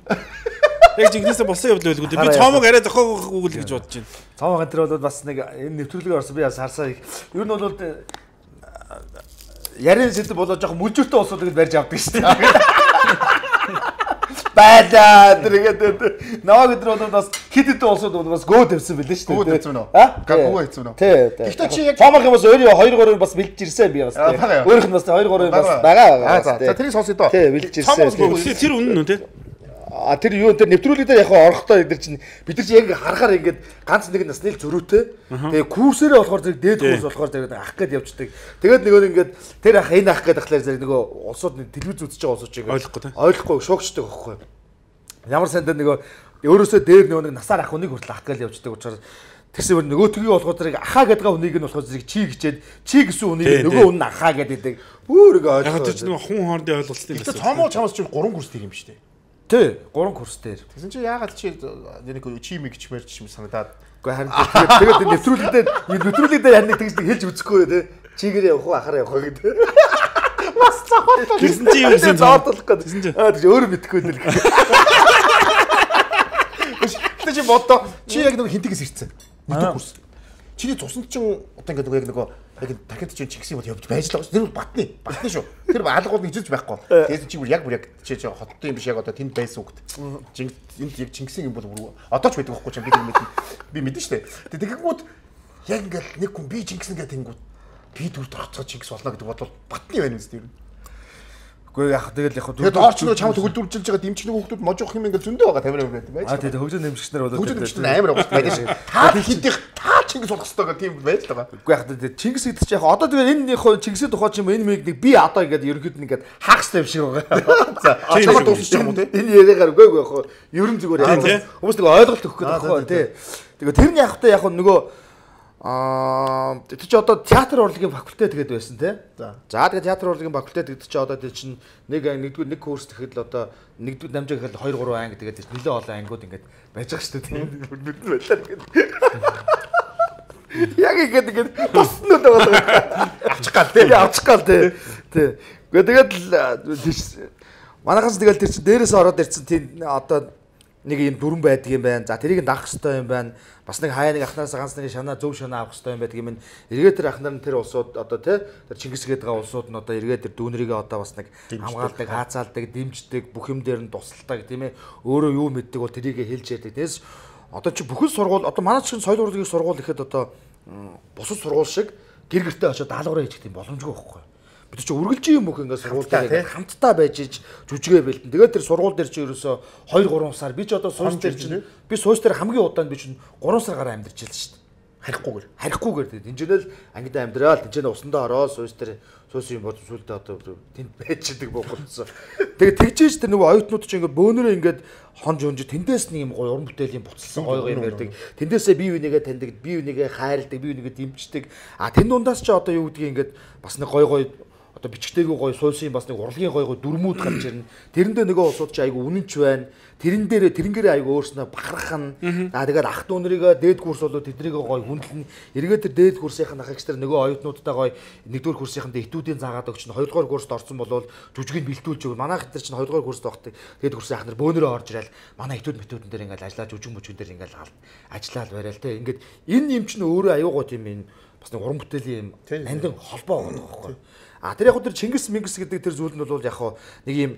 Яг жигнэсээ болсон явдал байлгүй. Би цомог арай зохиоггүй л гэж бодож байна. Цомог энэ бол бас нэг энэ нэвтрүүлгээр орсон би бас харсаа. Ер нь бол ярин сэдв болоо жоохон мүлжүүртэй болсоо гэж барьж авдаг шүү дээ. байлаа тэр ингээд наваг өдөр бол бас хит хит улсууд бол бас гөө тавьсан байлээ шүү дээ. Гөө тавьсан уу? Аа? Гөө тавьсан уу? Тий. Гэхдээ чи яг Томох юм бас өөрөө хоёр гурав бас бэлдэж ирсэн би бас тий. Өөрөх нь бас хоёр гурав бас байгаа байгаа. За за тэрийг сонсъё доо. Тий бэлдэж ирсэн. Тэр үнэн үү тий? А тэр юу тэр нэвтрүүлэг дээр яг орохдоо эдэр чинь бид нар чинь яг харахаар ингээд ганц нэг насны л зөрүүтэй. Тэгээ курсээрээ болохоор зэрэг дээд курс болохоор зэрэг ах гээд явждаг. Тэгээд нөгөө ингээд тэр ах энэ ах гэдэг ахлаар зэрэг нөгөө улсууд телевиз үзэж байгаа улсууд чинь ойлгохгүй ойлгохгүй шокчдаг байхгүй. Ямар сандаа нөгөө өөрөөсөө дээр нөгөө нэг насаар ах хүнийг хүртэл ах гээд явждаг учраас тэгсэн нөгөө тгий болохоор зэрэг ахаа гэдэг хүнийг нь болохоор зэрэг чи гэчээд чи гэсэн хүнийг нөгөө хүн ахаа гэдэг. Бүр ингээ ойлгоо. Яг тэр чинь нөгөө хүн хоорондын ойлголтын гэсэн. Тэгээ цомоо чамаас чинь гурван курс тийм юм шүү дээ. Тий, гурван курс дээр. Тэгсэн чи яагаад чи нэг чи мэгч мэрч юм санагдаад. Уу харин тэгээд нэвтрүүлэг дээр нэвтрүүлэг дээр харин тэгж хэлж үзэхгүй тий. Чигээр явах уу ахаар явах уу гэдэг. Бас цаавал. Тэгсэн чи юу гэсэн зоодлох гэдэг. Аа тэгж өөрөө мэдэхгүй дээ. Тэг чи бодоо чи яг нэг хинтгээс ирцэн. Мэдээ курс. Чиний цуснд чин одоо ингээд яг нөгөө яг тархинд чинь чигсийн бод явж байж л байгаа шүү. Тэр бол батны. Батны шүү. Тэр алгууд нэг зүйлж байхгүй. Тэгээд чи бүр яг бүр яг чи хоттой юм биш яг одоо тэнд байсан үгт. Энд яг Чингисийн юм бол бүр одоо ч байдаг байхгүй ч би мэднэ. Би мэднэ шүү дээ. Тэгэнгүүт яг ингээд нэг хүн би Чингис нэгэ тэнгүүд би дүр торцоо Чингис болно гэдэг бодвол батны байна үст юм. Үгүй яг тэгэл яг тэгээд орч нөгөө чамд хөлдүүлж байгаа дэмчдэг хүүхдүүд можох юм ингээд зөндөө байгаа тамир байдаг байж. Аа тэгээд хөгжин дэмжигчнэр болоод хөгжин дэмжигчнэр амар байгаа байдаг шээ. Та хидих та Чингис болох хэрэгтэй гэх тийм байж л байгаа. Үгүй яг тэгээд Чингис гэдэг чинь яг одоо тэгээд энэ Чингисийн тухай ч юм энэ мэг би одоо ингээд ерөөд нь ингээд хаагстай юм шиг байгаа. За чамд дуусчих юм уу те? Энэ яриагаар үгүй үгүй яг ерөн зүгээр яг хүмүүс нэг ойлголт өгөх гэдэг байхгүй тий. Тэгээд тэр нь яг та яг нөгөө Аа тэр чи одоо театр урлагийн факультет гэдэг байсан тий. За. За тэгээд театр урлагийн факультет гэдэг чи одоо тэр чин нэг нэгдүгээр нэг курс гэхэд л одоо нэгдүгээр намжаа гэхэд хоёр гурван анги тэгээд нэлээд олон ангиуд ингээд байж байгаа шүү дээ. Бидний байлаа гэдэг. Яг ингээд ингээд босноо байгаа. Авчих гал тий. Авчих гал тий. Тий. Гэхдээ тэгээд манайхаас тэгэл тэр чин дээрээс ороод ирсэн тийм одоо нэг юм дүрэн байдаг юм байна. За тэрийг даах хэрэгтэй юм байна. Бас нэг хаяа нэг ахнаас ганц нэг шанаа зөв шанаа авах хэрэгтэй юм байдаг юм. Эргээд тэр ахнаар нь тэр улсууд одоо тий тэр Чингис гээд байгаа улсууд нь одоо эргээд тэр дүүнрийгээ одоо бас нэг хамгаалдаг, хаацаалдаг, дэмждэг, бүх юм дээр нь тусалдаг тийм ээ. Өөрөө юу мэддэг бол тэрийгэ хэлж яадаг. Тэгээс одоо чи бүхэл сургууль одоо манай чинь соёл урлагийн сургууль гэхэд одоо бусад сургууль шиг гэр гэртээ очиод даалгавраа хийх тийм боломжгүй байхгүй. Бид чи үргэлжийн юм хөх ингээд сургуультай хамтдаа байж иж жүжигээ бэлдэн. Тэгээд тэр сургууль дээр чи ерөөсө хоёр гурван сар би ч одоо суус дээр чинь би суус дээр хамгийн удаанд би чинь гурван сар гараа амьдарч байлаа шүү дээ. Харихгүйгээр. Харихгүйгээр тэгээд энэжнэл ангидаа амьдраад энэжнээ усандаа ороод суус дээр суус юм бод сүлдээ одоо тэнд байж идэг бохолцсон. Тэгээд тэгжээж тэр нөгөө оюутнууд чинь ингээд бөөнөрөө ингээд хонж хонж тэндээс нэг юм гоё уран бүтээлийн буцалсан гоё гоё юм ярьдаг. Тэндээсээ бие бинийгээ таньдаг, бие бинийгээ хайрладаг, бие бинийгээ дэмждэг. А тэн дундаас ч одоо юу гэдгийг ингээд бас нэг гоё гоё одоо бичгтэйгүй гоё суйсын бас нэг урлагийн гоё гоё дүрмүүд гарч ирнэ. Тэрэндээ нөгөө улсууд чи айгу үнэнч байна. Тэрэн дээр тэрнгэрээ айгу өөрснөө бахархан. Аа тэгээд ах дүүнрийгээ дээд курс болоод тэднийг гоё хүндлэн. Эргээд тэр дээд курсынх нь ахагч нар нөгөө оюутнуудтай гоё нэгдүгээр курсынханд этүүдийн заагаад өгч нь хоёрдугаар курст орсон болвол жүжигийг бэлтүүлж өгнө. Манайх тэр чинь хоёрдугаар курст байхдаа дээд курсын ах нар бөөнөрөө орж ирэл манай этүүд мэтүүдэн дээр ингээл ажиллаж жүжиг мөчгөн дээр ингээл ажиллаад байрал те. Ингээд энэ юм чинь өөрөө аюу гоо тийм юм бас нэг уран бүтээлийн юм нандин холбоо байгаа байхгүй. А тэр яг тэр Чингис Мингис гэдэг тэр зүйл нь бол яг нэг юм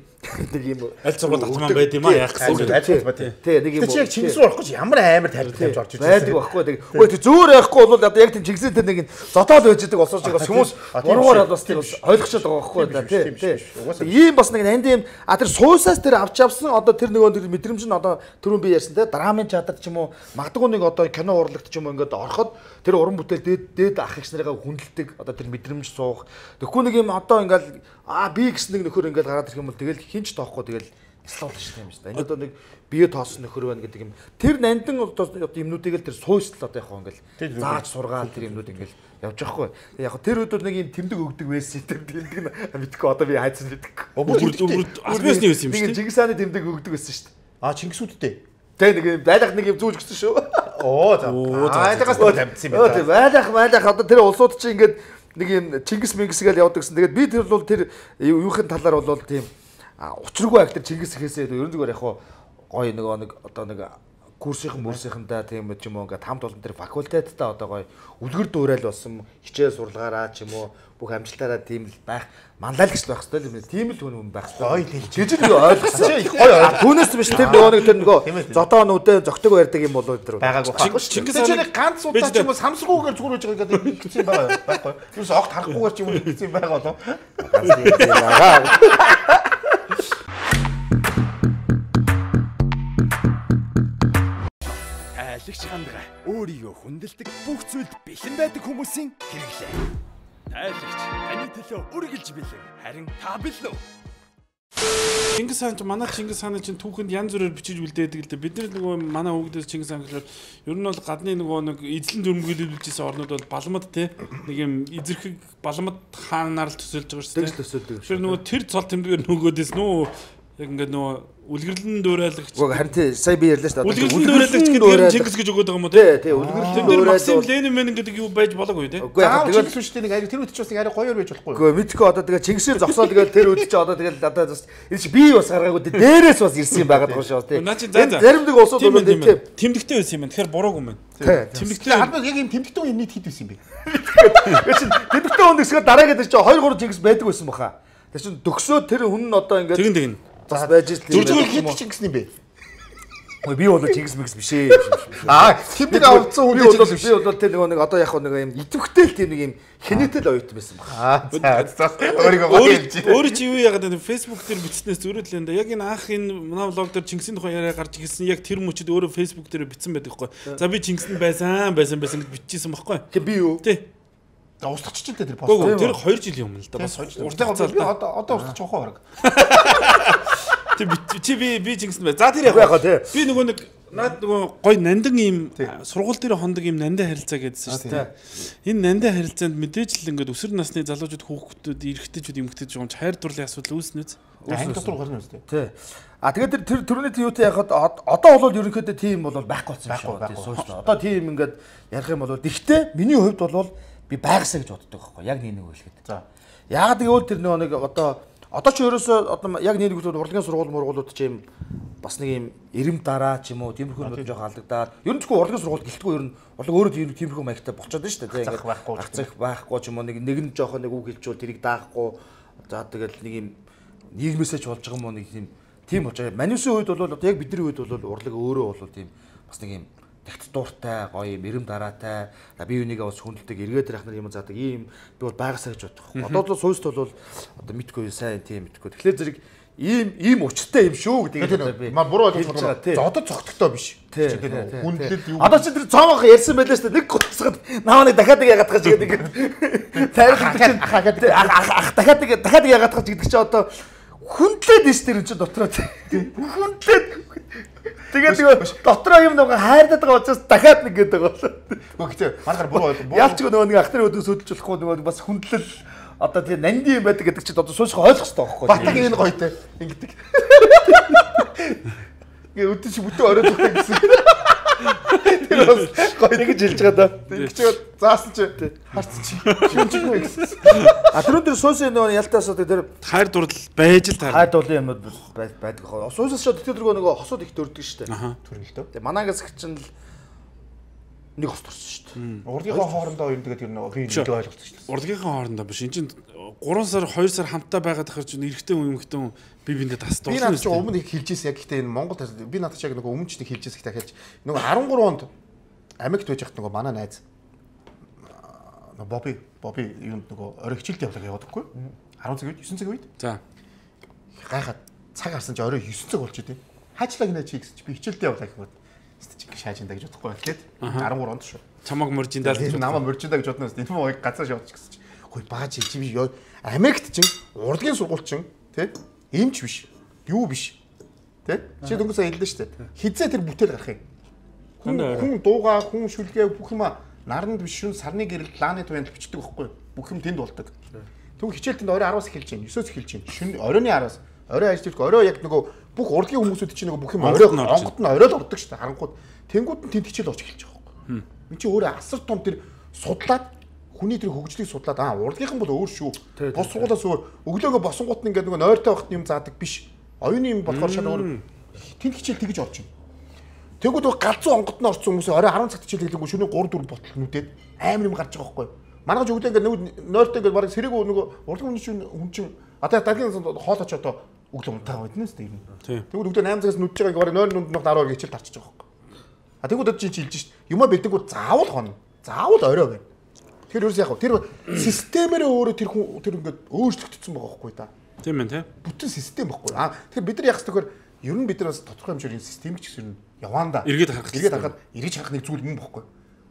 нэг юм аль сургууль автоман байд юм а яах гэсэн. Аль сургууль байд. Тий, нэг юм. Тэр чинь Чингис руу орохгүй ямар амар тайлбар тавьж орж ирж байсан. Байдаг байхгүй. Үгүй тэр зөөр яахгүй бол одоо яг тийм Чингисийн тэр нэг зодоод байж байгаа улсууч бас хүмүүс буруугаар бас тийм ойлгочод байгаа байхгүй да тий. Ийм бас нэг нанд юм а тэр суусаас тэр авч авсан одоо тэр нөгөө мэдрэмж нь одоо түрүүн би ярьсан те драмын чадар ч юм уу магадгүй нэг одоо кино урлагт ч юм уу ингээд ороход тэр уран бүтээл дээд дээд ах эгч нарыгаа хүндэлдэг одоо тэр мэдрэмж суух. Тэгэхгүй нэг юм одоо ингээл аа би гэсэн нэг нөхөр ингээл гараад ирэх юм бол тэгэл хинч тоохгүй тэгэл слоул шүү дээ юм шүү дээ. Энэ одоо нэг бие тоосон нөхөр байна гэдэг юм. Тэр нандин одоо юмнуудыг л тэр суйсл одоо яг хоо ингээл зааж сургаал тэр юмнууд ингээл явж байгаа хгүй. Яг тэр өдөр нэг юм тэмдэг өгдөг байсан тэр тэмдэг мэдхгүй одоо би хайцсан гэдэг. Албасны байсан юм шүү дээ. Чингис хааны тэмдэг өгдөг байсан шүү дээ. Аа Чингисүүдтэй. Тэ нэг байлах нэг юм зүүж гисэн шүү. Оо за. Айлгаас тавьдсан юм байна. Байлах байлах одоо тэр улсууд чинь ингээд нэг юм Чингис Мингис гээл явдаг гэсэн. Тэгээд би тэр бол тэр юухийн талаар бол тийм учиргүй актер Чингис ихээсээ ерөн зүгээр яг гоё нөгөө нэг одоо нэг курсийнхан мөрсийнхандаа тийм ч юм уу ингээд хамт олон тэр факультеттаа одоо гоё үлгэр дуурайл болсон хичээл сурлагаараа ч юм уу бүх амжилтаараа тийм л байх манлайлагч байх хэрэгтэй юм. Тийм л хүн байх хэрэгтэй. Жижиг л ойлгосон. Гоё. Түүнээс биш тэр нөгөө нэг тэр нөгөө зодоо нүдэ зөгтөг барьдаг юм болоо тэр байгаагүй. Чингис хааны ганц удаа ч юм уу самсргуугаар зүгээр үж байгаа гэдэг хэлсэн юм байгаа байхгүй. Юус огт харахгүйгээр ч юм уу хэлсэн юм байгаа болоо. Ганц тийм байгаа. Тайлагч хандгаа өөрийгөө хүндэлдэг бүх зүйлд бэлэн байдаг хүмүүсийн хэрэглээ. Тайлагч таны төлөө үргэлж бэлэн. Харин та бэлэн үү? Чингис хаан ч манай Чингис хааны чинь түүхэнд янз бүрээр бичиж үлдээдэг л дээ. Бид нар нөгөө манай хүүхдээс Чингис хаан гэхээр ер нь бол гадны нөгөө нэг эзлэн дүрмгийлүүлжсэн орнууд бол балмад те нэг юм эзэрхэг балмад хаанаар л төсөөлж байгаа шүү дээ. Төсөөлдөг. Тэгэхээр нөгөө тэр цол тэмдгээр нөгөөдөөс нөө яг ингээд нөгөө үлгэрлэн дуурайлагч. Уг харин тий сая би ярьлаа шүү дээ. Үлгэрлэн дуурайлагч гэдэг нь Чингис гэж өгöd байгаа юм уу те? Тий, тий үлгэрлэн дуурайлагч. Максим Ленин мэн гэдэг юу байж болоогүй те? Үгүй яг тэгээд л шүү дээ нэг ари тэр үед ч бас нэг ари гоёор байж болохгүй. Үгүй мэдгүй одоо тэгээд Чингисээр зогсоо тэгээд тэр үед ч одоо тэгээд одоо энэ чи би бас гаргаагүй дээрээс бас ирсэн юм байгаад байгаа шүү дээ. Заримдаг улсууд бол тийм тэмдэгтэй байсан юм байна. Тэгэхээр буруугүй юм байна. Тэмдэгтэй албад яг юм тэмдэгтэй үе нийт хэд байсан юм бэ? Тэгээд чи тэмдэгтэй хүн гэсгээр дараа гэдэг чи хоёр гурван Чингис байдаг байсан баха. Тэр чин төгсөө тэр хүн нь одоо ингээд тэгин тэгин бас байж л тийм. Зүрхүүл хэд Чингис юм бэ? Ой би бол Чингис мэгс биш ээ. Аа тэмдэг авцсан хүн би бол би бол тэр нэг одоо яг нэг юм идэвхтэй л тийм нэг юм хэнэтэл оюутан байсан баха. Аа за өөрийгөө бодож. Өөрөө чи юу яагаад энэ Facebook дээр бичснээс зүрхлээ энэ яг энэ анх энэ манай влог дээр Чингисийн тухай яриа гарч ирсэн яг тэр мөчөд өөрөө Facebook дээр бичсэн байдаг хгүй. За би Чингисэнд байсан байсан байсан гэж биччихсэн байхгүй. Тэг би юу? Тий. Устгах ч тэр пост. Тэр хоёр жилийн өмнө л да бас уртаа би одоо одоо устгах жоохоо баг. Чи чи би би Чингисэнд бай. За тэр яг би нөгөө нэг наад нөгөө гой нандин ийм сургууль дээр хондог ийм нандин харилцаа гэдсэн шүү дээ. Энэ нандин харилцаанд мэдээж л ингээд өсвөр насны залуучууд хүүхдүүд эрэгтэйчүүд эмэгтэйчүүд жоомч хайр дурлалын асуудал үүснэ үз. Анги дотор гарна үстэй. Тий. А тэгээд тэр төрөний юутай яхад одоо бол ерөнхийдөө тийм бол байхгүй болсон байхгүй шүү. Одоо тийм ингээд ярих юм бол гэхдээ миний хувьд бол би байгасаа гэж боддог байхгүй яг нэг нэг хэлгээд. За. Яагаад гэвэл тэр нэг одоо одоо ч ерөөсөө одоо яг нэг нэг урлагийн сургууль мургуулууд ч юм бас нэг юм эрэм дараа ч юм уу тиймэрхүү юм жоох алдагдаад ер нь зөвхөн урлагийн сургууль гэлтгүй ер нь урлаг өөрөө тиймэрхүү маягтай болчиход байна шүү дээ. Ингээд байхгүй гацах байхгүй ч юм уу нэг нэг нь жоох нэг үг хэлжүүл тэрийг даахгүй за тэгэл нэг юм нийгмээсээ ч болж байгаа юм уу нэг тийм тийм болж байгаа. Манюсын үед бол одоо яг бидний үед бол урлаг өөрөө бол тийм бас нэг юм тэгт дууртай гоё юм эрэм дараатай би юунийгээ бас хүндэлдэг эргээд ирэх нар юм заадаг ийм би бол байгасаа гэж боддог. Одоо бол сууст бол одоо мэдгүй сайн тийм мэдгүй. Тэгэхээр зэрэг ийм ийм учиртай юм шүү гэдэг би маа буруу ойлгож байгаа. За одоо цогтгтой биш. Хүндлэл юу. Одоо чи тэр цоомох ярьсан байлаа шүү дээ. Нэг гоцсод наваа нэг дахиад яагаад тахаж гэдэг. Тайрах ах дахиад дахиад яагаад тахаж гэдэг чи одоо хүндлээд биш тэр чи дотроо хүндлээд тэгээд нөгөө дотроо юм нөгөө хайрдаад байгаа учраас дахиад нэг гэдэг байгаа болоо. Гэхдээ манайхаар буруу ойлгоо. Ялч нөгөө нэг ах нар өдөөс хөдөлж болохгүй нөгөө бас хүндлэл одоо тийм нанди юм байдаг гэдэг чинь одоо суушх ойлгох хэрэгтэй байхгүй. Батаг энэ гоётэй ингэдэг. Гээ өдөөс бүтэн оройд өгөх гэсэн. Тэр бас гоё нэг хэлж байгаа да. Тэгж заасан чи харцсан чи. Шинжгүй гэсэн. А түрүү тэр суус нөгөө ялтаасаа тэр хайр дурлал байж л таар. Хайр дурлалын юмуд байдаг хоо. Суусаас шууд тэр нөгөө хосууд их дөрдөг шүү дээ. Төрөлтөө. Тэгээ манаагаас их чинь л нэг хос турсан шүү дээ. Урлагийнхаа хоорондоо ер нь тэгээд ер нь би нэг ойлгосон шүү дээ. Урлагийнхаа хоорондоо биш. Энд чинь гурван сар хоёр сар хамтаа байгаад ахаар чинь эрэгтэй хүн эмэгтэй хүн би биндээ тас дуусна. Би надад ч өмнө их хэлжсэн яг гэхдээ энэ Монгол би надад ч яг нөгөө өмнө ч нэг хэлжсэн их дахиад нөгөө арван гурван онд Америкт байж хат нөгөө манай найз нөгөө Боби Боби юунд нөгөө орой хичээлд явлаа яваадаггүй. арван цаг үед девять цаг үед. За. Гайхаад цаг харсан чи орой девять цаг болчих тийм. Хаачлаа гинэ чи гэсэн чи би хичээлд явлаа гэхүүд стичиг шаажинда гэж бодохгүй байхлаад арван гурван онд шүү. Чамаг мөржиндаа л намаа мөржиндаа гэж бодноос энэ муу газар шавч гэсэн чи. Хөөе бааж чи би Америкт чинь урлагийн сургууль чинь тий эмч биш. Юу биш. Тэ? Чи дөнгөсөө хэллээ шүү дээ. Хизээ тэр бүтээл гарах юм. Хүн хүн дуугаа, хүн шүлгээ бүх юма наранд биш шүн сарны гэрэл лааны туянд бичдэг байхгүй. Бүх юм тэнд болдог. Түн хичээлтэнд орой араас эхэлж байна. девять-өөс эхэлж байна. Шүн оройны араас. Орой ажиллаж орой яг нөгөө бүх урлагийн хүмүүсүүд чинь нөгөө бүх юм орой онгот нь орой л ордог шүү дээ. Харангууд тэнгууд нь тэнд хичээл очиж эхэлж байгаа байхгүй. Энд чи өөрөө асар том тэр судлаад хүний тэр хөгжлийг судлаад аа урлагийнхан бол өөр шүү. Бос сургуулаас өөр өглөөгөө босонгууд нь ингээд нөгөө нойртой багт юм заадаг биш. Оюуны юм болохоор шал өөр тэнд хичээл тэгж орж байна. Тэгвэл галзуу онгот нь орсон хүмүүс орой арван цагт чийлэглэнгүү шөнө гурав дөрөв ботол нүдээд амар юм гарч байгаа байхгүй. Манайх ч өгдөө ингээд нойртой ингээд бараг сэрэг нөгөө урлагийн хүн чинь хүн чинь одоо даргийн хоолооч одоо өглөө унтаагаа байднаа шүү дээ. Тэгвэл өглөө восемь цагаас нүдж байгааг бараг нойр нүд нөх дараагаар хичээл тарчиж байгаа байхгүй. А тэгвэл одоо чи чилж шít. Юмаа бэлдэнгүү заавал хонно. Заавал орой байна. Тэр ерөөс яг тэр системээрээ өөрөө тэр хүн тэр ингээд өөрчлөгдсөн байгаа байхгүй да. Тийм ээ, тийм. Бүтэн систем байхгүй. А тэгэхээр бид нар яг зөвхөн ер нь бид нар бас тодорхой хэмжээний систем ч гэсэн яваанда. Эргээд харах. Эргээд харахад эргэж харах нэг зүйл юм байхгүй.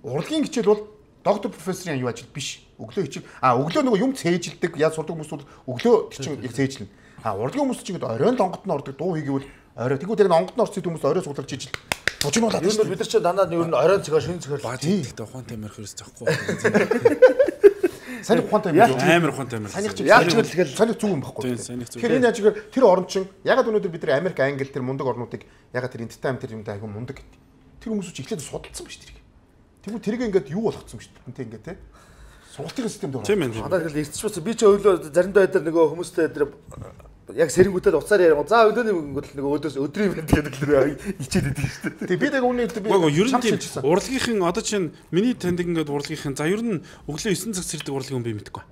Урлагийн хичээл бол доктор профессорын юу ажил биш. Өглөө хичээл а өглөө нөгөө юм цээжилдэг яаж сурдаг хүмүүс бол өглөө чинь яг цээжилнэ. А урлагийн хүмүүс чинь ингээд оройн онгот нь ордог дуу хийгээвэл орой тэгвэл тэр онгот нь орсон хүмүүс орой суулгаж ижил. Бужигнуулаад. Юу нь бид нар чинь дандаа ер нь оройн цэгээ шин цэгээр баа тийхтэй ухаантай амир хөрс захгүй. Сайн ухаантай амир амар ухаантай амир. Санийх чинь яаж ч тэгэл санийх зүг юм байхгүй. Тэгэхээр энэ яаж ихээр тэр орн чинь ягаад өнөөдөр бид нар Америк, Англи тэр мундаг орнуудыг ягаад тэр entertainment тэр юм даа айгүй мундаг гэдэг. Тэр хүмүүс чинь эхлээд судалсан ба ш тэрийг. Тэгвэл тэрийг ингээд юу болгоцсон ба ш тэрнтэй ингээд те. Сургалтын системд орно. Тийм ээ. Одоо тэгэл ирчих би ч өглөө заримдаа өдөр нөгөө хүмүүстэй тэр яг сэрэнгүүтэл уцаар яриа. За өдөөний мөнгө нөгөө өдөөс өдрийн мэд гэдэг л ичээд идэг шүү дээ. Тэг би яг үүний би ер нь тийм урлагийнхан одоо чинь миний таньдаг ингээд урлагийнхан за ер нь өглөө нine цаг сэрдэг урлагийн хүн би мэдэхгүй.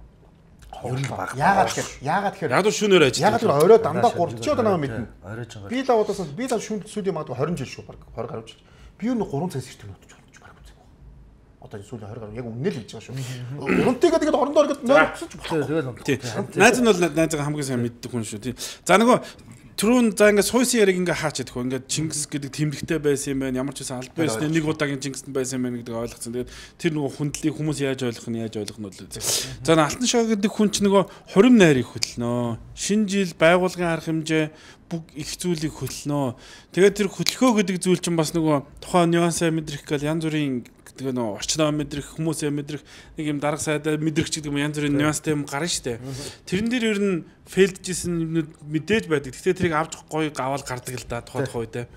Ер нь баг. Яагаад тэгэхээр яагаад тэгэхээр яг шөнөөр ажил. Яагаад тэр орой дандаа гурав чи одоо намайг мэднэ. Орой ч байгаа. Би л удаас би л шүн сүүлийн магадгүй twenty жил шүү баг twenty гаруй жил. Би юу нэг three цагаас ирдэг нөтж болж баг үзег. Одоо сүүлийн twenty гаруй яг үнэ л хэлж байгаа шүү. Урантайгаа тэгээд орондоо ингээд нойрсож болох. Тийм. Найз нь бол найзгаа хамгийн сайн мэддэг хүн шүү. Тийм. За нөгөө түрүүн за ингээд суусын яриг ингээд хаач чадах. Ингээд Чингис гэдэг тэмдэгтэй байсан юм байна. Ямар ч байсан аль байсан нэг удаагийн Чингистэй байсан юм байна гэдэг ойлгоцсон. Тэгээд тэр нөгөө хүндлийг хүмүүс яаж ойлгох нь яаж ойлгох нь бол. За Алтан шаа гэдэг хүн ч нөгөө хурим найрыг хөтлөнө. Шинэ жил байгуулгын арга хэмжээ бүх их зүйлийг хөтлөнө. Тэгээд тэр хөтлөхөө гэдэг зүйл чинь бас нөгөө тухайн нюансаа мэдрэх гэл янз бүрийн тэгээ нөө орчноо мэдрэх хүмүүсээ мэдрэх нэг юм дарга сайдаа мэдрэх ч гэдэг юм янз бүрийн нюанстай юм гарна штэ. Тэрэн дээр ер нь фейлджсэн юмнууд мэдээж байдаг. Гэхдээ тэрийг авч гоё гавал гардаг л да тухайн тухай үедээ.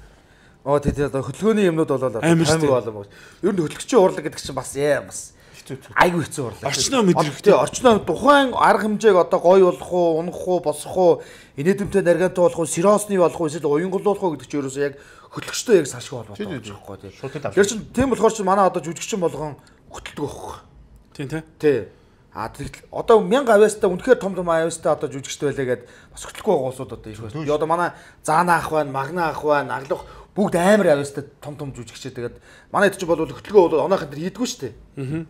Оо тий тий одоо хөдөлгөөний юмнууд болоо амар болоо. Ер нь хөдөлгөгчийн урлаг гэдэг чинь бас яа бас айгүй хэцүү урлаг. Орчноо мэдрэх тий орчноо тухайн арга хэмжээг одоо гоё болох уу, унах уу, босох уу, инээдэмтэй наргантай болох уу, сиросны болох уу, эсвэл уянгуулуулах уу гэдэг чинь ерөөсөө яг хөдөлгөгчтэй яг салшгүй холбоотой байгаа байхгүй тий. Тэр чинь тийм болохоор чинь манай одоо жүжигчин болгон хөтөлдөг байхгүй. Тийм тий. Тий. А тэгэл одоо мянга авьяастай үнэхээр том том авьяастай одоо жүжигчтэй байлаа гэд бас хөтлөхгүй байгаа улсууд одоо их байна. Одоо манай Заана ах байна, Магна ах байна, Аглах бүгд амар авьяастай том том жүжигчтэй. Тэгээд манай хэд ч бол хөтлөгөө бол оноохын тэр хийдгүү шүү дээ. Аа.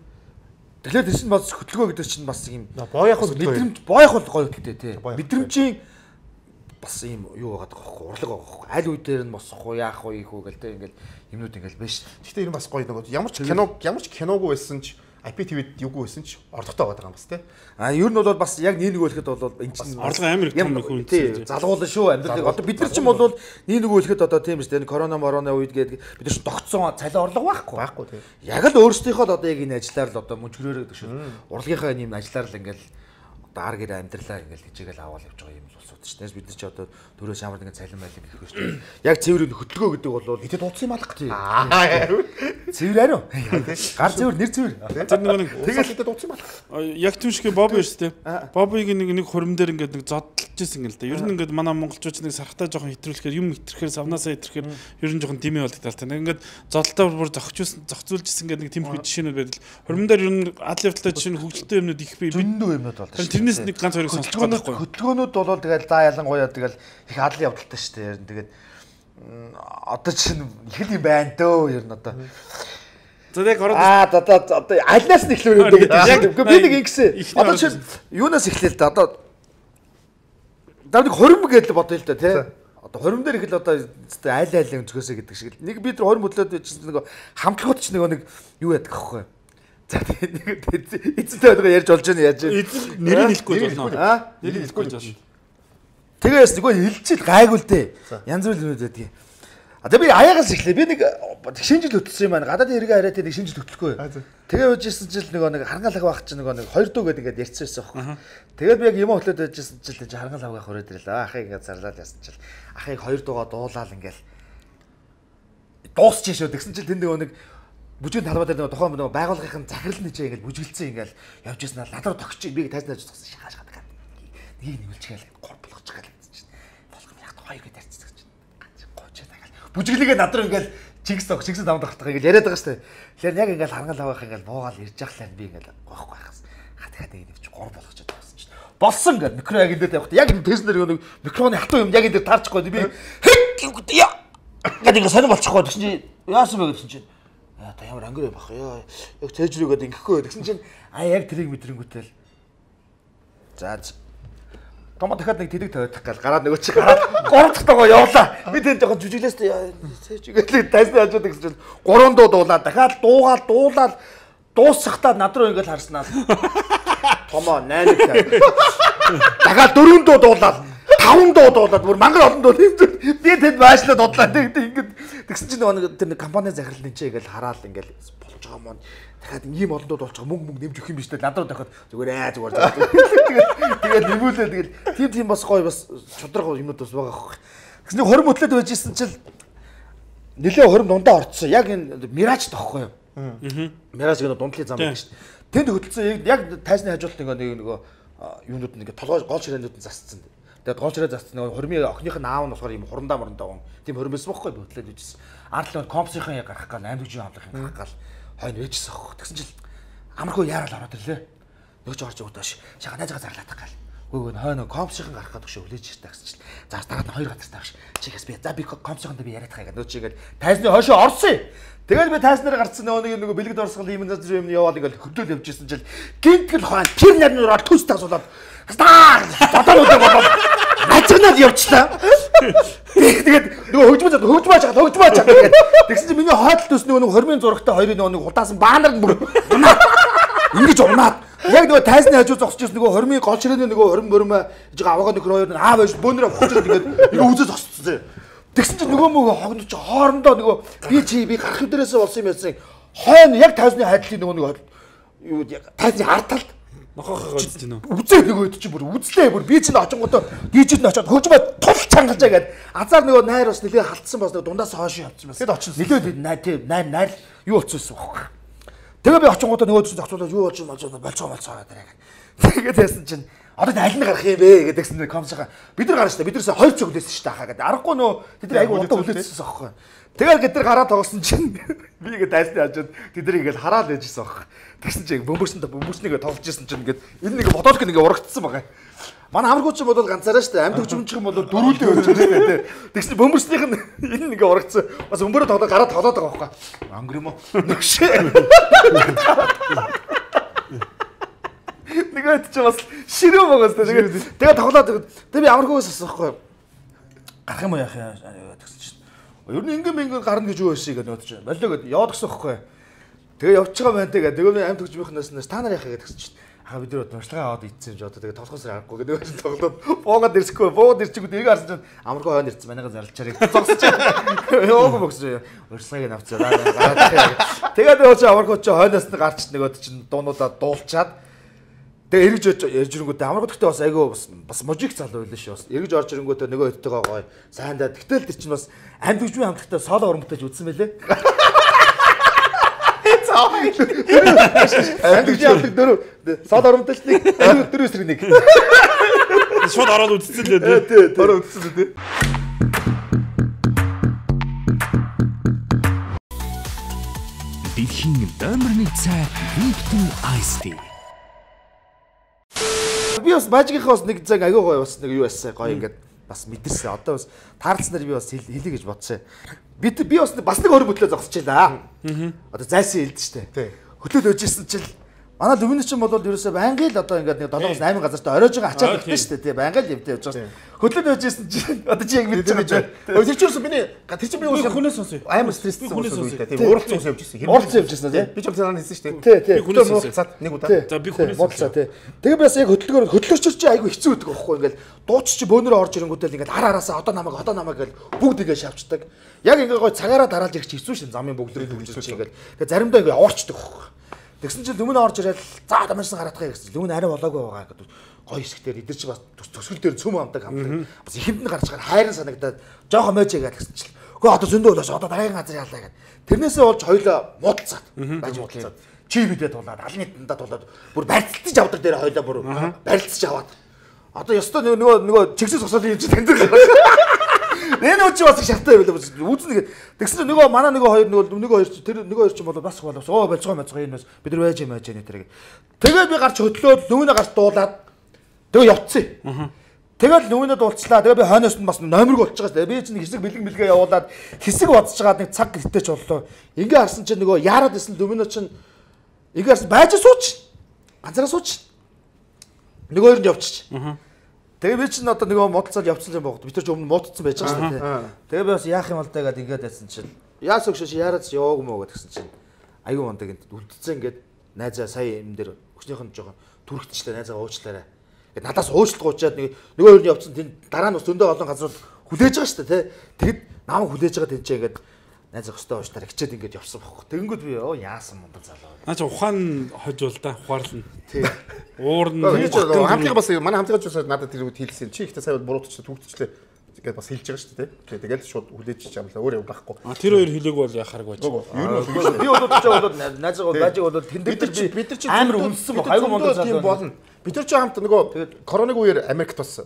Тэгэхээр тэр чинь бас хөтлөгөө гэдэг чинь бас юм боёх мэдрэмж боёх бол гоё хөтөлтэй тий. Мэдрэмжийн бас юм юу байгаа байхгүй урлаг байгаа байхгүй. Аль үе дээр нь босох уу, яах уу, ийх үү гэл тэ ингээл юмнууд ингээл биш. Гэхдээ энэ бас гоё нэг ямар ч кино ямар ч киногүй байсан ч ай пи ти ви-д юугүй байсан ч орлоготой байгаа юм бас тий. А ер нь бол бас яг нэг нэг хэлэхэд бол энэ чинь орлого амар том хүн тий залгуулна шүү амьдрал. Одоо бид нар чинь бол нэг нэг хэлэхэд одоо тийм шүү дээ. Корона мороны үед гээд бид нар чинь тогтсон цалин орлого байхгүй. Байхгүй тий. Яг л өөрсдийнхөө л одоо яг энэ ажиллаар л одоо мөнчгөрөөрөө гэдэг шүү. Урлагийнхаа энэ юм ажиллаар л ингээл одоо ар гэр амьдралаа ингээл хичээгээл аваад явж байгаа юм улсууд шүү дээ. Бид нар чи одоо төрөөс ямар нэгэн цалин байлиг гэх шүү дээ. Яг цэврийн хөдөлгөө гэдэг бол идэд дуудсан юм алга. Аа цэвэр ариу. Гар цэвэр, нэр цэвэр. Тэр нэг тэгэл идэд дуудсан юм алга. Яг тийм шиг Боби шүү дээ. Бобиг нэг нэг хурим дээр ингээд нэг зодтолж ирсэн гэл дээ. Ер нь ингээд манай монголчууд нэг сархтаа жоохон хэтрүүлэхээр юм хэтрэхээр савнаасаа хэтрэхээр ер нь жоохон дими болдог тал та. Ингээд зодтолтоо бүр зохицуулсан зохицуулжсэн гэдэг нэг тийм их жишээнүүд байдаг. Хурим дээр ер нь адал явдалтай жишээ нь хөгжилтэй юмнууд их бий. Зөндөө юмнууд болдог. Тэрнээс нэг ганц хоёрыг сонсох байхгүй. Хөдөлгөөнүүд бол тэгэл за ялангуяа тэгэл их адал явдалтай шүү дээ. Ер нь тэгээд одоо чинь их л юм байна дөө ер нь одоо. За яг ороод аа одоо одоо альнаас нь эхлэв юм гэдэг. Яг би нэг ингэсэн. Одоо чинь юунаас эхлэв л да. Одоо давдаг хорим гэдэл бодъё л да тий. Одоо хорим дээр их л одоо айл айл өнцгөөсөө гэдэг шиг. Нэг би тэр хорим хөдлөөд чинь нэг хамтлагууд ч нэг нэг юу яадаг аахгүй. За тэгээд эцэнтэй байгаа ярьж болж байна яаж вэ? Нэрийг хэлэхгүй болно. Аа? Нэрийг хэлэхгүй болно. Тэгээс нөгөө хэлчихэл гайгүй л дээ. Янз бүр юмуд байдаг. А тэгээ би аяагаас эхлэе. Би нэг шинжил хөтлсөн юм байна. Гадаад хэрэгэ хараад нэг шинжил хөтлөхгүй. Тэгээ уужсэн чил нөгөө нэг харгалаг байх чинь нөгөө нэг хоёр дуу гэдэг ингээд ярьсан байсан байхгүй. Тэгээд би яг юм хөтлөөд байжсэн чил харгалаг байх өрөөд ирлээ. Ахыг ингээд зарлаад ясан чил. Ахыг хоёр дуугаа дуулаад ингээд дуусчих шүү. Тэгсэн чил тэнд нөгөө нэг бүжгийн талбай дээр нөгөө тухайн нөгөө байгууллагын захирал нэчээ ингээд бүжгэлцэн ингээд явж ирсэн надад тогч би тайзнаж зогсон шахаж гадаг. Нэг нэмэлчгээл гор болгож байгаа л гэсэн чинь. Болгоом яг хоёр гээд ярьцсан гэж. Ганц гоочоо тагаал. Бүжиглэгээ над руу ингээд Чигс тох чигс давд ахтах ингээл яриад байгаа шүү дээ. Тэгэхээр яг ингээл харгал авах ингээл буугаал ирж явахлаа би ингээл гоохгүй байхаас. Хатгаад нэг чи гур болгочод байсан шүү дээ. Болсон гэл микро яг энэ дээр явахта яг энэ тест дээр нэг микрофоны хатуу юм яг энэ дээр таарчихгүй би гэдэг яа. Гэдэг сонир болчихгүй гэсэн чи яасан бэ гэсэн чинь яа та ямар ангир байх ёо. Яг цээжрүүгээд ингэхгүй гэсэн чинь а яг тэрийг мэдрэнгүүтэл за Томо дахиад нэг тэлэг тавиадах гал гараад нөгөө чи гараад гурав дахь тагоо явлаа. Би тэнд жоохон жүжиглээс цээжгээд тайсны хажууд гэсэн чинь гурван дуу дуулаад дахиад дуугаал дуулаад дуусахтаа над руу ингээд харснаа. Томо найныг дахиад дөрвөн дуу дуулаад таван дуу дуулаад бүр мангар олон дуу би тэнд баашлаа дудлаа. Ингээд тэгсэн чинь нөгөө тэр нэг компани захирлын чи ингээд хараал ингээд болж байгаа мөн. Дахиад ийм олон дууд болчих мөнгө мөнгө нэмж өгөх юм биш үү? Над руу дахиад зүгээр аа зүгээр. Тэгээд тэгээд нэмүүлээ тэгээд тийм тийм бас гоё бас чудраг юмнууд бас байгаа хөх. Тэгсний хорим хөтлөд байжсэн чинь нэлээ хорим дундаа орцсон. Яг энэ Мираж тоххой юу? Аа. Мираж гэдэг дундлын зам байдаг шүү дээ. Тэнд хөтлөсөн яг тайзны хажуулт нэг нөгөө юунууд нэг толгой гол ширээнүүд нь засцсан. Тэгээд гол ширээ засцсан нөгөө хоримын охиных нь аав нь болохоор юм хурандаа мурандаа гон. Тийм хорим байсан байхгүй хөтлөд байжсэн. Ардлын компсийн яг гарах гал аймаг жүжиг хамлах юм гарах гал хойно ээжсэн аах. Тэгсэн чил амархуу яарал ороод ирлээ. Нөгөө ч орж өгдөөш. Шага найзгаа зарлаад гал. Гүйг нь хойно компсийн гарах гэдэг шиг хүлээж иртэ гэсэн чил. За дараа нь хоёр газар тааш. Чигээс би за би компсийн дээр би яриад байгаа гэдэг. Нөгөө чигээл тайзны хойшоо орсон. Тэгэл би тайзнаар гарцсан нөгөө нэг нөгөө бэлгэд орсгол юм заз юм яваад ингээл хөдлөөл явжсэн чил. Гинтгэл хойно тэр нарны ороод төс тасуулаад. Стаа! Бодоолоо бодоо. Ачнаад явчлаа. Тэгээд нөгөө хөгжмөж хөгжмөөж хаа хөгжмөөж хаа тэгээд тэгсэн чинь миний хойдол төс нөгөө хоримын зурагтай хоёрын нөгөө удаасан баанар бүр ингэж унаад яг нөгөө тайзны хажуу зогсож ирсэн нөгөө хоримын гол ширээний нөгөө хорим мөрмө жиг аваагаа нөхөр хоёр нь аа байж бөөнөрө хөгжөөд ингээд ингээ үзэж зогсчихсон. Тэгсэн чинь нөгөө мөгөө хогнож хоорондоо нөгөө би чи би гарах дээрээс болсон юм яасан хойно яг тайзны хайдлын нөгөө нэг юу тайзны ард талд нохохоо үзэж байна уу? Үзээ нөгөө чи бүр үзлээ бүр би чинь очингуудаа дижид нь очиод хөгжмөө тул чангалжаа гээд азар нөгөө найр бас нэлээ халтсан бас нөгөө дундаас хойш явчихсан бас. Тэгэд очиж нэлээ найр тийм найр найр юу болчихсон байхгүй. Тэгээ би очингуудаа нөгөө чинь зохицуулаад юу болж болж болцоо болцоо гэдэг. Тэгээд яасан чинь одоо аль нь гарах юм бэ гэдэгсэн нэг комсоо бид нар гарна шүү дээ. Бид нэрсээ хоёр цог үлээсэн шүү дээ хаа гэдэг. Аргагүй нөө тэд нар айгу удаа үлээсэн байхгүй. Тэгээд гэд нар гараад тоглосон чинь би ингээд тайсны хажууд тэд нар ингээд хараал яжсэн байхгүй. Тэгсэн чинь бөмбөрсөнд бөмбөрснийгээ тоглож ирсэн чинь ингээд энэ нэг бодолк нэг урагдсан байгаа. Манай амаргууч юм бол ганцаараа шүү дээ. Амьд хөгжмөнчих юм бол дөрүүлээ өгч байгаа тийм. Тэгсэн бөмбөрснийх нь энэ нэг урагдсан. Бас бөмбөрөө тоглоод гараад тоглоод байгаа байхгүй. Ангар юм уу? Нэгшээ. Нэгэд ч бас ширүү байгаас тэгээд тэгээд тоглоод тэгээд би амаргуугаас асуухгүй. Гарах юм уу яах юм тэгсэн чинь. Ер нь ингээм ингээм гарна гэж юу байсан гэдэг бодож байна. Болоо гэд яваад гсэн байхгүй. Тэгээ явж байгаа байна тэгээд тэгээ би амьд хөгжмийнхнаас та нар яах гэдэг гэсэн чинь. Аа бид нар уншлагаа аваад ийдсэн юм жоо тэгээ толгоос харахгүй гэдэг нь тоглоод буугаад ирсэхгүй буугаад ирчихгүй тэрийг харсан чинь амаргүй хойно ирсэн манайгаа зарлчаарыг зогсож ёог боксоо урьслагыг авцгаа тэгээд өөч амаргүй чи хойноос нь гарч нөгөөд чинь дуунуудаа дуулчаад тэгээ эргэж ярьж ирэнгүүтээ амаргүй гэхдээ бас айгүй бас бас мужик залуу байлаа шүү бас эргэж орж ирэнгүүтээ нөгөө өдтэйгээ гоё сайндаа тэгтэл тэр чинь бас амьд хөгжмийн хамтлагтай соло уран бүтээж үзсэн байлээ. Амьд хөгжмийн дөрөв сод оромтолч нэг дөрөв эсрэг нэг шууд ороод үзсэн лээ тий ороод үзсэн лээ тий Дэлхийн номер нэг цай Lipton Ice Tea. Би бас мажигийнхоос нэг цаг агай гоё бас нэг юу байсан гоё ингээд бас мэдэрсэн. Одоо бас таарлцнаар би бас хэлье гэж бодсон. Би би бас бас нэг өөр хөтлөө зогсож байлаа. Одоо зайсан хэлдэж штэ. Хөтлөөд өжсэн чил манай дөвний чинь бол ерөөсөө байнга л одоо ингээд нэг долоос восемь газартаа оройж байгаа ачаад байна штэ тий байнга л явдаа явж байгаа. Хөтлөөд өжсэн чинь одоо чи яг мэдж байгаа. Өө тэр чинь ерөөсөө миний тэр чинь би уус хүнээс сонсё. Амар стресстэй болсон үедээ тий ууралцсан ус явж ирсэн. Ууралцсан явж ирсэн тий. Би ч юм санаа хийсэн штэ. Тий тий. Би хүнээс цаад нэг удаа. За би хүнээс бодлоо тий. Тэгээ бас яг хөтлөгөөр хөтлөгчөөр чи айгу хэцүү байдаг байхгүй ингээд дууч чи бөөнөрөө орж ирэнгүүтэл ингээд ар араасаа одоо намайг одоо намайг гэл бүгд игээ шавчдаг. Яг ингээд гой цагаараа дараалж ирэх чи хэцүү шин замын бүгдрийг хөвжүүлж чи ингээд. Тэгээ заримдаа ингээд уурчдаг байхгүй. Тэгсэн чинь Лүмэн орж ирээд за одоо машин гараадгаа гэсэн. Лүмэн арай болоогүй байгаа гэдэг. Гоё хэсгээр эдэр чи бас төсгөл дээр цөм амдаг хамдаг. Бас ихэнд нь гарч байгаа хайрын санагдаад жоохон мэж яагаад гэсэн чинь. Гэхдээ одоо зөндөө болоос одоо дараагийн газар яалаа гэдэг. Тэрнээсээ болж хоёлоо муудалцаад. Баж муудалцаад. Чи бидээ тулаад алны дандаа тулаад бүр барилцаж авдар дээр хоёлоо бүр барилцаж аваад. Одоо ёстой нөгөө нөгөө чигсэс сосол юм чи танд гараад. Энэ үчи бас шалтгаан байлаа. Үүснэ тэгсэн чинь нөгөө манай нөгөө хоёр нөгөө нөгөө хоёр чи тэр нөгөө хоёр чи бол бас болоос. Оо болцгоо болцгоо энэ бас бид нар байж юм байж энэ тэрэг. Тэгээд би гарч хөдлөөд нүүнэ гарч дуулаад тэгээ явцсан. Тэгэл нүүнэ дуулцлаа. Тэгээ би хойноос нь бас номерг болж байгаа шүү дээ. Би чинь хэсэг бэлэг мэлгээ явуулаад хэсэг бодсож байгаа нэг цаг гэртеч боллоо. Ингээ харсан чинь нөгөө яарад исэн дүмнө чинь ингээ харсан байж сууч. Ганцаараа сууч. Нөгөө хоёр нь явчих. Тэгээ би чинь одоо нөгөө модалцаад явцсан юм бохот. Би тэр ч өмнө муудцсан байж байгаа шүү дээ. Тэгээ би бас яах юм бол даа гэдэг ингээд байсан чинь яас өгшөөш яарад яваагүй мó гэдгсэн чинь айгүй мондаг энд үлдсэн ингээд найзаа сая юм дээр өчнийх нь жоохон түрхтчлээ найзаа уучлаарай. Ингээд надаас уучлалт гуйчаад нэг нөгөө хоёр нь явцсан тэнд дараа нь бас зөндөө олон газрууд хүлээж байгаа шүү дээ. Тэгэд намайг хүлээж байгаа тэнцээ ингээд найзаа өстой уучлаарай хичээд ингээд явсан бохоо. Тэгэнгүүт би оо яасан мондаг залуу. Наа чи ухаан хожуул да ухаарлна. Тий. Уур нь хамтлагаа бас манай хамтлагаач бас надад тэр үед хэлсэн. Чи ихтэй сая буруутчлаа түгтчлээ гэдээ бас хэлж байгаа шүү дээ. Тэгээд шууд хүлээж чамлаа өөр юм байхгүй. А тэр хоёр хэлээг бол яхааргүй байж. Ер нь би бол ч бол найзгаа бажиг бол тэн дээр чи бид нар чи амар үнссэн баг айгүй мондог залуу болно. Бид нар ч хамт нөгөө коронавиг үеэр Америкт бас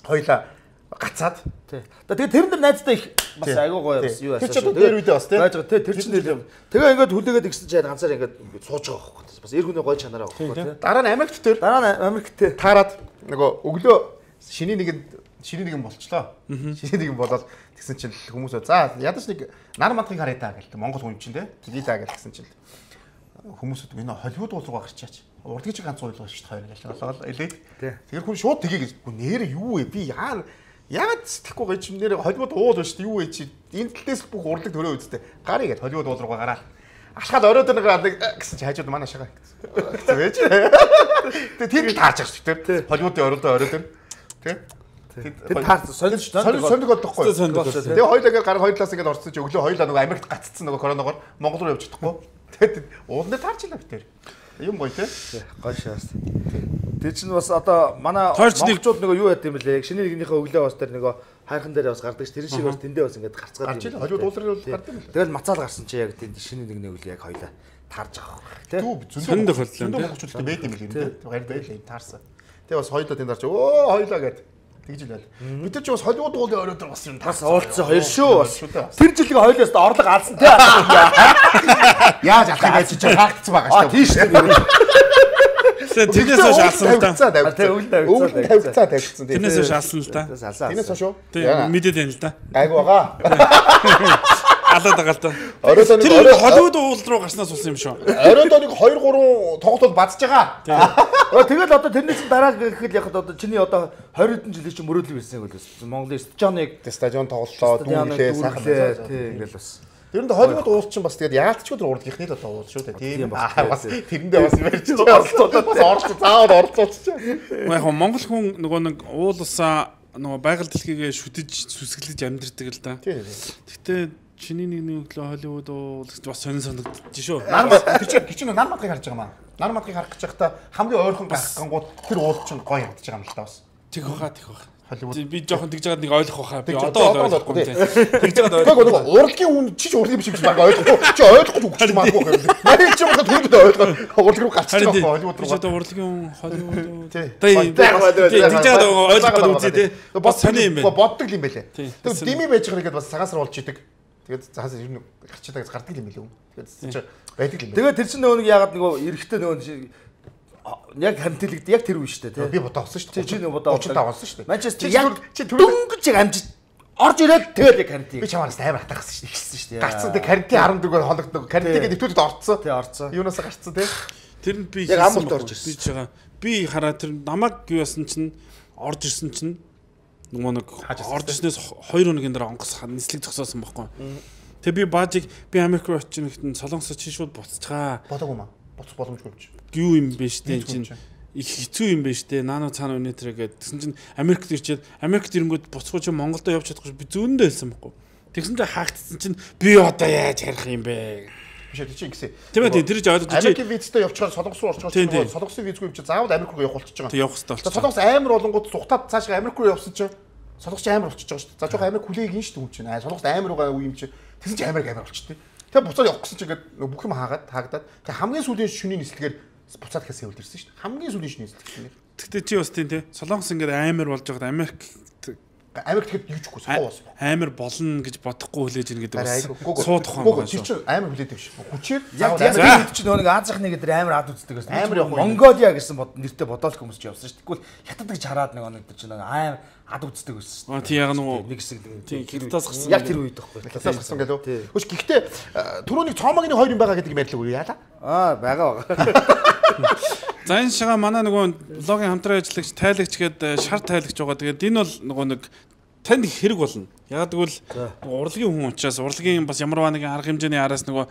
хоёлаа гацаад. Тий. Тэгээд тэрэн дээр найзтай их бас айгүй гоё бас юу асууж. Тэр ч тэр үедээ бас тий. Байж байгаа тий тэр чинь нэр. Тэгээ ингээд хүлээгээд игсэн чинь ганцаар ингээд сууж байгаа байхгүй. Бас эр хүний гоё чанараа байхгүй тий. Дараа нь Америкт тэр. Дараа нь Америкт таарад нөгөө өглөө шиний нэгэнд шиний нэгэн болчлоо. Шиний нэгэн болоод тэгсэн чинь хүмүүс за ядаж нэг нар мандахыг харъя та гэлээ. Монгол хүн чинь тий. Тэгээ та гэлсэн чинь хүмүүсд энэ Холливуд уул руугаа гарчаач. Урдгийн чи ганц уул шүү дээ хоёр гэлээ. Болоод элээд. Тэгэхээр хүн шууд тгий гэж нэр юу вэ? Би яа яагаад сэтгэхгүй гэж нэр Холливуд уул ба шүү дээ. Юу вэ чи? Энэ талдээс бүх урлаг төрөө үсттэй. Гарыг гэж Холливуд уул руугаа гараад. Ашгаад оройд нэг гэсэн чи хажууд манай шагаа. Гэсэн байж. Тэгээ тэр таарч байгаа шүү дээ. Холливуудын оройдоо оройд тэр. Тэ? Тэр таарч сонирч сонирч сонирч бодохгүй. Тэгээ хоёулаа ингээд гар хоёр талаас ингээд орцсон чи өглөө хоёулаа нөгөө Америкт гаццсан нөгөө коронавигоор Монгол руу явж чадахгүй. Тэгээд уулын дээр таарч илаа битэр. Юм гоё те. Гоё шаас. Тэр чинь бас одоо манай монголчууд нөгөө юу яд юм бэлээ. Шинэ нэгнийхээ өглөө бас тэр нөгөө хайрхан дээр бас гардаг ш. Тэр шиг бас тэндээ бас ингээд гарцгаад юм. Холливуд уулын руу гардаг юм. Тэгэл мацаал гарсан чи яг тэнд шинэ нэгний өглөө яг хоёлаа таарж байгаа байхгүй те. Зөндөө тохиолдол юм. Монголчуудтай байд юм бэлээ те. Гар байлаа юм таарсан. Тэгээ бас хоёлаа тэнд харж өө хоёлаа гэд тэгж илээ. Бид нар ч бас Холливуд уулын оройд бас юм бас уулцсан хоёр шүү бас. Тэр жилийн хоёлоос орлого алсан те. Яаж алах юм байж чи хаагдсан байгаа шүү. Аа тийш үү. Тэрнээс хойш алсан л да. Өвгөн тавьцаа тавьцсан. Тэрнээс хойш алсан л да. Тэрнээс хойш үү? Мэдээд байна л да. Гайг байгаа. Алаад байгаа л да. Оройд нэг Тэр Холливуд уул руу гарснаас болсон юм шүү. Оройд нэг хоёр гурван тоглолтод бацж байгаа. Тэгэл одоо тэрнээс дараа гэхэд яг одоо чиний одоо двадцать хэдэн жилийн чинь мөрөөдөл байсан юм бол Монголын стадионыг стадион тоглолоо дүүлээ сайхан тий ингээл бас. Тэр нь Холливуд уул чинь бас тэгээд яалтчгүй тэр урдгийнхний л одоо уул шүү дээ. Тийм бас тэрэндээ бас ярьж оролцоод бас оролцоо заавал оролцооч чинь. Яг Монгол хүн нөгөө нэг уулсаа нөгөө байгаль дэлхийгээ шүтэж сүсгэлж амьдэрдэг л да. Гэтэ чиний нэг өглөө Холливуд уул бас сонин санагдчих шүү. Нар тэр чинь нар мадгийг харж байгаа маа. Нар мадгийг харах гэж байхдаа хамгийн ойрхон гарахгангууд тэр уул чинь гоё явдаж байгаа юм л та бас. Тэг хаа тэг хаа. Холливуд би жоохон тэгж байгаад нэг ойлгох байхаа. Би одоо ойлгохгүй тийм. Тэгж байгаад ойлгохгүй. Урлагийн хүн чи ч урлагийн биш гэж баг ойлгохгүй. Чи ойлгохгүй үгч магадгүй юм. Нарийн ч юм бол түрүүнд ойлгоо. Урлаг руу гарч байгаа Холливуд руу. Чи одоо урлагийн Холливуд. Тийм. Тэгж байгаад ойлгохгүй үзье тийм. Бас сони юм байна. Боддог юм байлээ. Тэгээд дими байж байгаа нэгэд бас цагаасар болж идэг. Тэгээд цаас ер нь гарчдаг гардаг юм билүү. Тэгээд чи байдаг юм. Тэгээд тэр чинь нөгөө нэг яагаад нөгөө эрэхтэй нөгөө яг хамтлагд яг тэр үе шүү дээ тий. Би бодоо олсон шүү дээ. Чи нэг бодоо очиж тавсан шүү дээ. Манчестер яг чи дөнгөж яг амжиж орж ирээд тэгэл яг карантин. Би чамаас амар хатахсан шүү дээ. Ихсэн шүү дээ. Гарцсан дээ карантин арван дөрвөөр хологддог. Карантингээ нэвтрүүлээд орцсон. Тий орцсон. Юунаас гарцсан тий. Тэр нь би яг амт орж ирсэн. Би байгаа. Би хараа тэр намайг юу яасан чинь орж ирсэн чинь нөгөө нэг орж ирснээс хоёр өдрийн дараа онгоц нислэг зогсоосон байхгүй. Тэгээ би баажиг би Америк руу очиж нэгтэн солонгосоо чи шууд буцчихаа. Бодоогүй маа. Буцах боломжгүй юм чи. Юу юм бэ штэ чинь их хэцүү юм бэ штэ. Нано цаана өнөтрэ гэдэг. Тэгсэн чинь Америкт ирчээд Америкт ирэнгүүт буцахгүй чи Монголдо явж чадахгүй би зүүндээ хэлсэн байхгүй. Тэгсэн чинь хаагдсан чинь би одоо яаж харих юм бэ? Биш ээ чи ингэсэн. Тийм ээ тэр ч ойлгож чи Америкийн визтэй явчихаар солонгос руу орчихоор чи солонгосын визгүй юм чи заавал Америк руу явах болчихж байгаа. Тэг явах хэрэгтэй болчихсон. Солонгос амар болонгууд зүхтаад цаашаа Америк руу явсан чи солонгос амар болчихж байгаа шүү дээ. За жоохон Америк хүлээг ин шүү дээ хүн чинь. Аа солонгос амар байгаа үе юм чи. Тэгсэн чи Америк амар болчихтой. Тэгээ буцаад явах гэсэн чи ингээд бүх юм хаагаад таагдаад тэгээ хамгийн сүүлийн шөнийн нислэгээр буцаад ихээс явуулж ирсэн шүү дээ. Хамгийн сүүлийн шөнийн нислэг чинь. Тэгтээ чи бас тийм тий. Солонгос ингээд амар болж байгаад Америк Америк тэгэхэд юу ч үгүй суу болсон. Амар болно гэж бодохгүй хүлээж ийн гэдэг бас суу тухайн байна. Тэр чинь амар хүлээдэг биш. Хүчээр яг Америк чинь нөгөө Азийнхны гэдэг амар ад үздэг гэсэн. Амар явах. Монголиа гэсэн нэртэй бодоол хүмүүс ч явсан шүү. Тэгвэл хятад гэж хараад нөгөө нэг чинь амар ад үздэг байсан. Аа тий яг нөгөө нэг хэсэг тий хятадаас гарсан. Яг тэр үед байхгүй. Хятадаас гарсан гэлөө. Хөөс гэхдээ түрүүний цоомогны хоёр юм байгаа гэдэг юм ярьлаа үгүй яалаа. Аа байгаа байгаа. За энэ шага манай нөгөө блогийн хамтран ажиллагч тайлагч гээд шар тайлагч байгаа. Тэгээд энэ бол нөгөө нэг танд хэрэг болно. Яг тэгвэл урлагийн хүн учраас урлагийн бас ямарваа нэгэн арга хэмжээний араас нөгөө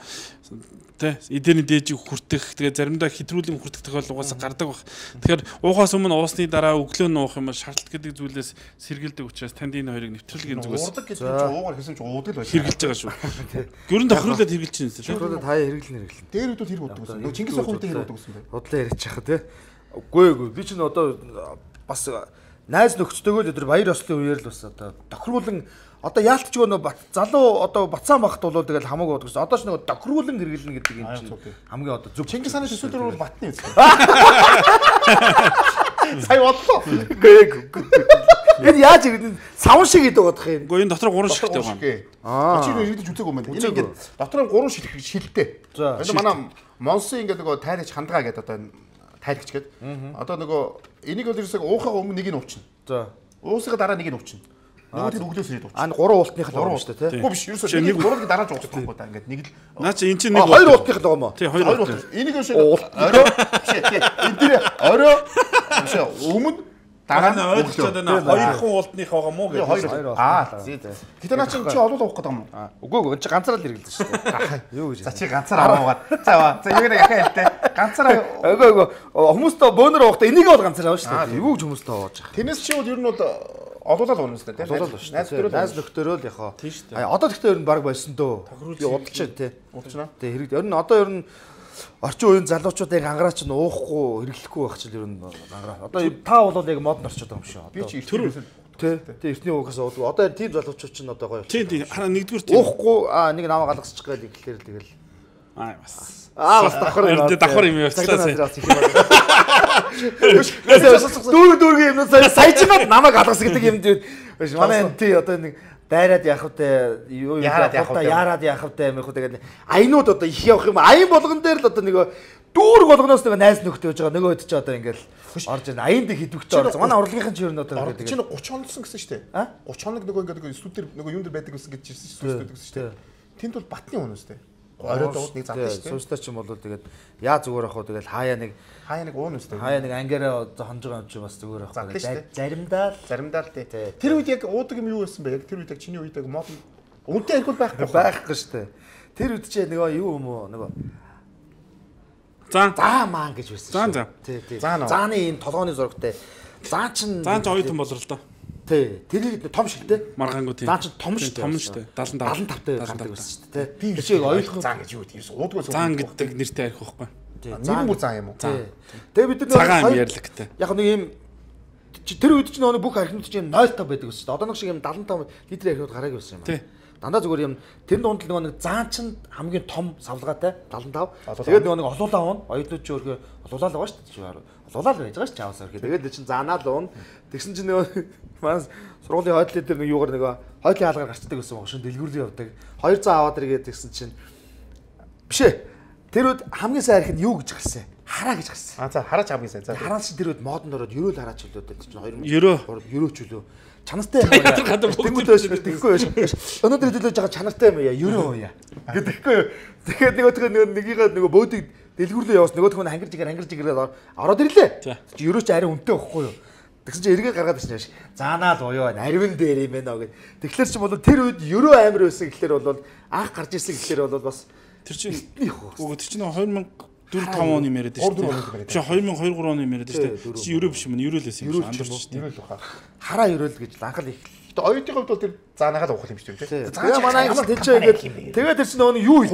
тэ эдэрний дээжийг хүртэх тэгээ заримдаа хэтрүүлэн хүртэх тохиолдол угаасаа гардаг баг. Тэгэхээр уухаас өмнө уусны дараа өглөө нь уух юм бол шаардлага гэдэг зүйлээс сэргийлдэг учраас танд энэ хоёрыг нэвтрүүлгийн зүгээс урдаг гэдэг чинь уугаар хийсэн чинь уудаг л байна. Хэрглэж байгаа шүү. Гөрөнд тохируулаад хэрглэж чинь юм. Тохируулаад хаяа хэрэглэн хэрэглэн. Дээр үдүүд хэрэг уддаг гэсэн. Нөгөө Чингис хаан үедээ хэрэг уддаг гэсэн бай. Худлаа яриач яхаа тий. Үгүй ээ би чинь одоо бас найз нөхцөлтэйгөө л өдөр баяр ёслолын үеэр л бас одоо тохируулан одоо яалтч нөгөө залуу одоо бацаан багт бол тэгэл хамаагүй бодох гэсэн. Одоо ч нөгөө тохируулан хэрэглэнэ гэдэг юм чинь хамгийн одоо зөв. Чингис хааны төсөөлөр бол батны үстэй. Сая бодлоо. Гээ. Энэ яаж ингэ савн шиг гэдэг бодох юм. Гэхдээ энэ дотор гурван шилтэй байна. Аа. Чи иргэдэж үзег юм байна. Энэ ингээд дотор нь гурван шил шилтэй. Энэ манай Монсын ингээд нөгөө тайрагч хандгаа гэдэг одоо тайрагч гэдэг. Одоо нөгөө энийг бол ерөөсөө уухаа өмнө нэг нь уучна. За. Уусгаа дараа нэг нь уучна. Нөгөө тэр өглөөс ирээд уучна. Аа гурван уултных л байгаа шүү дээ тий. Үгүй биш ерөөсөө нэг гурван дараа ч уучих байхгүй да ингээд нэг л. Наа чи эн чинь нэг хоёр уултных л байгаа юм аа. Тий хоёр уулт. Энийг ерөөсөө орой биш тий. Энэ тэр орой биш өмнө дараа нь ойлгочод байна. Хоёр хүн уултных байгаа мó гэж. Хоёр. Аа зээ. Гэтэ наа чи чи олол уух гэдэг юм уу? Үгүй үгүй чи ганцаараа л хэрэглэдэг шүү дээ. Юу гэж. За чи ганцаар аваад. За за юу нэг яхаа хэлтэй. Ганцаараа үгүй үгүй хүмүүстээ бөөнөр уухтаа энийг бол ганцаараа авах шүү дээ. Юу гэж хүмүүстээ ууж байгаа. Тэрнээс чи бол ер нь бол олуулаад уунаас тэ. Олуулаад шүү. Найз нөхөрөө найз нөхөрөө л яхаа. Тийм шүү дээ. Одоо гэхдээ ер нь баг болсон дөө. Би удаж тий. Удажна. Тий хэрэг. Ер нь одоо ер нь орчин үеийн залуучуудыг ангараач нь уухгүй хэрэглэхгүй байх чинь ер нь ангараа. Одоо та бол яг модон орчод байгаа юм шүү. Би чи тэр тий. Тий эртний угаас уудгүй. Одоо тийм залуучууд чинь одоо гоё. Тий тий хараа нэгдүгээр тийм. Уухгүй аа нэг намаа галгасчих гээл ирэхлээр тэгэл. Аа бас. Аа бас давхар юм. Давхар юм явуулчихлаа. Дүүр дүүргийн юм саяжгаад намайг галгас гэдэг юм дээр манай тий одоо нэг дайраад явах үү юу яарад явах үү яарад явах үү мэх үү тэгээд аянууд одоо их явах юм аян болгон дээр л одоо нэг дүүр болгоноос нэг найз нөхдөж байгаа нөгөө хэд ч одоо ингээл орж ийн аян дэг хідвхтэй орсон манай урлагийнхан ч ер нь одоо тэгээд чинь гурван хоногсон гэсэн шүү дээ гурван хоног нөгөө ингээд студид нөгөө юм дээр байдаг гэсэн гэж ирсэн студид гэсэн шүү дээ тэнд бол батны хүн үстэй оройд ууд нэг зам шүү дээ суустаа ч юм бол тэгээд яа зүгээр ах уу тэгээд хаяа нэг хаяа нэг уун үстэй хаяа нэг ангиараа хонж байгаа юм чи бас зүгээр ах уу заримдаа заримдаа л тий тэр үед яг уудаг юм юу байсан бэ яг тэр үед яг чиний үед яг мод үнтэй архил байхгүй байхгүй шүү дээ тэр үед чи нөгөө юу юм уу нөгөө заа заа маан гэж байсан шүү. Заа тий тий. Зааны ийм толгооны зурагтай. Заа чин заа ч оюутан болрол та. Тий. Тэр том шигтэй. Маргаангуу тий. Заа чин том шигтэй. Том шигтэй. седемдесет седемдесет тавтай гардаг байсан шүү дээ. Тий. Тэр чиг оюутан заа гэж юу гэдэг юм. Уудгүй заа гэдэг нэртэй арих байхгүй. Тий. Нэр бүр заа юм уу? Тий. Тэгээ бид нар цагаан ярьлагтай. Яг нэг ийм тэр үед ч нөгөө бүх архинууд чинь ноль та байдаг шүү дээ. Одоо нэг шиг ийм седемдесет тавь литрийн архинууд гараагүй байсан юм аа. Тий. Дандаа зүгээр юм тэр дунд л нөгөө нэг заан чин хамгийн том савлгаатай седемдесет тавь. Тэгээд нөгөө нэг олуулаа уун оюутнууд ч өөрхөө олуулаа л байгаа шүү дээ. Олуулаа л байж байгаа шүү дээ чаавсаар. Тэгээд чинь заанаа л уун. Тэгсэн чинь нөгөө маань сургуулийн хойдлын дээр нэг юугаар нөгөө хойдлын хаалгаар гарчдаг гэсэн юм шин дэлгүүрлээ явдаг. хоёр цаа аваад иргээд тэгсэн чинь биш ээ. Тэр үед хамгийн сайн арх нь юу гэж гарсан? Хараа гэж гарсан. А за хараач хамгийн сайн. За хараач тэр үед модонд ороод ерөөл хараач хөлөөд чинь хоёр ерөө ерөөч хөлөө. Чанартай юм яа. Тэнгүүд байж тэгэхгүй байж. Өнөөдөр хэлүүлж байгаа чанартай юм яа. Ерөө яа. Тэгэхгүй. Тэгэхээр нөгөө нөгөө нэгийгээ нөгөө бөөдийг дэлгүүрлээ яваас нөгөөх нь хангирж игээр хангирж игээр ороод ирлээ. Чи ерөөч арай үнэтэй байхгүй юу? Тэгсэн чи эргээ гаргаад ирсэн яаш. Заанаа л уяа нарвин дээр юм байна гэд. Тэгэхээр чи бол тэр үед ерөө амир байсан гэхэлэр бол анх гарч ирсэн гэхэлэр бол бас тэр чинь үгүй тэр чинь хоёр мянга дөрөв таван оны юм яриад шүү дээ. Чи хоёр мянга хоёр гурван оны юм яриад шүү дээ. Чи ерөө биш юм ерөөлээс юм андуурч шүү дээ. Ерөөл баха. Хараа ерөөл гэж анхал их. Тэгээ оюутны хувьд бол тэр заанаага л уух юм шүү дээ. Тэгээ манай англи тэнцээ ингээд тэгээ тэр чинь нөгөө юу хийх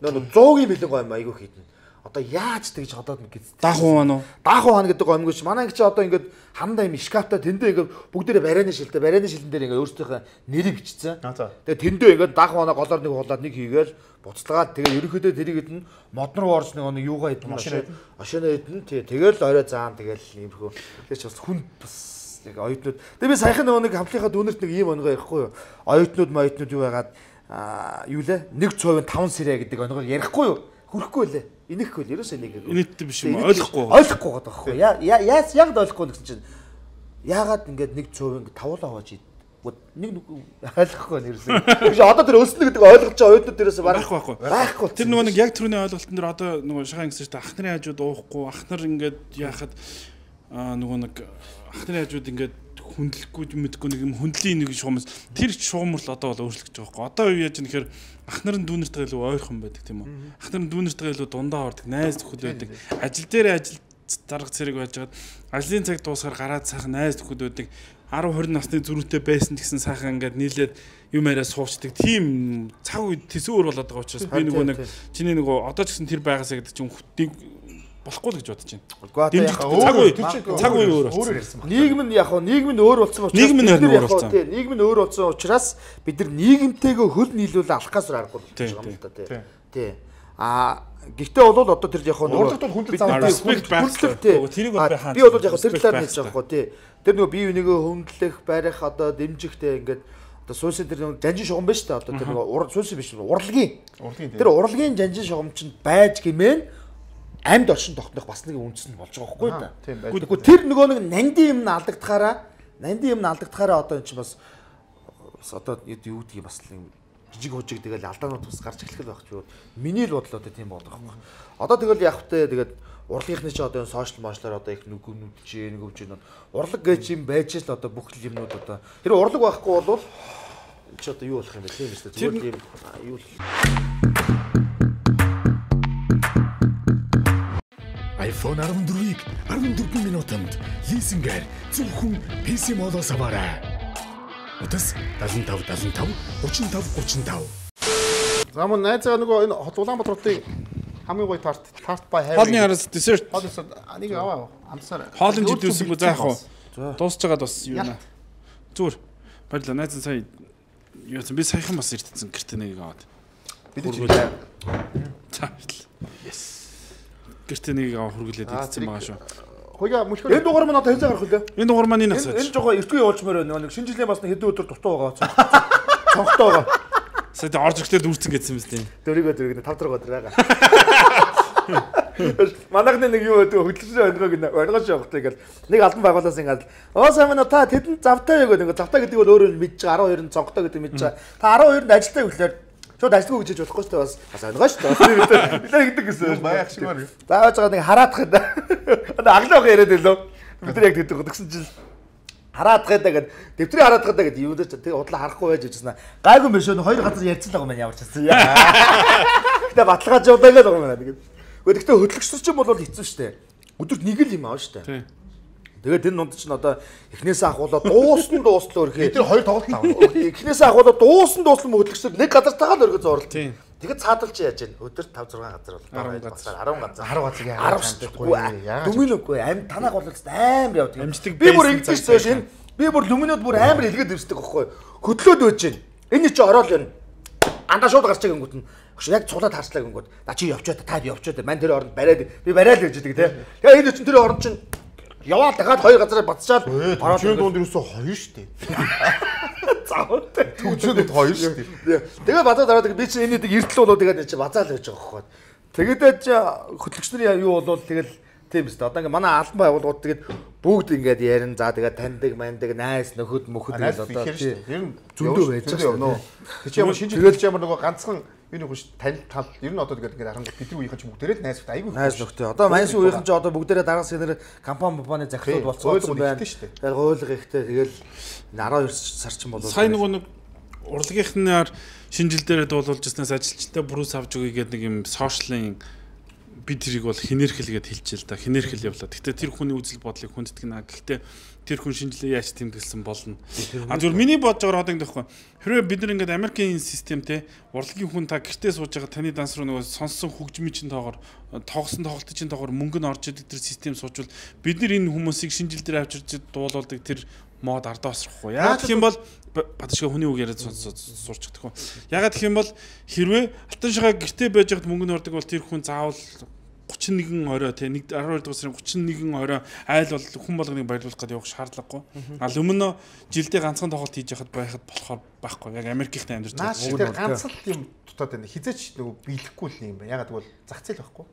нөгөө зуугийн бэлэн гоо юм айгүй хийдэн. Одоо яаж тэгж ходоод мэд гэж. Даах уу нөө. Даах уу гэдэг гомгүй ш. Манай англи чи одоо ингээд хандаа юм шкафта тэндээ ингээд бүгдээрээ барайны шилтэй барайны шилэн дээр ингээд өөрсдийнхээ нэрийг бичсэн. Тэгээ тэндээ ингээд даах уу голоор нэг хулаад нэг хийгээл буцалгаад тэгээ ерөнхийдөө тэрийг хэдэн мод руу орж нэг юугаа хэдэн машина хэдэн тий тэгэл орой заан тэгэл иймэрхүү. Тэгээ ч бас хүн бас яг оюутнууд. Тэгээ би саяхан нөгөө нэг хамтлынхаа дүүнерт нэг ийм онгоо ярихгүй юу? Оюутнууд моюутнууд юу байгаад аа юу лээ? нэг цовын таван сэрэ гэдэг онгоо ярихгүй юу? Хүрхгүй лээ. Инехгүй л ерөөсөө нэг. Инээдтэй биш юм ойлгохгүй. Ойлгохгүй байгаа байхгүй юу? Яа яа яг ойлгохгүй гэсэн чинь яагаад ингээд нэг цовын тавуулаа хувааж нэг ойлгохгүй нэрсэн. Гэж одоо тэр өлснө гэдэг ойлгож байгаа оюутнууд дээрээс барах байхгүй. Байхгүй. Тэр нөгөө нэг яг түрүүний ойлголтын дээр одоо нөгөө шагаан гэсэн чинь ах нарын хажууд уухгүй, ах нар ингээд яахад аа нөгөө нэг ах нарын хажууд ингээд хүндлэхгүй мэдгүй нэг юм хүндлийн нэг шуумс тэр шуумр л одоо бол өөрчлөгдөж байгаа байхгүй. Одоо юу яаж юм гэхээр ах нарын дүүнэртэйгээ илүү ойрхон байдаг тийм үү? Ах нарын дүүнэртэйгээ илүү дундаа ордог, найз нөхөд байдаг. Ажил дээр ажил дарга цэрэг байжгаад ажлын цаг дуусахаар гараад сайхан найз нөхөд байдаг. ten twenty насны зүрхтэй байсан гэсэн сайхан ингээд нийлээд юм яриа суучдаг. Тийм цаг үед төсөөр болоод байгаа учраас би нөгөө нэг чиний нөгөө одоо ч гэсэн тэр байгаасаа гэдэг чинь хүтийг болохгүй л гэж бодож байна. Цаг үе цаг үе өөр болсон. Нийгэм нь яг нь нийгэм нь өөр болсон учраас нийгэм нь өөр болсон. Тийм нийгэм нь өөр болсон учраас бид нар нийгэмтэйгээ хөл нийлүүлээ алхахаас аргагүй болж байгаа юм да тий. Тий. А гэхдээ бол одоо тэр яг нөгөө урлагт бол хүндлэл заавал хүндлэл тэрийг бол би хаана би бол яг тэр талаар хэлж байгаа хгүй тий. Тэр нөгөө бие бинийгээ хүндлэх, барих одоо дэмжихтэй ингээд одоо суусны тэр нөгөө жанжин шугам байна шүү дээ. Одоо тэр нөгөө суусны биш урлагийн. Тэр урлагийн жанжин шугам чинь байж гэмээн амьд оршин тогтнох бас нэг үндэс нь болж байгаа хгүй да. Гэхдээ тэр нөгөө нэг нандин юм алдагдахаараа нандин юм алдагдахаараа одоо эн чинь бас одоо юу гэдгийг бас жижиг хужиг тэгэл алдаанууд бас гарч эхлэх байх ч юу. Миний л бодлоо одоо тийм болдог байхгүй. Одоо тэгэл явахтай тэгээд урлагийнхны ч одоо сошиал мошлоор одоо их нүгнүүд чи нэг өвж юм. Урлаг гэж юм байж л одоо бүх юмнууд одоо тэр урлаг байхгүй бол чи одоо юу болох юм бэ тийм ээ зүгээр юм юу л iPhone fourteen-ийг fourteen минутанд лизингээр зөвхөн пи си модоос аваарай. Утас seventy-five seventy-five thirty-five thirty-five. За мөн найзгаа нөгөө энэ Улаанбаатар хотын хамгийн гоё тарт тарт бай хайр. Хоолны араас десерт. Хоолнос нэг аваа амсаар. Хоолны жидүүсэнгүү заах уу? Дуусч байгаад бас юу нэ. Зүгээр. Баярлалаа. Найз сая юу би саяхан бас ирдсэн гэртээ нэг аваад. Бид ч Yes. Гэртээ нэг аваа хүргэлээд идсэн байгаа шүү. Хөөе мөчгөр. Энэ дугаар маань одоо хэн цагаар хөлөө? Энэ дугаар маань энэ асууж. Энэ жоо эртгүй явуулчмаар байна. Нэг шинэ жилийн бас нэг хэдэн өдөр дутуу байгаа. Цонхтой байгаа. Сая тэ орж ирэхдээ дүүрцэн гэсэн юм зү. Дөрөгөө дөрөгөө тав дарга өдөр байгаа. Манайхны нэг юу өдөө хөдөлгөөний онгог нэг онгож явахтай гэл нэг албан байгууллаас ингээд оо сайн мэн та тэдэнд завтай яг нэг завтай гэдэг бол өөрөө мэдж байгаа twelve цонхтой гэдэг мэдж байгаа. Та twelve-нд ажилтаа гэхлээр шууд ажилгүй гэж болохгүй шүү дээ бас бас онгоо шүү дээ. Бид нар гэдэг гэсэн. Баях шигмар. Зааваж байгаа нэг хараадах юм да. Одоо аглаах яриад байлоо. Бид нар яг тэгдэг гэсэн чинь хараадах гэдэг гээд дэвтрийн хараадах гэдэг юу дээр тэгээ удлаа харахгүй байж ирсэн. Гайгүй биш өө хоёр газар ярьсан л байгаа юм ямар ч гэсэн. Гэтэ баталгааж удаа л байгаа юм байна тэгээд. Гэхдээ хөтлөгчсөн ч юм бол хэцүү шүү дээ. Өдөрт нэг л юм аав шүү дээ. Тэгээд энэ нунд чинь одоо эхнээсээ ахуулаад дууссан дуустлаа өрхөө. Тэр хоёр тоглолт тав. Эхнээсээ ахуулаад дууссан дууссан хөтлөгчсөд нэг газар тагаал өргө зурлаа. Тэгээд цаадалч яаж яана. Өдөрт five six газар бол ten газар ten газар. ten газар яа. ten шүү. Дүминөхгүй амт танах бол амар явдаг. Амждаг. Би бүр ингэж зөөш энэ би бүр люминод бүр амар илгээд ирсдэг аахгүй. Хөдлөөд байж гин. Энэ чи ороод байна. Андаа шууд гарч байгаа гингүүд нь яг цулаад харслаа гингүүд. На чи явчаад та явчаад мань тэр оронд бариад би бариад л гэж идэг те. Тэгээ энэ чинь тэр оронд чинь яваад дахиад хоёр газараа бацчаал ороод энэ дунд юусоо хоёр штэ. Заавалтай. Төгсөд хоёр штэ. Тэгээ бацаад ороод би чинь энэ нэг эрдэл болоо тэгээд чи бацаал байж байгаа хөөе. Тэгээд чи хөтлөгч нарын юу болвол тэгэл тийм үстэ. Одоо ингээ манай албан байгууллагууд тэгээд бүгд ингээд ярин за тэгээд таньдаг маньдаг найс нөхөд мөхөд гэл одоо тийм зөндөө байж байгаа. Тэг чи ямар шинж хэлж ямар нөгөө ганцхан юу нэг тань тал ер нь одоо тэгээд ингээд харангуй бидний үеийнхэн ч бүгдээрээ найс нөхд айгүй найс нөхдөй. Одоо маньс үеийнхэн ч одоо бүгдээрээ дараагаас нэр компани компани захирлууд болцсон байна. Тэгээд гойлго ихтэй тэгэл twelve сар ч юм болоо. Сайн нөгөө нэг урлагийнхнаар шинжилдээрээ дуулуулж ирснээс ажилчтай брус авч өгье гэдэг нэг юм сошиалын бид тэрийг бол хинэрхэлгээд хэлчихэл да хинэрхэл явлаа. Гэхдээ тэр хүний үзэл бодлыг хүнддэг наа. Гэхдээ тэр хүн шинжилгээ яаж тэмдэглэсэн болно. А зүгээр миний бодож байгаа одоо ингэхгүй. Хэрвээ бид нар ингээд Америкийн системтэй урлагийн хүн та гэртээ сууж байгаа таны данс руу нөгөө сонссон хөгжмийн чин тоогоор тоглосон тоглолтын чин тоогоор мөнгө нь орж идэг тэр систем суучвал бид нар энэ хүмүүсийг шинжил дээр авчирч дуулуулдаг тэр мод ардаа осрохгүй. Яагаад гэх юм бол батшгаа хүний үг яриад сурчдаг хүн. Яагаад гэх юм бол хэрвээ алтан шигаа гэртээ байж байгаад мөнгө нь ордог бол тэр хүн заавал гучин нэгэн орой тий нэг арван хоёр дугаар сарын гучин нэгэн орой айл бол хүн болгоныг баярлуулах гэдэг явах шаардлагагүй. А өмнө жилдээ ганцхан тоглолт хийж яхад байхад болохоор байхгүй. Яг Америкийнхтэй амьдарч байгаа. Наад ганц л юм дутаад байна. Хизээч нөгөө биелэхгүй л юм байна. Ягаад гэвэл зах зээл байхгүй.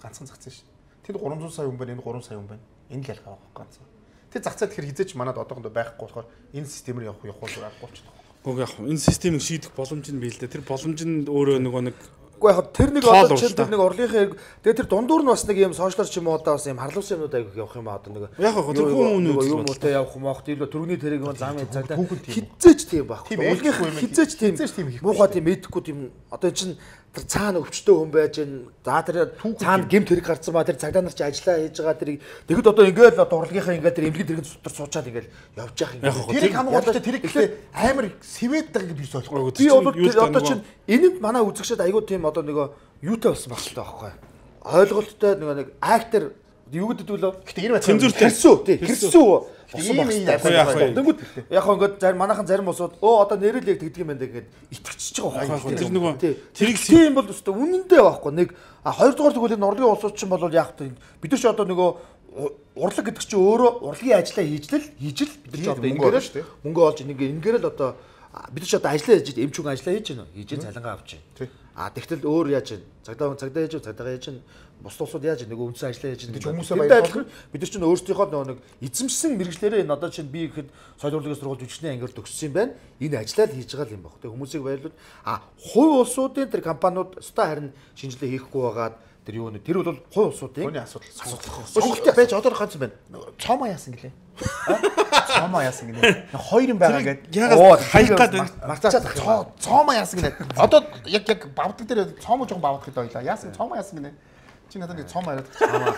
Ганцхан зах зээл шүү. Тэнд гурван зуун сая хүн байна, энэ гурван сая хүн байна. Энэ л ялгаа байхгүй ганцхан. Тэг зах зээл тэгэхээр хизээч манад одоохондоо байхгүй болохоор энэ системээр явах явах байхгүй болчихно. Уг яг энэ системийг шийдэх боломж нь бий л дээ. Тэр боломж нь өөрөө нөгөө нэг Уу яг тэр нэг одоо чинь тэр нэг орлогын тэгээ тэр дундуур нь бас нэг юм сошиалар ч юм уу одоо бас юм харлуулсан юмнууд айгүйх явах юм аа одоо нэг яг яг тэр хүн үү юм уу те явах юм аах тийм л төрөний тэрэг юм замын цагдаа хизээч тийм байхгүй орлогын хизээч тийм муухай тийм мэдэхгүй тийм одоо чинь тэр цаана өвчтөө хүн байж гэн за тэр цаана гэмт хэрэг гарцсан ба тэр цагдаа нар чи ажиллаа хийж байгаа тэрийг тэгэд одоо ингээл одоо орлогынхаа ингээд тэр эмнэлгийн тэрэг сутар суучаад ингээл явж явах юм тэрийг хамгаалалтаа тэрийг гэхлээр амар сэвэд байгаа гэж биш болохгүй би бол одоо чинь энэнд манай үзэгчд айгуу тийм одоо нөгөө юутай болсон багчтай байхгүй ойлголттой нөгөө нэг актер юу гэдэг вэ гэхдээ энэ цензуртэй хэрсүү тий хэрсүү ийм яг яг ингээд зарим манайхан зарим усууд өө одоо нэрэл яг тэгдэг юм байна гэгээд итгэчихэж байгаа байхгүй тэр нөгөө тэрийг тийм бол өстой үнэндээ байхгүй нэг хоёр дахь тэгвэл энэ орлогын улсууд чинь бол яг бид нар ч одоо нөгөө урлаг гэдэг чинь өөрөө урлагийн ажиллаа хийжлэл хийжл бид нар ч одоо ингээрэл мөнгө олж ингээ ингээрэл одоо бид ч одоо ажиллаа хийж эмч хүн ажиллаа хийж байна хийж цалингаа авч байна а тэгтэл өөр яаж байна цагдаа цагдаа хийж цагдаа хийж бус тусууд яаж нөгөө үндсэн ажиллаа хийж байгаа хүмүүсээ баярлуулах бид нар чинь өөрсдийнхөө нөгөө нэг эзэмшсэн мэрэгчлэрээ энэ одоо чинь би ихэд соёл урлагийн сургууль жүжигчний ангиар төгссөн юм байна энэ ажиллаа л хийж байгаа юм байна тэг хүмүүсийг баярлуул а хувь улсуудын тэр компаниуд өстой харин шинжилгээ хийхгүй байгаад тэр юу нэ тэр бол хувь улсуудын хүний асуудал асуудал сонголттой байж одоо ганц юм байна цоомоо яасан гэлээ цоомоо яасан гинэ хоёр юм байгаа гэдэг ягаад хаяггаад байна марцаад цоомоо яасан гинэ одоо яг яг бавдаг дээр цоомоо жоохон бавдаг л байлаа яасан цоомоо яасан гинэ чи надад нэг цоом яриад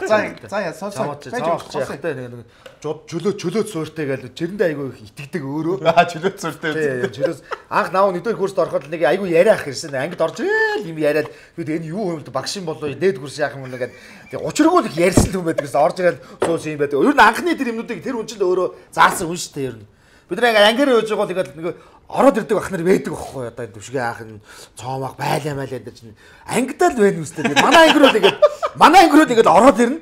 за за яа соо соо яахтай нэг чөлөө чөлөө сууртай гэж жирэндээ айгүй их итгэдэг өөрөө аа чөлөө сууртай чөлөөс анх наав нэгдүгээр курст ороход нэг айгүй яриах ирсэн ангид орж ирэл юм яриад би энэ юу юм бэ багшин болоо дээд курс яах юм бэ гэдэг учиргүй л их ярьсан юм байдаг гэсэн орж ирэл суус юм байдаг ер нь анхны тэр юмнуудыг тэр хүн чинь өөрөө заасан хүн шүү дээ ер нь бид нэг ангиар явж байгаа тэгээд нэг ороод ирдэг ах нар байдаг байхгүй одоо төвшгээ аах нь цоомоох байлаа майлаа гэдэг чинь ангидаа л байна үстэй манай ангируу тэгээд манай ангируу тэгээд ороод ирнэ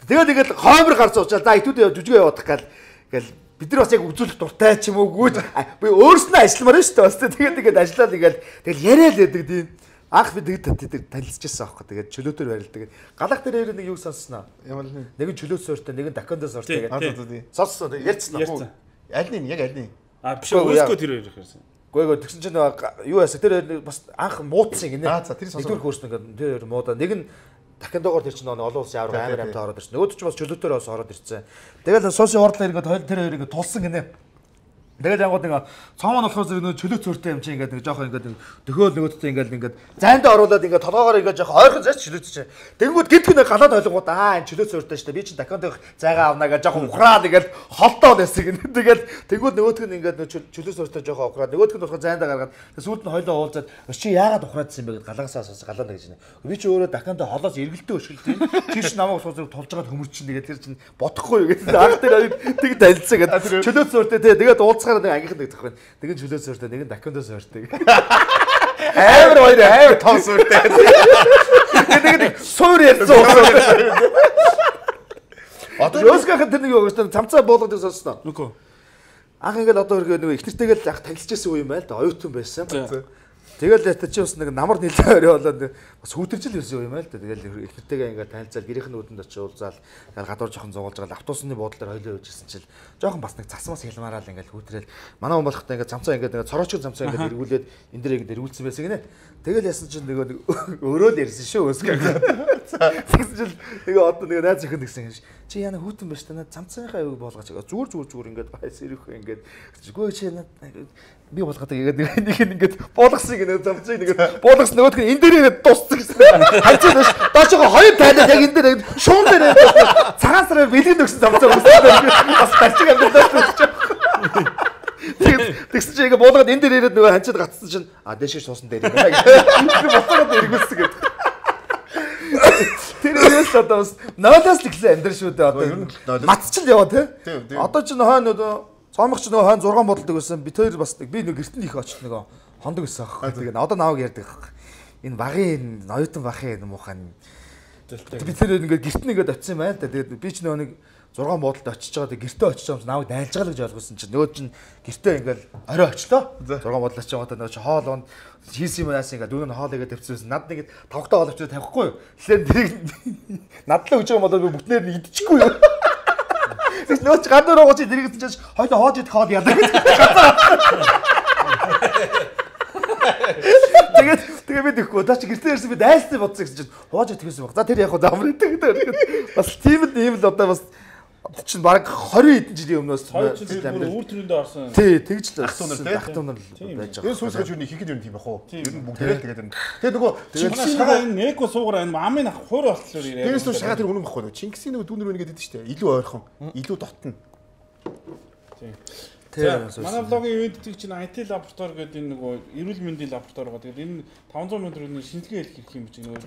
тэгээд тэгээд хоймор гарц уучаа за итүүд жүжигээ явуудах гал гэл бид нар бас яг үзүүлэх дуртай ч юм уу гүйж би өөрснөө ажилламаар шүү дээ бас тэгээд тэгээд ажиллаад игээл тэгэл яриа л байдаг тийм анх би тэгээд танилцчихсан аахгүй тэгээд чөлөөтөр барилдаг галах дээр нэг юу сонссноо нэг нь чөлөөт сууртай нэг нь дакондо сууртай гэдэг сонссон ярьцсан уу аль нь яг аль нь а биш өөрсдөө тэр хоёр ихэрсэн гойгоо тэгсэн чинь юу яасан тэр хоёр бас анх муудсан гинэ аа за тэр сонсоо нэгдүгээр курс ингээд тэр хоёр муудаа нэг нь дахиндогоор тэр чинь олон улсын авраг амар амтаа ороод ирсэн нөгөөд ч бас чөлөөтөр бас ороод ирсэн тэгэл суусын урдлаар ингээд тэр хоёр ингээд тулсан гинэ тэгэл янгууд нэг цоомон болохоор зэрэг нөө чөлөөт зөртэй юм чи ингээд нэг жоохон ингээд дөхөөл нөгөөдтэй ингээд ингээд зайндаа оруулаад ингээд толгоогоор ингээд жоохон ойрхон заач чөлөөт чи тэгэнгүүт гидг нэг галаад ойлгонгууд аа энэ чөлөөт зөртэй шүү дээ би чи даконд зайгаа авнаа гэж жоохон ухраад ингээд холтоо байсан гинэ тэгэл тэгэнгүүт нөгөөдг нь ингээд чөлөөт зөртэй жоохон ухраад нөгөөдг нь болохоор зайндаа гаргаад сүүлд нь хойлоо уулзаад чи яагаад ухраадсан юм бэ гэд галагсаа суусан галаана гэж нэ би чи өөрөө даконд холоос эргэлдээ өшгөлтэй чи чи намайг суусаг тулж байгаа хөмөрчин тэгээд тэр чин бодохгүй юу гэдэг анх тэр тэг танилцсан гэдэг чөлөөт зөртэй тэгээд уулз нэг ангийнхан нэг зах байна. Нэг нь чөлөө сууртай, нэг нь дакондо сууртай. Амар хоёр амар том сууртай. Нэг нэг суур ярьсан уусаа. Одоо Ёскахан тэр нэг юу гэж цамцаа буулгадаг сонсноо. Нүкөө. Анх ингээд одоо нэг их нэртэйгээл ах танилцчихсан үе юм байл да. Оюутан байсан. Тэгэл та чи бас нэг намар нэлээ өрөө болоод бас хүүтэржил байсан юм байл да. Тэгэл их нэртэйгээ ингээд танилцаад гэрийнхэн нүдэнд очиж уулзаал гадуур жоохон зугуулж байгаа автобусны буудлаар хойлоо явжсэн чил жоохон бас нэг цасмаас хялмаараа л ингээд хүүтрэл манай хүн болохтой ингээд цамцаа ингээд цороочгүй цамцаа ингээд эргүүлээд энэ дээр ингээд эргүүлсэн байсан гинэ. Тэгэл ясан чинь нөгөө өөрөө л ярьсан шүү өсгөө. Тэгсэн чинь нөгөө одоо нөгөө найз өхөн гэсэн чи яна хүүтэн байж та над цамцааныхаа аяг болгооч зүгээр зүгээр зүгээр ингээд байс ирэх ингээд үгүй чи би болгоод тэгээд нэг ингээд буулгасан гинэ замцыг нэг буулгасан нөгөөдг нь энэ дээрээ дууссан гэсэн. Хайцаа дэш доошоо хоёр тайлаад яг энэ дээр шуун дээр цагаан сараар бэлгэн өгсөн замцаа өгсөн. Бас тачиг амдаад тэгээд тэгсэн чинь ингээд буулгаад энэ дээр ирээд нөгөө ханчаад гацсан чинь а дэшээ суусан дээр юм. Боцоод эргүүлсэн гэдэг. Тэр үеэс одоо бас ноолоос л ихсэн амьдрал шүү дээ одоо. Матчил яваа тий. Одоо ч нөхөн нөгөө цоомох ч нөгөө хойно зургаан бодолдог байсан. Би тэр бас би нэг гэртэн их очиж нөгөө хондог байсан аахгүй. Тэгээд одоо нааг ярьдаг аахгүй. Энэ багын оюутан бахын муухай Би тэр ингээд гэрт нь ингээд очив юм байна л да. Тэгээд би ч нөгөө нэг зургаан буудалд очиж байгаа. Тэгээд гэртээ очиж байгаа юм намайг дайлж байгаа л гэж ойлгосон чинь нөгөө чинь гэртээ ингээд орой очлоо. Зургаан буудалд очиж байгаа нөгөө чи хоол уун хийсэн юм яасан ингээд дүүн хоол игээд тавьчихсан. Над нэг тавхтаа хоол авчираа тавихгүй юу. Тэгэхээр тэрийг надлаа өгч байгаа болоод би бүтнээр нь идчихгүй юу. Тэгс нөөч гадуур ууч тэрийг чинь хоёул хоож идэх хоол яадаг. Тэгээд тэгээ би тэгэхгүй даа чи гэртээ ирсэн би дайлсан бодсон гэсэн чинь хоож идчихсэн баг. За тэр яг хаа амар идэх гэдэг. Бас тийм л ийм л одоо бас чинь баг двадцать хэдэн жилийн өмнөөс үр төрөндөө орсон. Тий, тэгж л ах тунар тий. Ах тунар байж байгаа. Энэ сүүсгэж юу хийхэд юм тийм байх уу? Ер нь бүгдээрээ тэгээд энэ. Тэгээ нөгөө Чингисийн шагаа энэ эко суугаар энэ амын ах хуур болтлоо ирээ. Тэрээс нь шагаа тэр үнэн баггүй нөгөө Чингисийн нөгөө дүүнэр үнэ гэдэг шүү дээ. Илүү ойрхон, илүү дотно. Тийм. Тэр манай блогийн үед тийм чинь ай ти лаборатори гэдэг энэ нөгөө эрүүл мэндийн лаборатори байгаа. Тэгээд энэ таванзан метрийн шинжилгээ хийх хэрэг юм чи нөгөө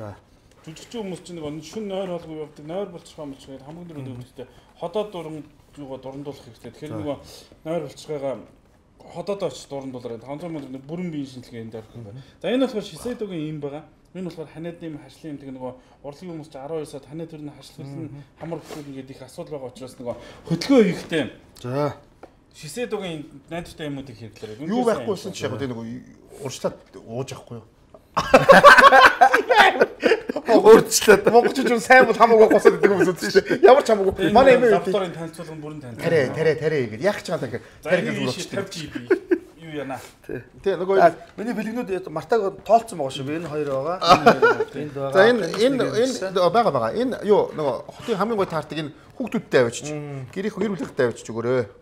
жүжигчин хүмүүс чинь нөгөө шүн нойр холгүй явдаг, нойр болчихгоо болчихгоо хамгийн дөрөв өвчтэй ходоод дуран юугаа дурандуулах хэрэгтэй. Тэгэхээр нөгөө нойр болчихгоогаа ходоод очиж дурандуулаад таванзан метрийн бүрэн биеийн шинжилгээ энэ дээр хийх юм байна. За энэ болохоор Шисэдогийн юм байгаа. Энэ болохоор ханиадны юм хашлын юм тэг нөгөө урлагийн хүмүүс чинь арван сард ханиад төрний хашлуулсан хамар бүхэл ингээд их асуудал байгаа учраас нөгөө хөдөлгөөн хийхдээ. За Шисэдогийн найдвартай юмнуудыг хэрэглээрэй. Юу байхгүйсэн чи яг тэ нөгөө урьдчилаад ууж авахгүй юу? Урьдчилаад монголчууд сайн бол хамаагүй госоод идэг хүмүүс үү шүү дээ. Ямар ч хамаагүй. Манай эмээ лабораторийн танилцуулгын бүрэн танилцуулга. Тарэ тарэ тарэ гэдэг. Яг ч байгаа тэгэхээр тарэ гэж урьдчилаад юу яана. Тэ нөгөө миний бэлгнүүд мартаг тоолцсон байгаа шүү. Энэ хоёр байгаа. Энд байгаа. За энэ энэ энэ байгаа байгаа. Энэ юу нөгөө хотын хамгийн гой таардаг энэ хүүхдүүдтэй авчиж. Гэрийнх гэр бүлийнхтэй авчиж өгөөрэй.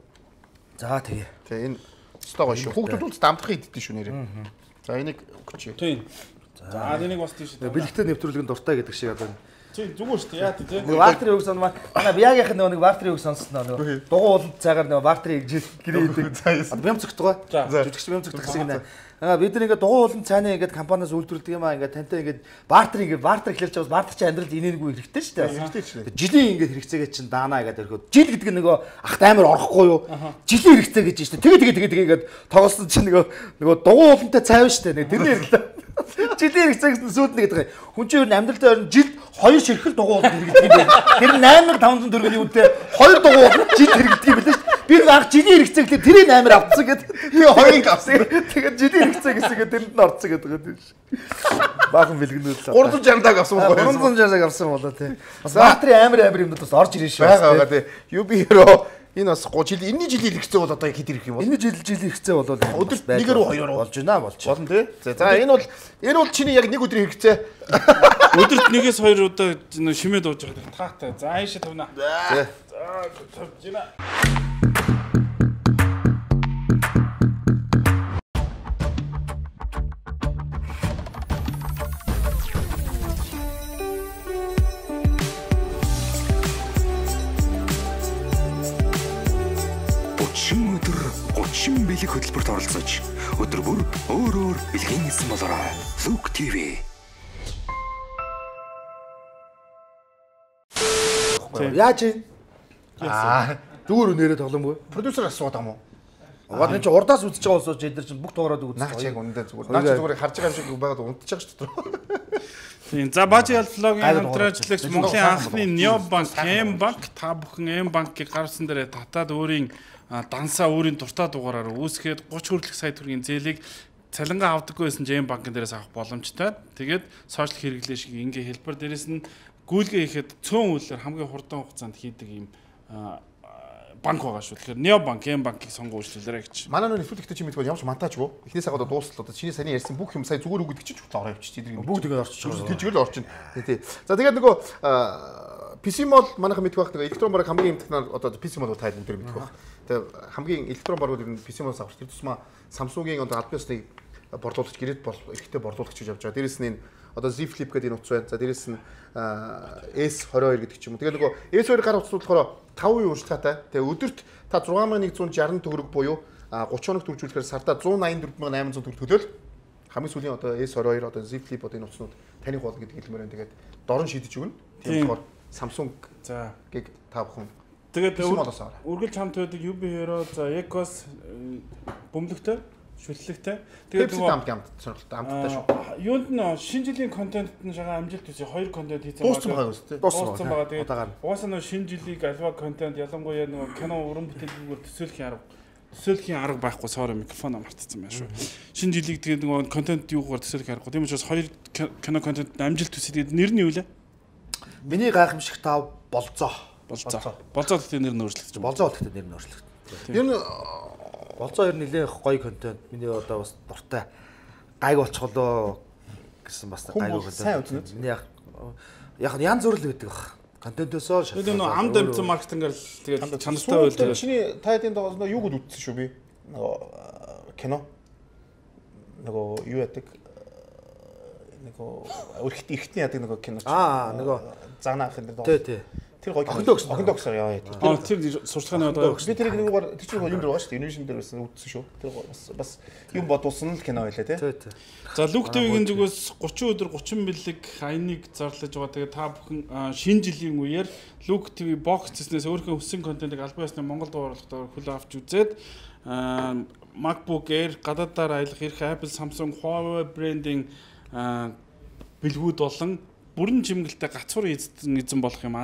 За тэгээ. Тэгээ энэ стогоо шүү. Хүүхдүүд дамдахыг иддэг шүү нэрээ. За энийг өгч. Тийм. За энийг бас тийш. Бэлэгтэй нэвтрүүлгийн дуртай гэдэг шиг одоо. Тийм зүгээр шүү дээ. Яа тийм. Нөгөө Вартрийн үг сонмаа. Манай Биагийнх нөгөө нэг Вартрийн үг сонсноо нөгөө. Дугуй ууланд цагаар нөгөө Вартрийг жил гэрээ идэг. Бям цогтгоо. Жүжигч бям цогтгох шиг нэ. Аа бид нар ингээд дугуй ууланд цааны ингээд компаниас үйлдвэрлэдэг юм аа ингээд тантай ингээд Вартер ингээд Вартер хэлж байгаа Вартер чи амьдралд инээнгүй хэрэгтэй шүү дээ. Хэрэгтэй шүү дээ. Жилийн ингээд хэрэгцээгээ чинь даанаа гэдэг өрхөд. Жил гэдэг нь нөгөө ахт амар орохгүй юу? Жилийн хэрэгцээ гэж шүү дээ. Тэгээ тэгээ тэгээ тэгээ ингээд тоглосон чинь нөгөө нөгөө дугуй уулантай цайв шүү дээ. Тэрний хэрэглээ. Жилийн хэрэгцээ гэсэн сүйд нэг гэдэг. Хүн чинь ер нь амьдралдаа ер нь жилд хоёр ширхэл дугуй ууланд хэрэгдэг юм байна. Тэр восемь сая тавханд төгрөгийн үнэтэй хоёр дугуй ууланд жил хэрэгдэг юм байна шүү дээ. Би анх жилийн хэрэгцээ гэхлээр тэрийг амар авцсан гэдэг. Тэгээ хоёрыг авсан. Тэгээд жилийн хэрэгцээ гэсэгээ тэрэнд нь орцсон гэдэг юм шүү. Баахан бэлгэнүүд л. гурван сая даг авсан уу? гурван сая даг авсан болоо тий. Бас Вартрийн амар амар юмнууд бас орж ирэн шүү. байгаа байгаа тий. ю би Hero энэ бас гоо жил энэний жилийн хэрэгцээ бол одоо хэд ирэх юм бол? Энэ жил жилийн хэрэгцээ бол өдөрт нэгээр хоёроор болж байна болж. Болно тий. За энэ бол энэ бол чиний яг нэг өдрийн хэрэгцээ. Өдөрт нэгээс хоёр удаа шимээ дууж байгаа таатай. За аашаа тавна. За. За тавж байна. гучин бэлэг хөтөлбөрт оролцож өдөр бүр өөр өөр бэлгийн хийсэн болоорой. Look ти ви. Яаж юм? Аа, дүүр нэрээ тоглоомгүй. Продюсер асууад байгаа юм уу? Аваад энэ ч урдаас үзэж байгаа усууч эдгээр чинь бүх тугаараад үзсэн. Наач яг үндэ зүгээр. Наач зүгээр харж байгаа юм шиг байгаад унтчих шүү дээ. Тийм. За Бажи Алфлогийн хамтраачлагч Монголын анхны Необанк, М-банк та бүхэн М-банкийг гаргасан дээр татаад өөрийн дансаа өөрийн дуртай дугаараар үүсгээд гуч хүртэлх сая төгрөгийн зээлийг цалингаа авдаггүй байсан М банкн дээрээс авах боломжтой. Тэгээд сошиал хэрэглээ шиг ингээ хэлбэр дээрээс нь гүйлгээ хийхэд цөөн үйлээр хамгийн хурдан хугацаанд хийдэг юм банк байгаа шүү. Тэгэхээр Необанк, М-банкийг сонгоо үйлчлүүлээрэй гэж. Манай нөө нэвтрүүлэгтээ чи мэдгүй ямар ч монтажгүй. Эхнээс хагаад дуустал одоо чиний саний ярьсан бүх юм сая зүгээр үг гэдэг чинь хүртэл ороо явчих. Тэдний бүгд тэгээд орчих. Тэжгэл орчин. Тий. За тэгээд нөгөө пи си мол манайхан мэдгүй байх нөгөө электрон бараг хамгийн технологи одоо пи си мол тайл өндөр мэдгүй байх. Тэгээд хамгийн электрон барууд ер нь пи си мол авах. Тэр тусмаа Samsung-ийн одоо аль биесны борлуулагч гэрээд бол ихтэй борлуулагч гэж явж байгаа. Дээрээс нь одоо Z Flip гэдэг энэ утас байна. За дээрээс нь эс двадцать two гэдэг ч юм уу. Тэгээд нөгөө эс two гар утас болохоор five percent урьдчилгаатай. Тэгээ өдөрт та six thousand one hundred sixty төгрөг буюу thirty хоног төржүүлэхээр сардаа one eighty-four thousand eight hundred төгрөг төлөөл. Хамгийн сүүлийн одоо эс twenty-two одоо Z Flip одоо энэ утаснууд таних бол гэдэг хэлмээр байна. Тэгээд дорн шийдэж өгнө. Тийм болохоор Samsung за гэг та бүхэн. Тэгээд үргэлж хамт байдаг ю би Hero за Ecos бөмбөлөгтэй шүтлэгтэй. Тэгээд нөгөө амт амт сонирхолтой амттай шүү. Юунд нь шинэ жилийн контент нь шагаа амжилт үзье хоёр контент хийсэн байгаа. Дууссан байгаа үстэй. Дууссан байгаа. Тэгээд угаасаа нөгөө шинэ жилийг альва контент ялангуяа нөгөө кино уран бүтээлгээр төсөөлөх арга төсөөлхийн арга байхгүй соор микрофон амартсан байна шүү. Шинэ жилийг тэгээд нөгөө контент юугаар төсөөлөх аргагүй. Тийм учраас хоёр кино контент амжилт үзье. Тэгээд нэр нь юу лээ? Миний гайхамшиг тав болцоо. Болцоо. Болцоо гэдэг нэр нь өөрчлөгдөж байна. Болцоо гэдэг нэр нь өөрчлөгдөж. Ер нь болцоо ер нь нэлээд гоё контент. Миний одоо бас дуртай гайг болчихлоо гэсэн бас гайг контент. Миний яг яг янз бүр л гэдэг баг. Контентосоо шалтгаалаад. Тэгээд нөө амд амтсан маркетингээр тэгээд чанартай байл тэгээд. Чиний тайдын доогоос нөө юуг үтсэн шүү би. Нөгөө кино. Нөгөө юу яадаг? Нөгөө өрхт эрхтний яадаг нөгөө кино. Аа нөгөө загнаахын дээр. Тий, тий. Тэр гоё охин догс охин догсоор яа яа. Аа тэр сурчлагын одоо би тэрийг нэггээр тэр чинь юм дээр байгаа шүү дээ. Инновашн дээр байсан үтсэн шүү. Тэр бас бас юм бодуулсан л кино байлаа тий. Тий, тий. За Luke T V-ийн зүгээс гучин өдөр гучин бэлэг хайныг зарлаж байгаа. Тэгээ та бүхэн шинэ жилийн үеэр Luke T V box хийснээс өөрийнхөө хүссэн контентыг албан ёсны Монгол дууруулалтаар хөл авч үзээд MacBook Air гадаадаар аялах эрх Apple, Samsung, Huawei брендing бэлгүүд болон бүрэн чимгэлтэй гацуур эзэн болох юм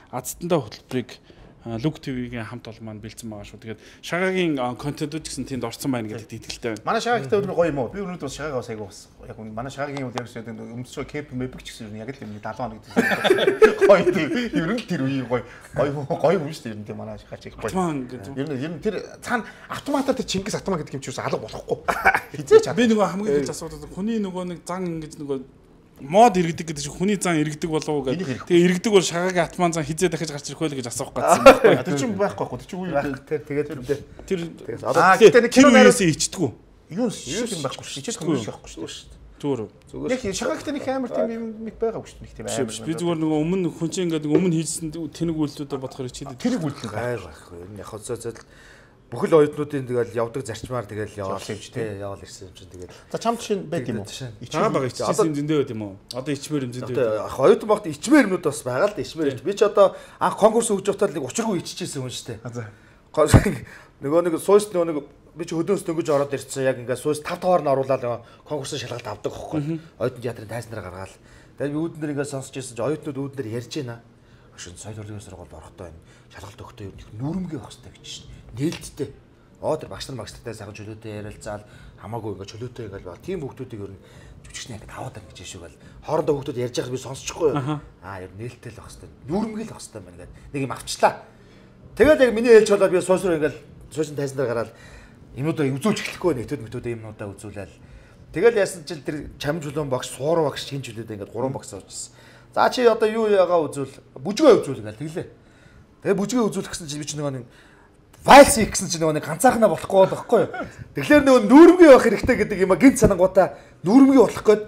азтандаа хөтөлбөрийг Luke T V-гийн хамт олон маань бэлдсэн байгаа шүү. Тэгээд шагагийн контентууд гэсэн тэнд орсон байна гэдэгт итгэлтэй байна. Манай шагаагтай өнөр гоё юм уу? Би өнөөдөр бас шагаагаа бас айгуу бас яг манай шагаагийн үйл явц гэдэг өмсөж кеп мэбэг ч гэсэн яг л юм даалгавар гэдэг. Гоё тийм. Ер нь тэр үеийн гоё гоё гоё юм шүү дээ. Ер нь тийм манай шагаач их гоё. Ер нь ер нь тэр цаана автоматар тэр Чингис автомат гэдэг юм чи юус алга болохгүй. Хизээч. Би нөгөө хамгийн их асуудал хүний нөгөө нэг зан ингэж нөгөө мод иргэдэг гэдэг чинь хүний зан иргэдэг болов уу гэдэг. Тэгээ иргэдэг бол шагаагийн атман зан хизээ дахиж гарч ирэх байлаа гэж асуух гэсэн байна. Тэр чинь байхгүй байхгүй. Тэр чинь үе тэр тэгээд тэр аа гэдэг кино нэрээс ичдэггүй. Юу юм байхгүй шүү. Ичэх юм байхгүй шүү. Зүгээр. Зүгээр. Яг шагаагтай нэг амар тийм юм нэг байгаагүй шүү. Нэг тийм амар. Би зүгээр нөгөө өмнө хүн чинь ингээд өмнө хийсэн тэнэг үйлдэлүүдээр бодохоор ичээд тэр үйлдэл гай байхгүй. Ер нь яг хозоо бүхэл оюутнуудын тэгэл явдаг зарчмаар тэгэл яваал юм чи тий яваал ирсэн юм чи тэгэл. За чамд чинь байд юм уу? Чаа байгаа ичсэн зөндөө байд юм уу? Одоо ичмээр юм зөндөө. Яг оюутан багт ичмээр юмнууд бас байгаа л да ичмээр. Би ч одоо анх конкурс өгж явахдаа нэг учиргүй иччихсэн хүн шүү дээ. Нөгөө нэг сууйс нөгөө нэг би ч хөдөөс дөнгөж ороод ирсэн яг ингээд сууйс тав таваар нь оруулаад конкурсын шалгалт авдаг хөхгүй. Оюутан театрын тайзнараа гаргаад. Тэгээд би үүднэр ингээд сонсч ирсэн чи оюутнууд үүднэр ярьж байна. Шин соёл урлагийн сургуульд орохдоо энэ шалгалт өгөхдөө ер нь нүрмгээ байх хэрэгтэй гэж шин. Нээлттэй. Оо тэр багш нар магистртай сайхан чөлөөтэй ярилцаал хамаагүй ингээ чөлөөтэй ингээл ба. Тийм хүмүүсийг ер нь жүжигчнээ ингээ таваад байна гэж шүүг бол хоорондоо хүмүүс ярьж байхад би сонсчихгүй юу. Аа ер нь нээлттэй л байх хэрэгтэй. Нүрмгээл байх хэрэгтэй байна гэдэг. Нэг юм авчлаа. Тэгээд яг миний хэлж болоод би суусруу ингээл суушин тайсан дээр гараад юмудаа үзүүлж эхлэхгүй нэгтүүд мэтүүдээ юмудаа үзүүлээл. Тэгэл яасан чинь тэр чам чулуун багш суур багш шинж чөлөөдөө ингээ гурван багш авчихсан. За чи одоо юу яага үзүүл бүжгээ үзүүл ингээл тэглээ. Тэгээ бүжгээ үзүүлэх гэсэн чинь би ч нөгөө нэг файлс хийх гэсэн чинь нөгөө нэг ганцаархнаа болохгүй байхгүй юу. Тэгэхээр нөгөө нүүрмгийн байх хэрэгтэй гэдэг юм а гинт санангуудаа нүүрмгийн болох гээд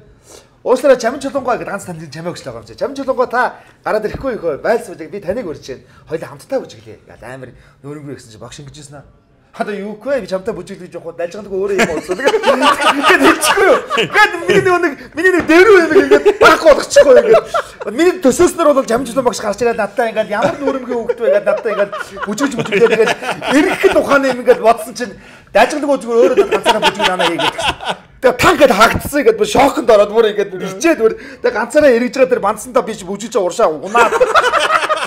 уушлаараа чамин чулуунгой гэдэг ганц танд чамаа өгч байгаа юм чи. Чамин чулуунгой та гараад ирэхгүй юу файлс үзэг би таныг урьж байна. Хоёул хамтдаа бүжиглээ. Гал амар нүүрмгийн гэсэн чинь багш ингэжсэн аа. Одоо юу вэ? Би чамтай бүжиглэж явах дайлжгадаг өөрөө юм болсон. Тэгээд хэлчихгүй юу. Тэгээд миний нэг миний нэг дээрүү юм ингээд байхгүй болгочихгүй ингээд. Миний төсөөснөр бол жамжлан багш гарч ирээд надтай ингээд ямар нүрмгийн хөвгт вэ гэдэг надтай ингээд бүжиглж бүжиглээ тэгээд эргэх тухайн юм ингээд бодсон чинь дайлжгадаг уу зүгээр өөрөө ганцаараа бүжиг нанаа хийгээд гэсэн. Тэгээд та ингээд хагдсан ингээд бүр шоконд ороод бүр ингээд ичээд бүр тэгээд ганцаараа эргэж байгаа тэр бандсантаа би бүжиглж уршаа унаад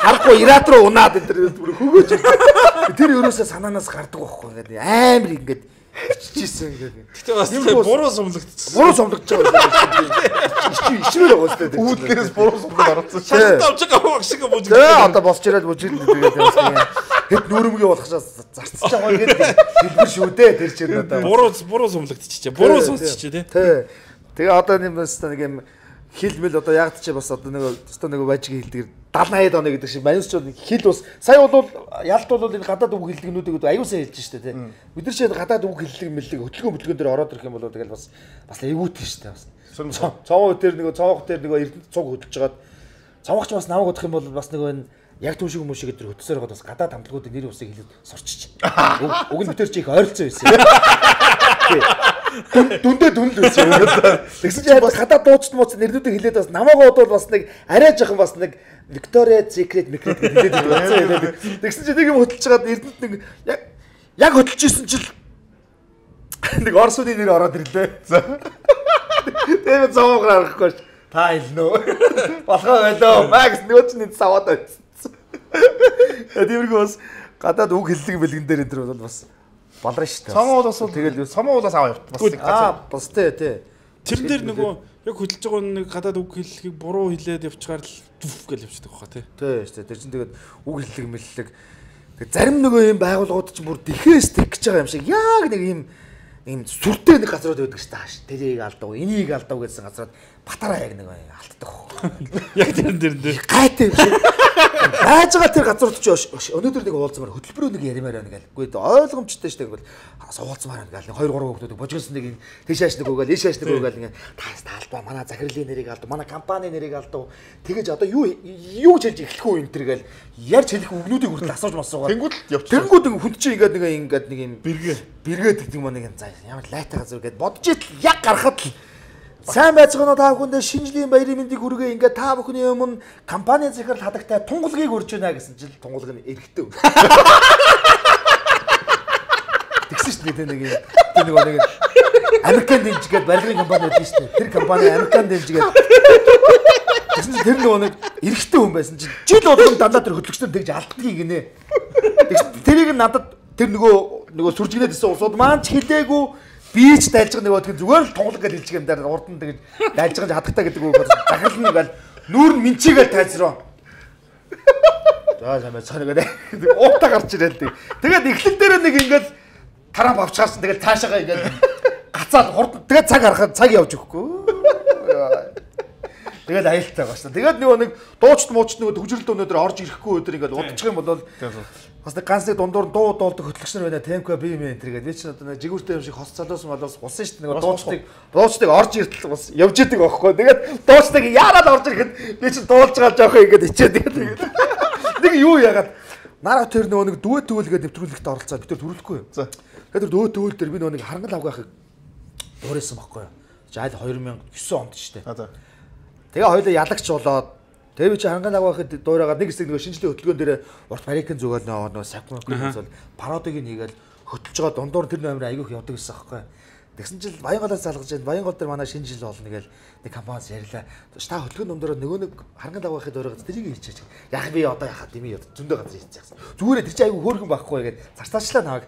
харахгүй ират руу унаад энэ тэр бүр хөгөөж тэр ерөөсөө санаанаас гардаг байхгүй ингээд амар ингээд чижсэн ингээд. Гэтэ бас буруу сумлагдчихсан. Буруу сумлагдж байгаа. Ичи ичмээр байгаа шүү дээ. Үүднээс буруу сумлаг орсон. Шалтгаан авч байгаа баг шиг бүжиг. Тэгээ одоо босч ирээд бүжиг тэгээд яасан. Хэд нүрмгээ болохшаа зарцж байгаа гэдэг хэлбэр шүү дээ тэр чинь одоо. Буруу буруу сумлагдчихжээ. Буруу сонсчихжээ тий. Тэгээ одоо юм бас нэг юм хилмэл одоо яг ч бас одоо нэг өстө нэг бажиг хэлдэг даална хаяад оноо гэдэг шиг маньс ч хил бас сая бол ялт бол энэ гадаад үг хэллэгнүүдийг аюусаа хэлж штэ тий. Бид нар ч гадаад үг хэллэг мэллэг хөтөлгөөн хөтөлгөөн дээр ороод ирэх юм бол тэгэл бас бас эвгүүтэй штэ бас. Цовоо дээр нэг цовоох дээр нэг эрдэнэ цуг хөдөлж жагаад цовоохч бас намайг удах юм бол бас нэг энэ яг түн шиг хүмүүсийг өдр хөтсөөр гоод бас гадаад хамтлагуудын нэр усыг хэлээд сорчиж. Уг нь битэр чи их ойролцоо байсан. Дүндээ дүн л байсан. Тэгсэн чинь бас гадаад дууч мууц нэрнүүдийг хэлээд бас намайг бодвол бас нэг арай жоохон бас нэг Victoria Secret Secret гэдэг хэлээд. Тэгсэн чинь нэг юм хөтөлж жагаад эрдэнэт нэг яг яг хөтөлж исэн чинь нэг орсууны нэр ороод ирлээ. Тэгээд зовоогоор арахгүй ш. Та хэлнэ. Болохоо байлоо. Макс нөгөө ч нэг саваад байсан. Тиймэрхүү бас гадаад үг хэллэг бэлгэн дээр энэ бол бас балраа ш. Сомоо уулаас тэгэл сомоо уулаас аваа явт. Бас аа бас тий тий. Тэр дээр нөгөө яг хөдөлж байгаа нэг гадаад үг хэллэгийг буруу хэлээд явчихаар л дүф гэж явчихдаг хаа тий. Тий ш. Тэр чинь тэгээд үг хэллэг мэллэг. Тэгээд зарим нөгөө юм байгууллагууд чинь бүр дэхээс тэг гэж байгаа юм шиг яг нэг юм ийм сүртэй нэг газрууд байдаг ш. Тааш тэрийг алдав, энийг алдав гэсэн газрууд батараа яг нэг алддаг. Яг тэр дээр дээр гайтай юм шиг. Яаж байгаа тэр газрууд ч өнөөдөр нэг уулзмаар хөтөлбөрөө нэг ярмаар байна гэл. Үгүй ойлгомжтой ш. Тэгвэл суулцмаар байна гэл. хоёр гурван хүмүүс божигсон нэг тийшааш нэг үгээл ийшааш нэг үгээл ингээ таас таалдва. Манай захирлын нэрийг алдав, манай компани нэрийг алдав. Тэгэж одоо юу юу ч хэлж эхлэх үү энэ төр гэл. Ярьж хэлэх үгнүүдийг хүртэл асууж масуугаад. Тэнгүүд явчих. Тэнгүүд хүн чинь ингээд нэг ингээд нэг юм бэргээ бэргээд гэдэг юм нэг юм заа. Ямар лайтай газар гэд бодож итл яг гарахад л сайн байцгаана та бүхэндээ шинжлэх баярын мэндийг хүргэе. Ингээ та бүхний өмнө компани захирал хадагтай тунгалгийг өрж байна гэсэн чил тунгалаг нь эргэтэй. Тэгсэн шүү дээ нэг юм. Тэр нэг нэг Американ дэмжгээд барилгын компани байдаг шүү дээ. Тэр компани Американ дэмжгээд тэгсэн чинь тэр нөгөө нэг эргэтэй хүн байсан чинь жил болгон дандаа тэр хөтлөгчнөр тэгж алддгийг гинэ. Тэгсэн тэрийг надад тэр нөгөө нөгөө сүржигнээд исэн усууд маань ч хэлээгүй. Би ч дайлж байгаа нөгөө тэг зүгээр л тунгалаг гэж хэлчих юм даа урд нь тэгж дайлж байгаа хадагтай гэдэг үг захирал нь ингээл нүүр нь минчигээл тайзраа. За самаа цанагаа уутаа гарч ирэл тэг. Тэгээд эхлэл дээр нэг ингээл Трамп авчаарсан тэгэл цаашаага ингээл гацаад хурд тэгээд цаг харахад цаг явж өгөхгүй. Тэгээд аюултай байгаа шүү. Тэгээд нөгөө нэг дуучт муучт нөгөө төгжрөл өнөдөр орж ирэхгүй өдөр ингээл удчих юм бол бас нэг ганц нэг дундуур дуу доолдог хөтлөгч нар байна. Темко би юм энэ тэргээд. Би ч одоо нэг жигүүртэй юм шиг хос цалуусан болоос улсан шүү дээ. Нэг дуучтыг дуучтыг орж иртэл бас явж идэг байхгүй. Тэгээд дуучтыг яараад орж ирэхэд би ч дуулж байгаа жоохоо ингээд ичээд тэгээд. Нэг юу яагаад нараа тэр нөгөө нэг дүү төвлгээд нэвтрүүлэгт оролцоод бид тэр төрүүлэхгүй. За. Тэгээд тэр дүү төвөл дээр би нөгөө нэг харангал авгаахыг дуурайсан байхгүй. За аль хоёр мянган и девять онд шүү дээ. За. Тэгээ хоёулаа ялагч болоод тэгээ би чи ханган авахад дуурайгаад нэг хэсэг нөгөө шинжлэх хөтөлбөрөн дээр урт Америкэн зүгэл нөгөө сакмакс бол пародиг хийгээл хөтлөж байгаа дундуур тэр номер айгүйх явдаг гэсэн аахгүй. Тэгсэн чинь Баянголоос залгаж байна. Баянгол дээр манай шинэ жил болно гээл нэг компаниас ярьлаа. Та хөтөлбөрөн дундуур нөгөө нэг ханган авахад дуурайгаад тэрийг хийчихэж. Яг би одоо яхаа дими зөндөө газар хийчихсэн. Зүгээр тэр чи айгүй хөөрхөн байхгүй гээд зарцаачлаа наваг.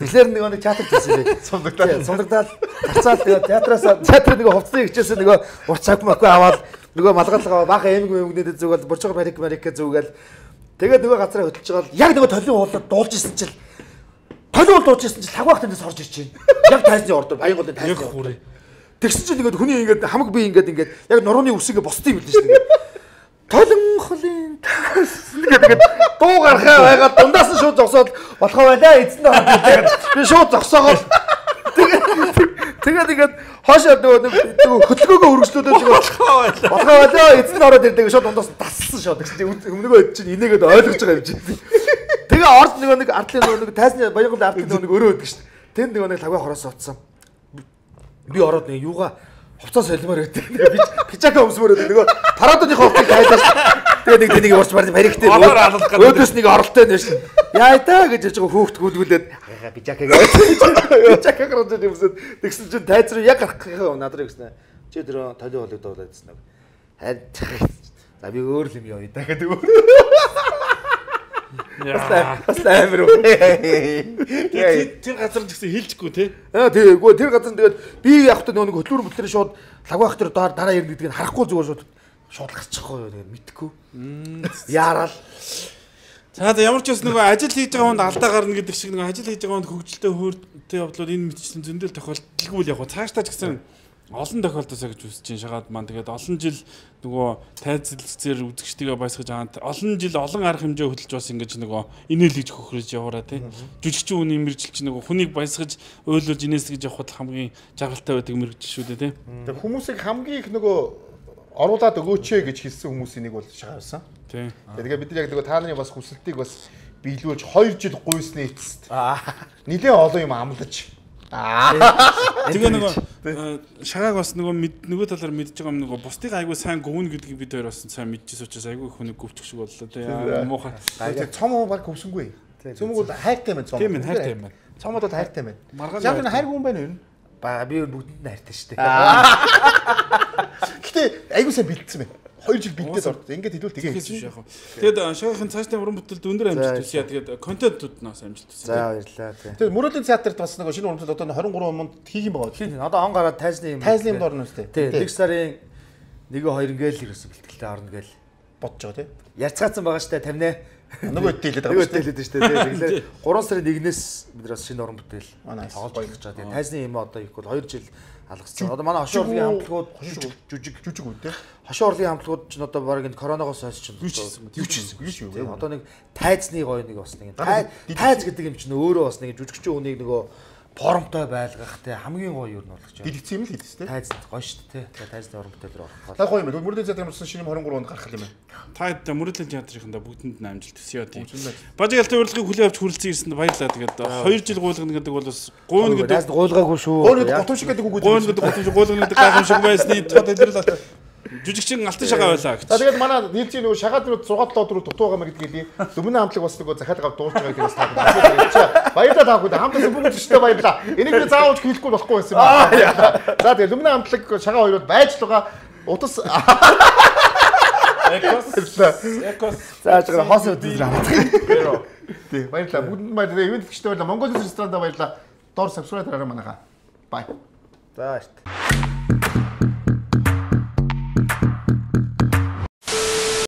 Тэгэхээр нөгөө нэг театр хийсэн би. Сундагдаад сундагдаад зарцаад тэгээ театраас театр нөгөө хувцсыг хичээсэн нөгөө урт сакмакс аваад нөгөө малгалгаа баахан эмэг эмэгнээд зүгэл борчоо барик барик зүгэл тэгээд нөгөө газараа хөтлж байгаа яг нөгөө толын уулаад дуулж исэн чил толын уул дуулж исэн чил лагвах тэндээс орж ирж байна. Яг тайзны ордоор Баянголын тайзны. Тэгсэн чинь ингээд хүний ингээд хамаг би ингээд ингээд яг нурууны үсгээ босдсон юм билээ шүү дээ. Толон холын ингээд дуу гарахаа байгаад дундаас нь шууд зогсоод болохоо байлаа эзэн нь орж тэгээд би шууд зогсоогоо тэгээд ингээд хоошоо нөгөө хөтөлгөөгөө өргөжлүүлээд болохоо байлаа. Болохоо байлаа эзэн нь ороод ирдэг шууд дундаас тассан шууд гэсэн чинь өмнөгөө чинь инээгээд ойлгож байгаа юм чинь. Тэгээ орд нөгөө нэг ардлын нөгөө нэг тайзны Баянголын ардлын нөгөө нэг өрөө өгдөг шүү дээ. Тэнд нөгөө нэг лагваа хороос утсан. Би ороод нэг юугаа хувцас солимоор өгдөг. Би пижака өмсмөр өгдөг. Нөгөө парадоныхоо хувцыг тайлаж тэгээ нэг тэнийг урч барь баригтэй өөдөөс нэг оролтой нь шүү. Яа та гэж ярьж байгаа хүүхд гүйлгүүлээд пижака гэж пижака гараад юмсад тэгсэн чинь тайз руу яг гарах гэхээ надраа гэсэн. Чи тэр толио болог дуулаад гэсэн нэг. За би өөр юм яа даа гэдэг. Яа. Асламэр үү. Тэр газар гэсэн хэлчихгүй те. Аа тийггүй тэр газар тэгээд би явахдаа нөгөө хөтлөөр мөтлөр шууд лагвах тэр дараа ярина гэдгийг харахгүй зүгээр шууд шууд гарчихгүй юу тэгээд мэдхгүй. Яарал. За ямар ч бас нөгөө ажил хийж байгаа хүнд алдаа гарна гэдэг шиг нөгөө ажил хийж байгаа хүнд хөгжилтэй хөөртэй явдлууд энэ мэтчлийн зөндөл тохиолдолгүй л яг цаашдаа ч гэсэн олон тохиолдолсоо гэж үзэж чинь шагаад маань тэгээд олон жил нөгөө тайзлцээр үзэгчдийгээ баясгаж аваад олон жил олон арга хэмжээ хөдөлж бас ингэж нөгөө инээл гэж хөхрөж яваараа тий жүжигчин хүний мэрэгжил чинь нөгөө хүнийг баясгаж ойлуулж инээсгэж явахд хамгийн жаргалтай байдаг мэрэгжил шүү дээ тий. Тэгээд хүмүүсийг хамгийн их нөгөө оруулаад өгөөч ээ гэж хэлсэн хүмүүсийн нэг бол шагаасан. Тий. Тэгээд бид нар яг нөгөө та нарын бас хүсэлтийг бас биелүүлж хоёр жил гуйсны эцэст нэлээд олон юм амлаж тэгээ нөгөө шагааг бас нөгөө нөгөө талаар мэдж байгаа юм нөгөө бусдыг айгүй сайн гөвнө гэдгийг бид хоёр бас сайн мэдчихсэн учраас айгүй хүнийг гөвчих шиг боллоо тий. Муухай. Тэгээ цом уу баг гөвсөнгүй. Цөмөг бол хайртай байна цомог. Тийм ээ хайртай юм байна. Цомог бол хайртай байна. Маргааш Яг нь хайргүй юм байна юу? Ба би бүгдэнд нь хайртай шүү дээ. Гэтэ айгуу сайн бэлдсэн байна. хоёр жил бэлдээд орд. Ингээд хэлвэл тэгээ хийсэн шүү. Тэгээд шогийн цаашдын уран бүтээлд өндөр амжилт төсөё. Тэгээд контентууд нас амжилт төсөё. За баярлалаа тий. Тэгээд Мөрөөдлийн театрт бас нэг шинэ уран бүтээл одоо тwenty-three онд хийх юм байгаа. Тийм одоо он гараад тайзны юм. Тайзны юмд орно үстэй. Тий. Нэг сарын нэг хоёр ингээл ерөөсө бэлтгэлтэй орно гээл бодож байгаа тий. Ярцгаацсан байгаа штэ тамина. Нөгөө хэлээд байгаа. Нөгөө хэлээд штэ тий. Тэгэхээр гурван сарын нэгнээс бид бас шинэ уран бүтээл Манай тоглож болгож байгаа. Тэгээ тайзны юм одоо их бол хоёр жил алгацсан. Одоо манай хошоо урлагийн хамтлагууд жүжиг жүжиг үү те. Хошоо урлагийн хамтлагууд ч одоо баг энэ коронавигоос хойш ч юу ч хийсэн юу ч юу. Одоо нэг тайзны гоё нэг бас нэг тайз гэдэг юм чинь өөрөө бас нэг жүжигчийн үнийг нөгөө формтой байлгах те хамгийн гоё юу нь болгож байна. Дэлгэцсэн юм л хийдэж те. Тайз гоё шүү дээ те. Тайзны уран бүтээлээр орох. Та гоё юм. Мөрөөдлийн театрын болсон шинэ twenty-three онд гарах юм байна. Та Мөрөөдлийн театрынхаа бүгдэнд нь амжилт төсөё тийм. Бажигалтай урилгыг хүлээн авч хүрэлцэн ирсэнд баярлалаа. Тэгээд хоёр жил гуйлгана гэдэг бол бас гуйна гэдэг тайзд гуйлгаагүй шүү. Гуйна готов шиг гэдэг үг үү? Гуйна гэдэг готов шиг гуйлгана гэдэг гайхамшиг байсны тод илэрлээ. Жүжигчин алтан шагаа байлаа гэж. За тэгээд манай нийлцгийн нөгөө шагаад руу six seven өдрөөр дутуугаа мэр гэдгийг Дөмнө хамтлаг бас нөгөө захиад гав дуурч байгааг тэрээс таа. Баярлалаа таахгүй хамтлагын бүгд өчтөө баярлалаа. Энийг би заавал хэлэхгүй болохгүй байсан юм байна. За тэгээд Дөмнө хамтлаг шагаа хоёрод байж л байгаа утас Экос Экос зааж байгаа хос өдөр хамтлаг. Тий баярлалаа. Бүгд баярлалаа. Ивент гişтэй баярлалаа. Монгол ресторанда баярлалаа. Доор subscribe дараарай манайхаа. Bye. За баярлалаа.